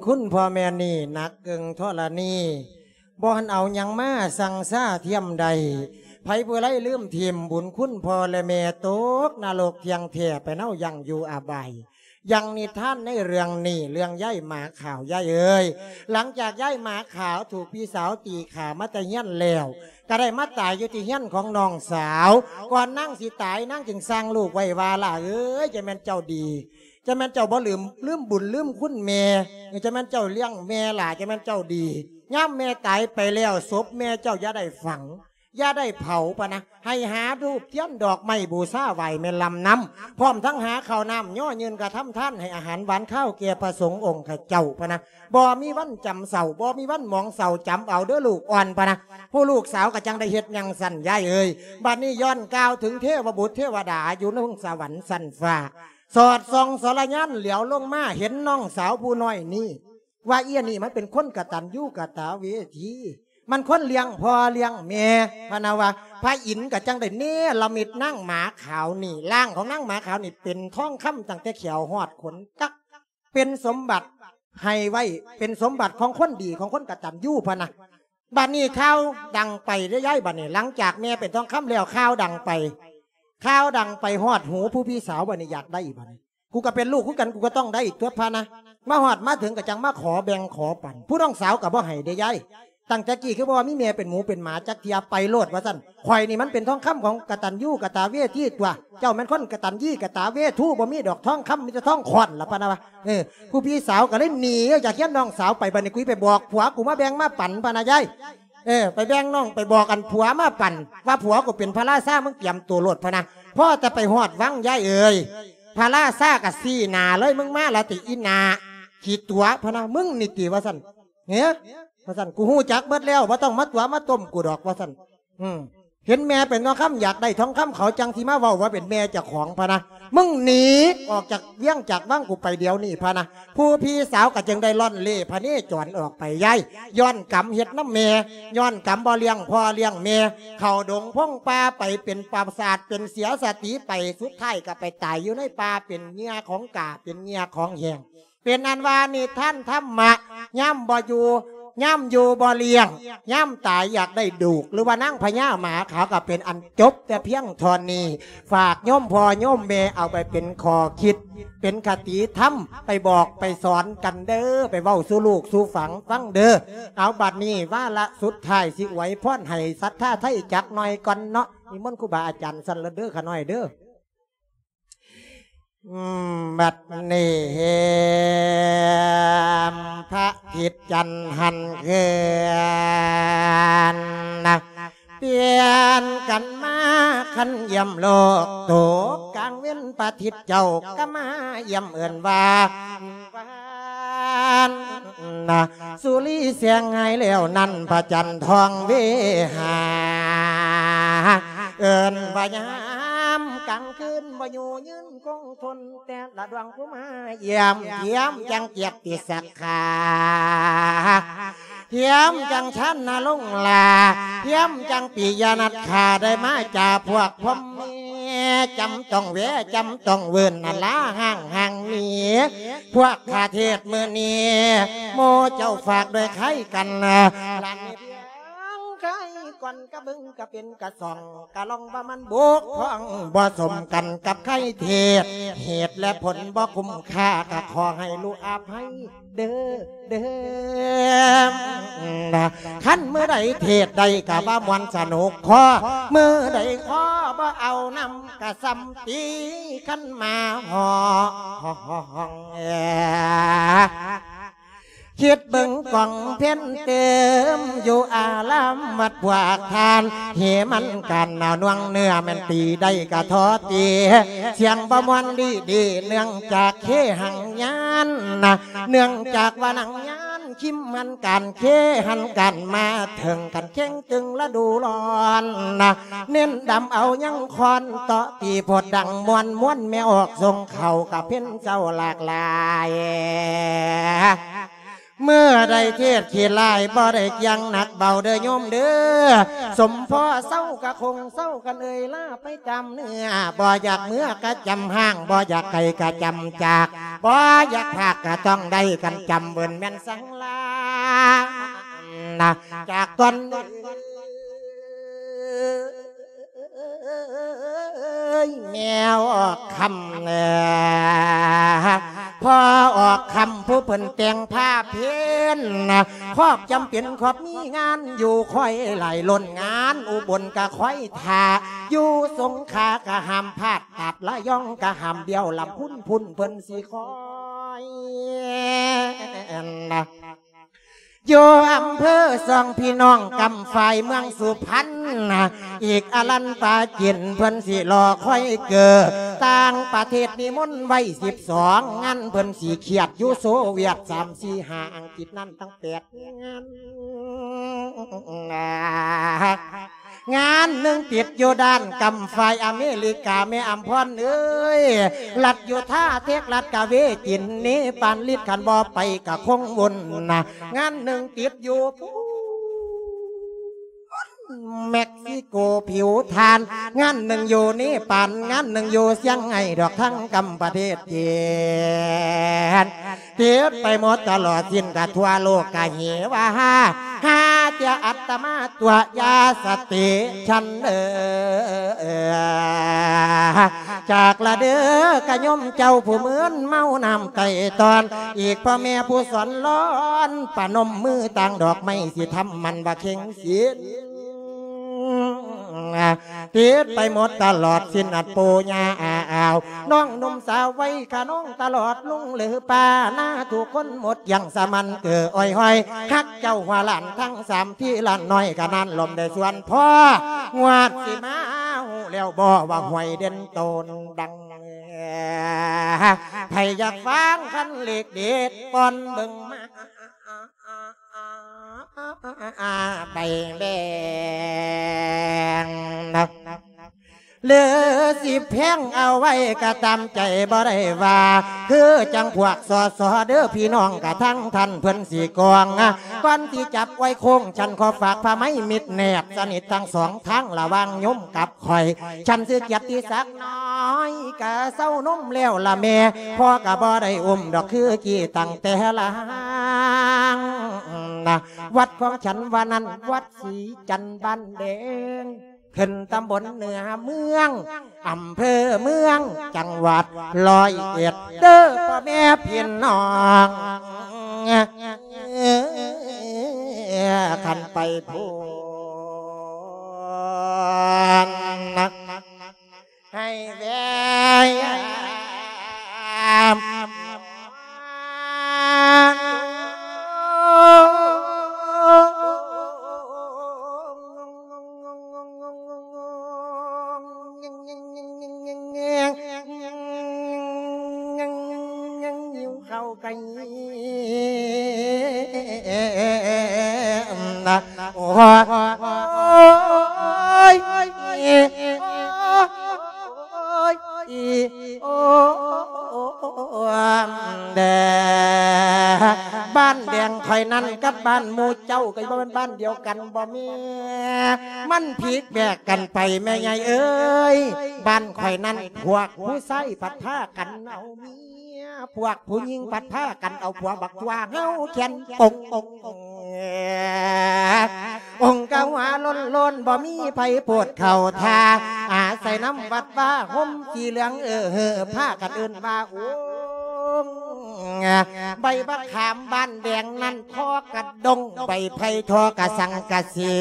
ຄຸນພໍ່ແມ່ນີ້ໜັກເກິ່ງທໍລະນີ ບໍ່ທັນເອົາຫຍັງມາຊັ່ງຊາທຽມໄດ້. ໃຜຜູ້ໃດລືມຖິ້ມບຸນຄຸນພໍ່ແລະແມ່ ຕົກນະລົກທ່ຽງແທ້ ໄປເນົາຢ່າງຢູ່ອະບາຍ. ຢ່າງນິທານໃນເລື່ອງນີ້ ເລື່ອງຍາຍໝາຂາວ ຍາຍເອີຍ. ຫຼັງຈາກຍາຍໝາຂາວຖືກພີ່ສາວຕີຂ້າມາແຕ່ເຮືອນແລ້ວ ກໍໄດ້ມາຕາຍຢູ່ທີ່ເຮືອນຂອງນ້ອງສາວ. ກ່ອນນາງຊິຕາຍ ນາງຈຶ່ງສັ່ງລູກໄວ້ວ່າ ຫຼ້າເອີຍ ຈະແມ່ນເຈົ້າດີ ຈະແມ່ນເຈົ້າບໍ່ລືມ ລືມບຸນລືມຄຸນແມ່ ຈະແມ່ນເຈົ້າລ້ຽງແມ່ຫຼ້າ ຈະແມ່ນເຈົ້າດີ. ຍາມແມ່ຕາຍໄປແລ້ວ ສົບແມ່ເຈົ້າຢ່າໄດ້ຝັງ ຢ່າໄດ້ເຜົາ ປະນະ ໃຫ້ຫາທູບທຽນດອກໄມ້ບູຊາໄຫວ້ແມ່ລຳນຳ ພ້ອມທັງຫາເຂົ້ານ້ຳຍໍຍື່ນກະທຳທານ ໃຫ້ອາຫານຫວານຄາວແກ່ພະສົງອົງຂະເຈົ້າ ປະນະ. ບໍ່ມີວັນຈຳເສົ້າ ບໍ່ມີວັນໝອງເສົ້າ ຈຳເອົາເດີລູກອ່ອນ ປະນະ. ຜູ້ລູກສາວກໍຈັ່ງໄດ້ເຮັດຢ່າງຊັ້ນ ຍາຍເອີຍ. ບັດນີ້ຍ້ອນກ່າວເຖິງເທວະບຸດເທວະດາຢູ່ເທິງສະຫວັນຊັ້ນຟ້າ ສອດສ່ອງສາລະຍານຫຼຽວລົງມາ ເຫັນນ້ອງສາວຜູ້ນ້ອຍນີ້ ວ່າອີ່ນີ້ມັນເປັນຄົນກະຕັນຍູກະຕະເວທີ ມັນຄົນລ້ຽງພໍ່ລ້ຽງແມ່ ພະນະວ່າ. ພະອິນກໍຈັ່ງໄດ້ເນລະມິດນາງໝາຂາວນີ້ ຮ່າງຂອງນາງໝາຂາວນີ້ເປັນທອງຄຳຕັ້ງແຕ່ແຂ້ວຮອດຂົນ ກັກ ເປັນສົມບັດໃຫ້ໄວ້ ເປັນສົມບັດຂອງຄົນດີ ຂອງຄົນກະຕັນຍູ ພະນະ. ບັດນີ້ຂ່າວດັງໄປເດ້ຍາຍ ບັດນີ້ ຫຼັງຈາກແມ່ເປັນທອງຄຳແລ້ວ ຂ່າວດັງໄປ ຂ່າວດັງໄປຮອດຫູຜູ້ພີ່ສາວ ບັດນີ້ຢາກໄດ້ ບັດນີ້ ກູກໍເປັນລູກຄືກັນ ກູກໍຕ້ອງໄດ້ຕົວະ ພະນະ. ມາຮອດມາເຖິງກໍຈັ່ງມາຂໍແບ່ງຂໍປັນ ຜູ້ນ້ອງສາວກໍບໍ່ໃຫ້ເດ້ຍາຍ. ຕັ້ງແຕ່ກີ້ຄືບໍ່ວ່າມີແມ່ເປັນໝູເປັນໝາຈັກເທື່ອ ໄປໂລດວ່າຊັ້ນ. ຂ້ອຍນີ້ມັນເປັນທອງຄຳຂອງກະຕັນຍູກະຕະເວທີຕົວະ ເຈົ້າແມ່ນຄົນກະຕັນຍູກະຕະເວທູ ບໍ່ມີດອກທອງຄຳ ມີແຕ່ທອງຄ້ອນລະ ພະນະວ່າ. ເອີ ຜູ້ພີ່ສາວກໍເລີຍໜີອອກຈາກເຮືອນນ້ອງສາວໄປ ບັດນີ້ກູໄປບອກຜົວກູມາແບ່ງມາປັນ ພະນະຍາຍ. ເອີ ໄປແບ່ງນ້ອງ ໄປບອກອັນຜົວມາປັນ ວ່າຜົວກູເປັນພະລາຊາ ມຶງຕຽມໂຕໂລດ ພະນະ. ພໍແຕ່ໄປຮອດວັງ ຍາຍເອີຍ ພະລາຊາກໍຊີ້ໜ້າເລີຍ ມຶງມາລະຕິອີ່ໜ້າຂີ້ຕົວະ ພະນະ ມຶງນີ້ຕິ ວ່າຊັ້ນ. ເອີ ວ່າຊັ້ນ ກູຮູ້ຈັກເບິດແລ້ວ ບໍ່ຕ້ອງມາຕົວະມາຕົ້ມກູດອກ ວ່າຊັ້ນ. ອືມ ເຫັນແມ່ເປັນທອງຄຳ ຢາກໄດ້ທອງຄຳ ເຂົາຈັ່ງຊິມາເວົ້າວ່າເປັນແມ່ເຈົ້າຂອງ ພະນະ. ມຶງໜີອອກຈາກວຽງຈາກວັງກູໄປດຽວນີ້ ພະນະ. ຜູ້ພີ່ສາວກໍຈຶ່ງໄດ້ລ່ອນເລ່ພະເນຈອນອອກໄປ ຍາຍ. ຍ້ອນກຳເຮັດນຳແມ່ ຍ້ອນກຳບໍ່ລ້ຽງພໍ່ລ້ຽງແມ່ ເຂົ້າດົງພົງປ່າໄປ ເປັນປະສາດ ເປັນເສຍສະຕິໄປ ສຸດທ້າຍກໍໄປຕາຍຢູ່ໃນປ່າ ເປັນເຫຍື່ອຂອງກ້າ ເປັນເຫຍື່ອຂອງແຫ້ງ. ເປັນອັນວ່ານິທານທຳມະ ຍາມບໍ່ຢູ່ ຍາມຢູ່ບໍ່ລ້ຽງ ຍາມຕາຍຢາກໄດ້ດູກ ຫຼືວ່ານາງພະຍາໝາຂາວ ກໍເປັນອັນຈົບແຕ່ພຽງເທົ່ານີ້. ຝາກໂຍມພໍ່ໂຍມແມ່ເອົາໄປເປັນຂໍ້ຄິດ ເປັນຄະຕິທຳ ໄປບອກໄປສອນກັນເດີ ໄປເວົ້າສູ່ລູກສູ່ຝັງຟັງເດີ. ເອົາ ບັດນີ້ວາລະສຸດທ້າຍ ຊິອວຍພອນໃຫ້ສັດທາໄທຈັກໜ້ອຍກ່ອນເນາະ. ນິມົນຄູບາອາຈານຊັ້ນລະເດີ ຂະນ້ອຍເດີ. ອືມ ບັດນີ້ແຮມພະທິດຈັນຫັນເຄື່ອນນະ ປ່ຽນກັນມາຄັນຢ້ຽມໂລກ ຕົກກາງເວັນພະທິດເຈົ້າກໍມາຢ້ຽມ ເອີ້ນວ່າ ນະ ສຸລີແສງຫາຍແລ້ວນັ້ນ ພະຈັນທອງເວຫາ ເອີ້ນວ່າຍາມກາງຄືນ ບໍ່ຢູ່ຍືນຄົງທົນ ແຕ່ລະດວງຜູ້ມາຢ້ຽມ ຢ້ຽມຈັ່ງກຽດຕິສັກຂາ ຢ້ຽມຈັ່ງຊານນະລົງລາ ຢ້ຽມຈັ່ງປິຍະນັດຂາ ໄດ້ມາຈາພວກພົມ ແມ່ຈຳຕ້ອງແວະ ຈຳຕ້ອງເວີນ ອາລາຮ່າງຫ່າງໜີ ພວກຂ້າເທດມື້ນີ້ ໝູ່ເຈົ້າຝາກດ້ວຍໄຄກັນ ລະເຮັດຫຍັງໄຄກ່ອນກະເບິ່ງກະເປັນກະສ່ອງ ກະລອງວ່າມັນບົກຜ່ອງ ບໍ່ສົມກັນກັບໄຄເທດ ເຫດແລະຜົນບໍ່ຄຸ້ມຄ່າ ກະຂໍໃຫ້ລູກອະໄພ ເດີເດີ ຄັນມື້ໃດເທດໄດ້ກະວ່າມ່ວນສະໜຸກຄໍ ມື້ໃດຄໍບໍ່ເອົານຳກະສ່ຳຕີຄັນໝາຮ້ອງ. ຄິດເບິ່ງກອງເພັນເຕີມຢູ່ອາລາມວັດພວກທ່ານ ເຫມັນກັນໜ່ວງເນື້ອແມ່ນຕີໄດ້ກະທໍຕີ ສຽງບໍ່ມ່ວນດີໆ ເນື່ອງຈາກເຄຫັງຍານ ເນື່ອງຈາກວ່ານາງຍານ ຄິມຫັນການເຄຫັນການມາເຖິງກັນເຄັ່ງຕຶງລະດູຮ້ອນ ເນັ້ນດຳເອົາຍັງຄອນເຕາະຕີໂພດດັງມ່ວນມ່ວນແມ່ອອກສົ່ງເຂົ້າກະເພັນເຈົ້າຫຼາກຫຼາຍ ເມື່ອໃດເທດຂີ້ຫຼາຍ ບໍ່ໄດ້ກ່ຽງໜັກເບົາເດີໂຍມເດີ. ສົມພໍເຊົາກະຄົງເຊົາກັນເອີຍ ລາໄປຈຳເນື້ອ ບໍ່ຢາກເມືອກະຈຳຮ່າງ ບໍ່ຢາກໄກກະຈຳຈາກ ບໍ່ຢາກພາກກະຕ້ອງໄດ້ກັນຈຳ ເບິ່ນແມ່ນສັງລານະ ຈາກຕອນ ເອີຍ ແມ່ອອກຄຳ ພໍ່ອອກຄຳ ຜູ້ເພິ່ນແຕ່ງພາເພັນ ຄອບຈຳເປັນ ຄອບມີງານຢູ່ ຄອຍຫຼາຍລົ້ນງານ ອຸບົນກະຄອຍຖ້າ ຢູ່ສົງຂາກະຫ້າມພາດ ຕາດລະຍອງກະຫ້າມບ້ຽວ ລຳພຸນພຸ້ນເພິ່ນຊິຄອຍ ຢູ່ອຳເພີສອງພີ່ນ້ອງ ກຳຝາຍເມືອງສຸພັນ ອີກອະລັນປາຈີນ ເພິ່ນຊິລໍຄອຍເກີດ ຕ່າງປະເທດນິມົນໄວ້ສິບສອງ ງານເພິ່ນຊິຄຽດ ຢູ່ໂຊວຽດສາມ ສີ່ ຫ້າ ອັງກິດນັ້ນຕັ້ງແປດງານ. ງານໜຶ່ງຕິດຢູ່ດ້ານກຳຝາຍອາເມລິກາ ແມ່ອຳພອນເອີຍ ລັດຢູທາ ເທັກຊັສ ກະເວຈິນ ເນປານ ລິດ ຄັນບໍ່ໄປກະຄົງວຸ່ນນະ. ງານໜຶ່ງຕິດຢູ່ພຸ້ນ ເມັກຊິໂກ ຜິວທານ ງານໜຶ່ງຢູ່ເນປານ ງານໜຶ່ງຢູ່ຊຽງໄຮ້ ດອກທາງກຳປະເທດຈີນ. ຕິດໄປໝົດຕະຫຼອດສິ້ນກະທົ່ວໂລກກະເຫວາ ຫາເທື່ອອັດຕະມາຕົວະ ຢ່າສະຕິສັນເອີ ຈາກລະເດີກະໂຍມເຈົ້າຜູ້ມືນເມົານ້ຳໄຕຕອນ ອີກພໍ່ແມ່ຜູ້ສອນລອນ ປະນົມມືຕາງດອກໄມ້ ຊິທຳໝັ້ນວ່າເຄັ່ງສິນ ຕິດໄປໝົດຕະຫຼອດສິ້ນອັດປູຍ່າອາອາວ ນ້ອງໜຸ່ມສາວໄວຂະນອງຕະຫຼອດລຸງຫຼືປ້າ ໜ້າທຸກຄົນໝົດຢ່າງສະໝັນເກີອ້ອຍຫ້ອຍ ຮັກເຈົ້າຫົວຫຼານທັງສາມທີ່ຫຼານນ້ອຍກະນັ້ນລົມໄດ້ສວນພໍ່ ງວດຊິມາຮູ້ແລ້ວບໍ່ວ່າຫວຍເດັ່ນໂຕນດັງ ໃຜຢາກຟັງຄັນເລກເດັດປ່ອນເບິ່ງມາ ໃບແບງ ຫຼືຊິແພງເອົາໄວ້ກະຕາມໃຈບໍ່ໄດ້ວ່າ ຄືຈັ່ງພວກ ສສ ເດີພີ່ນ້ອງກະທັງທ່ານເພິ່ນຊິກອງ ກ່ອນທີ່ຈັບໄວ້ໂຄ້ງ ສັນຂໍຝາກຜ້າໄມ້ມິດແນບສະໜິດທັງສອງທາງລະຫວ່າງໂຍມກັບ ຂ້ອຍ ສັນຊື່ກຽດຕິສັກນ້ອຍ ກະເຊົານົມແລ້ວລະແມ່ ພໍ່ກະບໍ່ໄດ້ອຸ້ມດອກຄືກີ້ຕັ້ງແຕ່ລາງນະ ວັດຂອງສັນວ່ານັ້ນ ວັດສີຈັນບ້ານແດງ ຂຶ້ນຕຳບົນເໜືອເມືອງ ອຳເພີເມືອງ ຈັງຫວັດຮ້ອຍເອັດ ເດີພໍ່ແມ່ພີ່ນ້ອງ ຄັນໄປພຸ້ນ ໃຫ້ແວ່ຍາມ ຫິວເຂົ້າກະຫິມນະ ໂອ້ຍ ໂອ້ຍ ໂອ້ຍ ໂອ້ຍ ແດ ບ້ານແດງຂ້ອຍນັ້ນກັບບ້ານໝູ່ເຈົ້າ ກະບໍ່ແມ່ນບ້ານດຽວກັນບໍ່ແມ່ ມັນພິກແບກກັນໄປແມ່ໃຫຍ່ເອີຍ ບ້ານຂ້ອຍນັ້ນພວກຜູ້ຊາຍພັດພາກັນເອົາເມຍ ພວກຜູ້ຍິງພັດພາກັນເອົາຜົວບັກຕົວະ ເຫົ່າແຂນປົກ ອົງກະຫົວໂລ້ນໆ ບໍ່ມີໃຜໂພດເຂົ້າທ່າ ອາໄສນຳວັດວາຮົ່ມສີເຫຼືອງ ເອີເຮີ ພາກັນເອີ້ນວ່າອົງ ໃບບັກຂາມບ້ານແດງນັ້ນ ທໍ່ກະດົງ ໃບໄຜ່ທໍ່ກະສັງກະສີ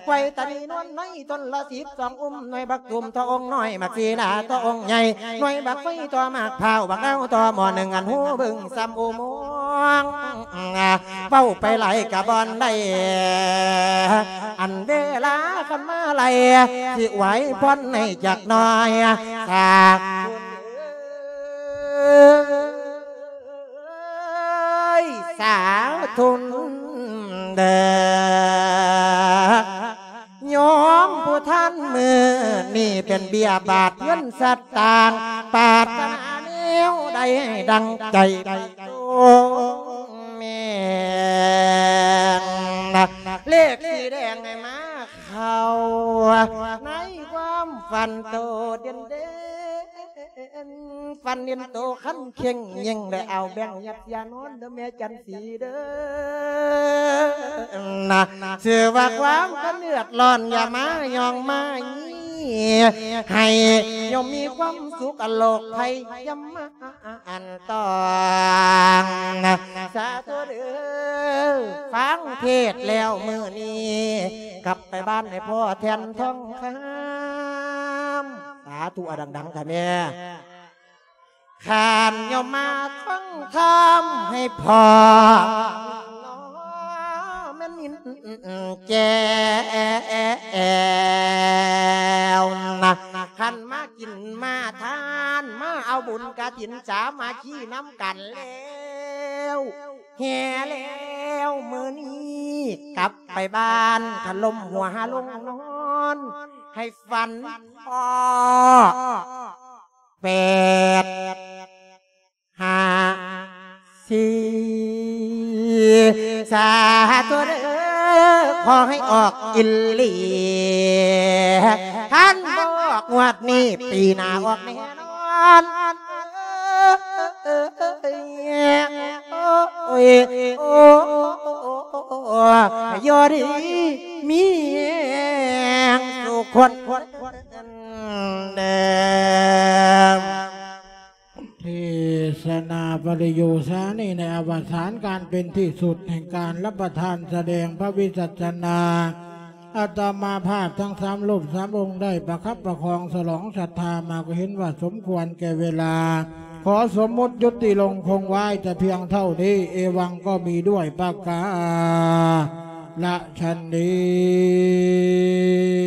ໄວ້ຕານີນວນໃນ ຕົ້ນລະສິບສອງ ອຸ້ມໜ່ວຍບັກຕູມ ທໍ່ອົງນ້ອຍ ໝາກສີດາ ທໍ່ອົງໃຫຍ່ ໜ່ວຍບັກໄຟ ທໍ່ໝາກພ້າວ ບັກນາວ ທໍ່ໝໍ້ໜຶ່ງ ອັນຫູບຶງສ່ຳອຸໂມງ ເວົ້າໄປຫຼາຍກະບໍ່ໄດ້ ອັນເວລາຄັນມາໄລ່ ຊິອວຍພອນໃຫ້ຈັກໜ່ອຍ ສາ ເອີຍ ສາທຸນເດີ ໂຍມຜູ້ທ່ານ ມື້ນີ້ເປັນເບ້ຍບາດເງິນສະຕາງ ປາດຖະໜາແນວໃດໃຫ້ດັ່ງໃຈໄດ້ຕົງ ເລກສີແດງໃຫ້ມາເຂົ້າໃນຄວາມຝັນໂຕເດັ່ນເດັ່ນ ຝັນເຫັນໂຕຄັນເຄັ່ງເຄັ່ງ ໄດ້ເອົາແບ່ງຍັດຢານອນເດີແມ່ຈັນສີເດີ ນະ ຊື່ວ່າຄວາມຄັນເດືອດຮ້ອນ ຢ່າມາຍ້ອງມາໃຫ້ໂຍມມີຄວາມສຸກ ອະໂລກໄພຢ່າມາອັນຕອງ ນະ ສາທຸເດີ ຟັງເທດແລ້ວມື້ນີ້ ກັບໄປບ້ານໃຫ້ພໍ່ແທ່ນທອງຄຳ ສາທຸ ອາ ດັງໆ ຂ້າແມ່ ຂ້ານໂຍມມາຟັງທຳໃຫ້ພໍ່ ແມ່ນຍິນແຈ້ວນະ ຄັນມາກິນມາທານ ມາເອົາບຸນກະຖິນສາມັກຄີນຳກັນແລ້ວ ແຫ່ແລ້ວມື້ນີ້ ກັບໄປບ້ານ ຄັນລົມຫົວຫາລົງນອນ ໃຫ້ຝັນພໍ້ ແປດ ຫ້າ ສີ່ ສາທຸເດີ ຂໍໃຫ້ອອກອີ່ຫຼີ ຄັນບໍ່ອອກງວດນີ້ ປີໜ້າອອກແນ່ນອນ ໂອ້ຍ ໂອ້ຍ ຢູ່ດີມີແຮງສູ່ຄົນເດີ. ເທສະນາປະລິໂຍຊານີ້ ໃນອະວະສານການເປັນທີ່ສຸດແຫ່ງການຮັບປະທານສະແດງພະວິສັດສະນາ ອາດຕະມາພາບທັງສາມຮູບສາມອົງໄດ້ປະຄັບປະຄອງສະຫຼອງສັດທາມາ ກໍເຫັນວ່າສົມຄວນແກ່ເວລາ ຂໍສົມມຸດຢຸດຕິລົງຄົງໄວ້ແຕ່ພຽງເທົ່ານີ້ ເອວັງກໍມີດ້ວຍປະກາລະສັນນີ້.